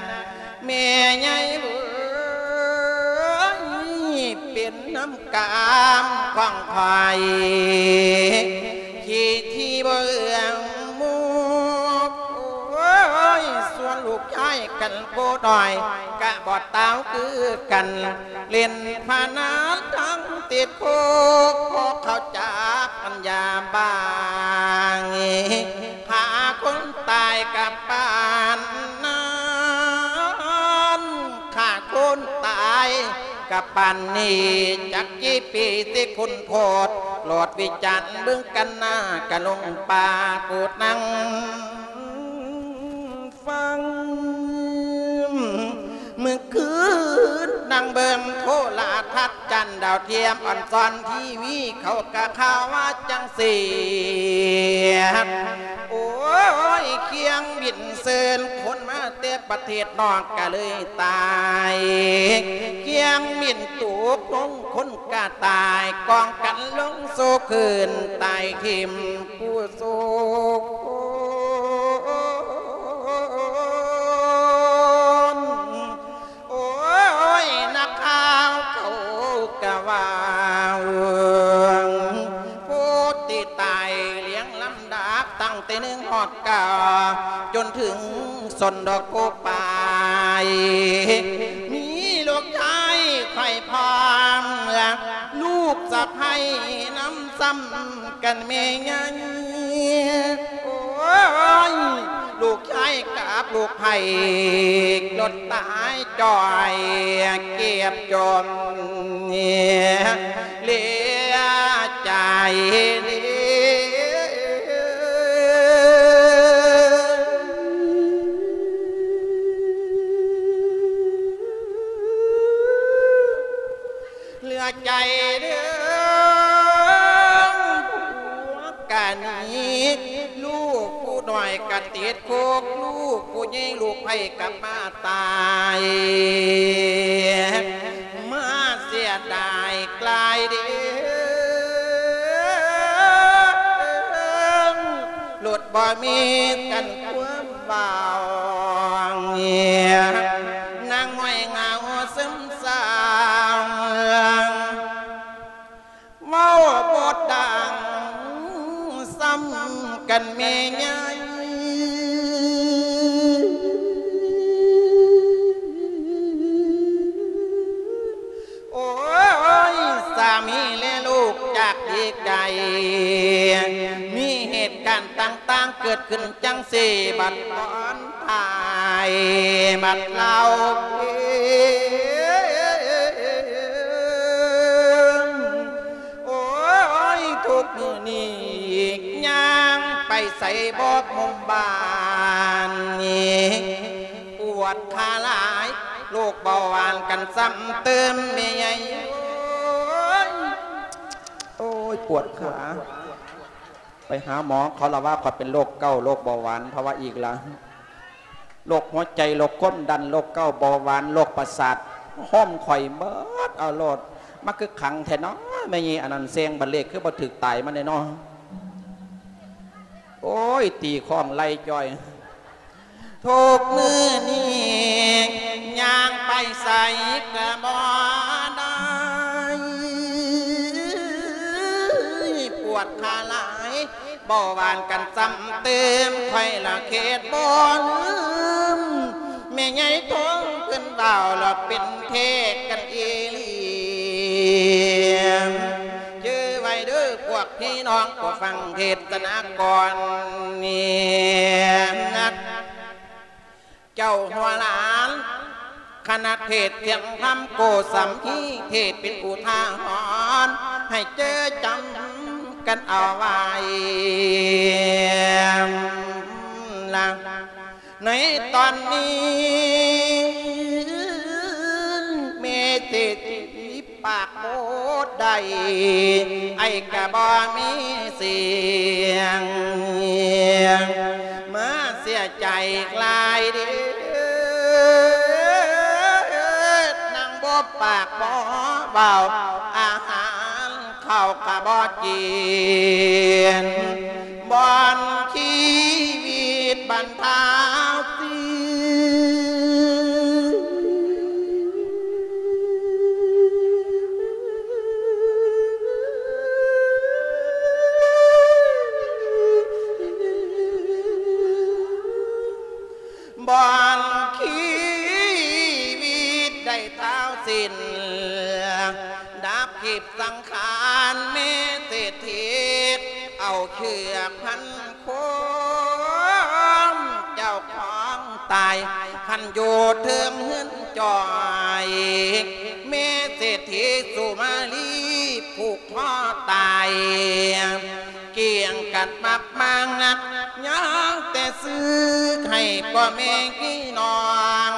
ແມ່ໃຫຍ່ເອີຍ ເປັນນຳກາມຂອງຂ້ອຍ ທີ່ ທີ່ບໍ່ເອື້ອງໝູ່ ໂອ້ຍ ສ່ວນລູກຊາຍກັນຜູ້ນ້ອຍ ກະບໍ່ຕ່າງຄືກັນ ຫຼິ້ນພະນັນທັງຕິດຄຸກ ພວກເຂົາຈັບປັນຍາບາງ ຂ້າຄົນຕາຍກະປານນັ້ນ ຂ້າຄົນຕາຍກະປານນີ້ ຈັກກີ່ປີຊິຄຸນໂທດ ໂລດວິຈານເບິ່ງກັນໜ້າ ກະລົງປາໂກດນັ່ງຟັງ ມື້ຄືນ ງເບິ່ງໂທລະທັດຈັນດາວທຽມ ອອນຊອນທີວີ ເຂົາກະຂ່າວວ່າຈັ່ງຊີ້. ໂອ້ຍ ຄຽງບິນເຊີນຄົນມາແຕ່ປະເທດນອກກະເລີຍຕາຍ, ຄຽງບິນຕົກລົງຄົນກະຕາຍ, ກອງກັນລົງໂຊຄືນ ຕາຍຖິ້ມຜູ້ໂສກຄົນ. ໂອ້ຍ ນັກຂ່າວເຂົາກະວ່າ ຜູ້ທີ່ຕາຍລຽງລຳດັບຕັ້ງແຕ່ໜຶ່ງຮອດເກົ້າ ຈົນເຖິງຊອນດອກໂກປາຍ ມີລູກຊາຍຂ້ອຍພ້ອມ ລູກສະໃພ້ນຳ ຊ້ຳກັນແມ່ໃຫຍ່. ໂອ້ຍ ລູກຊາຍກັບລູກໃພ້ ລົດຕາຍຈ່ອຍເກັບຈົມ ເຫຼືອໃຈເດ້. ເຫຼືອໃຈເດີ ຜົວກະໜີ ລູກຜູ້ນ້ອຍກະຕິດຄຸກ ລູກຜູ້ໃຫຍ່ລູກໃພ້ກັບມາຕາຍ ມາເສຍດາຍກາຍເດີ ລົດບໍ່ມີກັນຄວາມ ເວົ້າ ນາງນ້ອຍເຫງົາຊຶມເສົ້າ ເວົ້າບໍ່ດັງ ຊ້ຳກັນແມ່ໃຫຍ່ ໂອ້ຍ ສາມີແລະລູກຈາກດີໄກ ມີເຫດການຕ່າງໆເກີດຂຶ້ນ ຈັ່ງຊີ້ ບັດຕອນທ້າຍ ບັດເລົ່າເພງ ໂອ້ຍ ທຸກມື້ນີ້ ຍ່າງໄປໃສບໍ່ມຸມບ້ານນີ້ ປວດຂາຫຼາຍ ໂລກເບົາຫວານກັນຊ້ຳເຕີມແມ່ໃຫຍ່ ໂອ້ຍ ໂອ້ຍ ປວດຂາ. ໄປຫາໝໍ ເຂົາລະວ່າຂ້ອຍເປັນໂລກເກົາ ໂລກເບົາຫວານ ເຂົາວ່າອີກລະ ໂລກຫົວໃຈ ໂລກຄວາມດັນ ໂລກເກົາ ເບົາຫວານ ໂລກປະສາດ ໂຮມຂ້ອຍເໝິດເອົາໂລດ ມາຄືຄັງແທ້ນໍ ແມ່ຍີ່ອັນນັ້ນ ແຊງບັດເລກຄືບໍ່ຖືກຕາຍມາແນ່ນໍ ໂອ້ຍ ຕີຄ້ອງໄລ່ຈ່ອຍ. ທຸກມື້ນີ້ຍ່າງໄປໃສກະບໍ່ໄດ້ ປວດຂາຫຼາຍ ເບົາຫວານກັນຊ້ຳເຕີມ ຂ້ອຍລະເຄດບໍ່ລືມ ແມ່ໃຫຍ່ທົງເພິ່ນເວົ້າລະເປັນແທ້ກັນອີ່ຫຼີ ຈື່ໄວ້ເດີພວກພີ່ນ້ອງຜູ້ຟັງເທດສະນາກ່ອນນີ້ ເຈົ້າຫົວຫຼານ ຄະນະເທດສຽງທຳໂກສຳພີ ເທດເປັນອຸທາຫອນ ໃຫ້ເຈີຈຳກັນເອົາໄວ້ລະ ໃນຕອນນີ້ ແມ່ເສດຖີ ປາກບໍ່ໄດ້ ອ້າຍກະບໍ່ມີສຽງ ມາເສຍໃຈຫຼາຍເດີ ນາງບໍ່ປາກບໍ່ເວົ້າ ອາຫານເຂົ້າກະບໍ່ກິນ ບ່ອນຊີວິດບັນທາວສິນ ບ່ອນຊີວິດໄດ້ທ້າວສິ້ນ ດັບຂີບສັງຂານແມ່ເສດຖີ ເອົາເຊືອກພັນ ຄົມເຈົ້າຂອງຕາຍ ຄັນຢູ່ເທິງເຮືອນຈອຍ ແມ່ເສດຖີສຸມາລີ ຜູກຄໍຕາຍ ກຽງກັນມາກມາງນັກ ຍັງແຕ່ຊື້ໃຫ້ພໍ່ແມ່ພີ່ນ້ອງ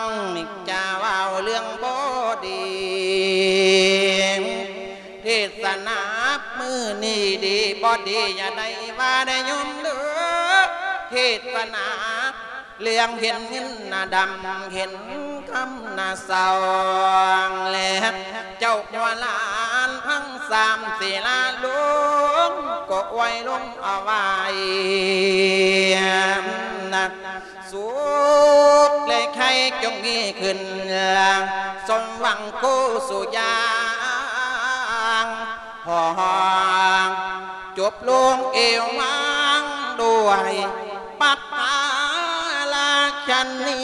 ຈະເວົ້າເລື່ອງບໍ່ດີ ທີ່ຈະໄດ້ວ່າໄດ້ຍົມເດີ ເທດສະໜາເລື່ອງເຫັນເງິນໜ້າດຳ ເຫັນຄຳໜ້າເສົ້າ ແລະເຈົ້າຫົວຫຼານທັງສາມສິລາລົງ ກໍອວຍລົງເອົາໄວ້ນະ ສຸກແລະໄຄຈົ່ງມີຂຶ້ນ ສົມຫວັງຄູ່ສູ່ຢ່າງ ຂໍຈົບລົງເອວາງດ້ວຍປັກກາລາຊະນີ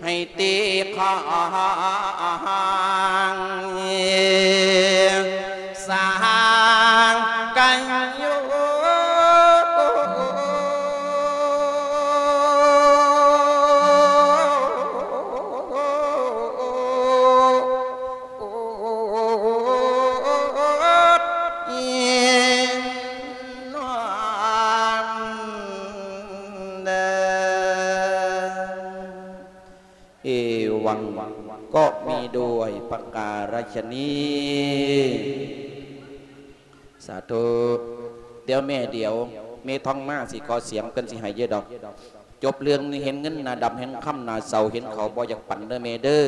ໃຫ້ຕີຂອງສາງກັນຢູ່. ເອວັງ ກໍມີດ້ວຍປະກາລະຊະນີ. ສາທຸ. ດຽວແມ່ ດຽວແມ່ທອງມາຊິຂໍສຽງ ເພິ່ນຊິໃຫ້ເຍອດອກ. ຈົບເລື່ອງນີ້ເຫັນເງິນໜ້າດຳ ເຫັນຄຳໜ້າເສົ້າ ເຫັນເຂົາບໍ່ຢາກປັນເດີແມ່ເດີ.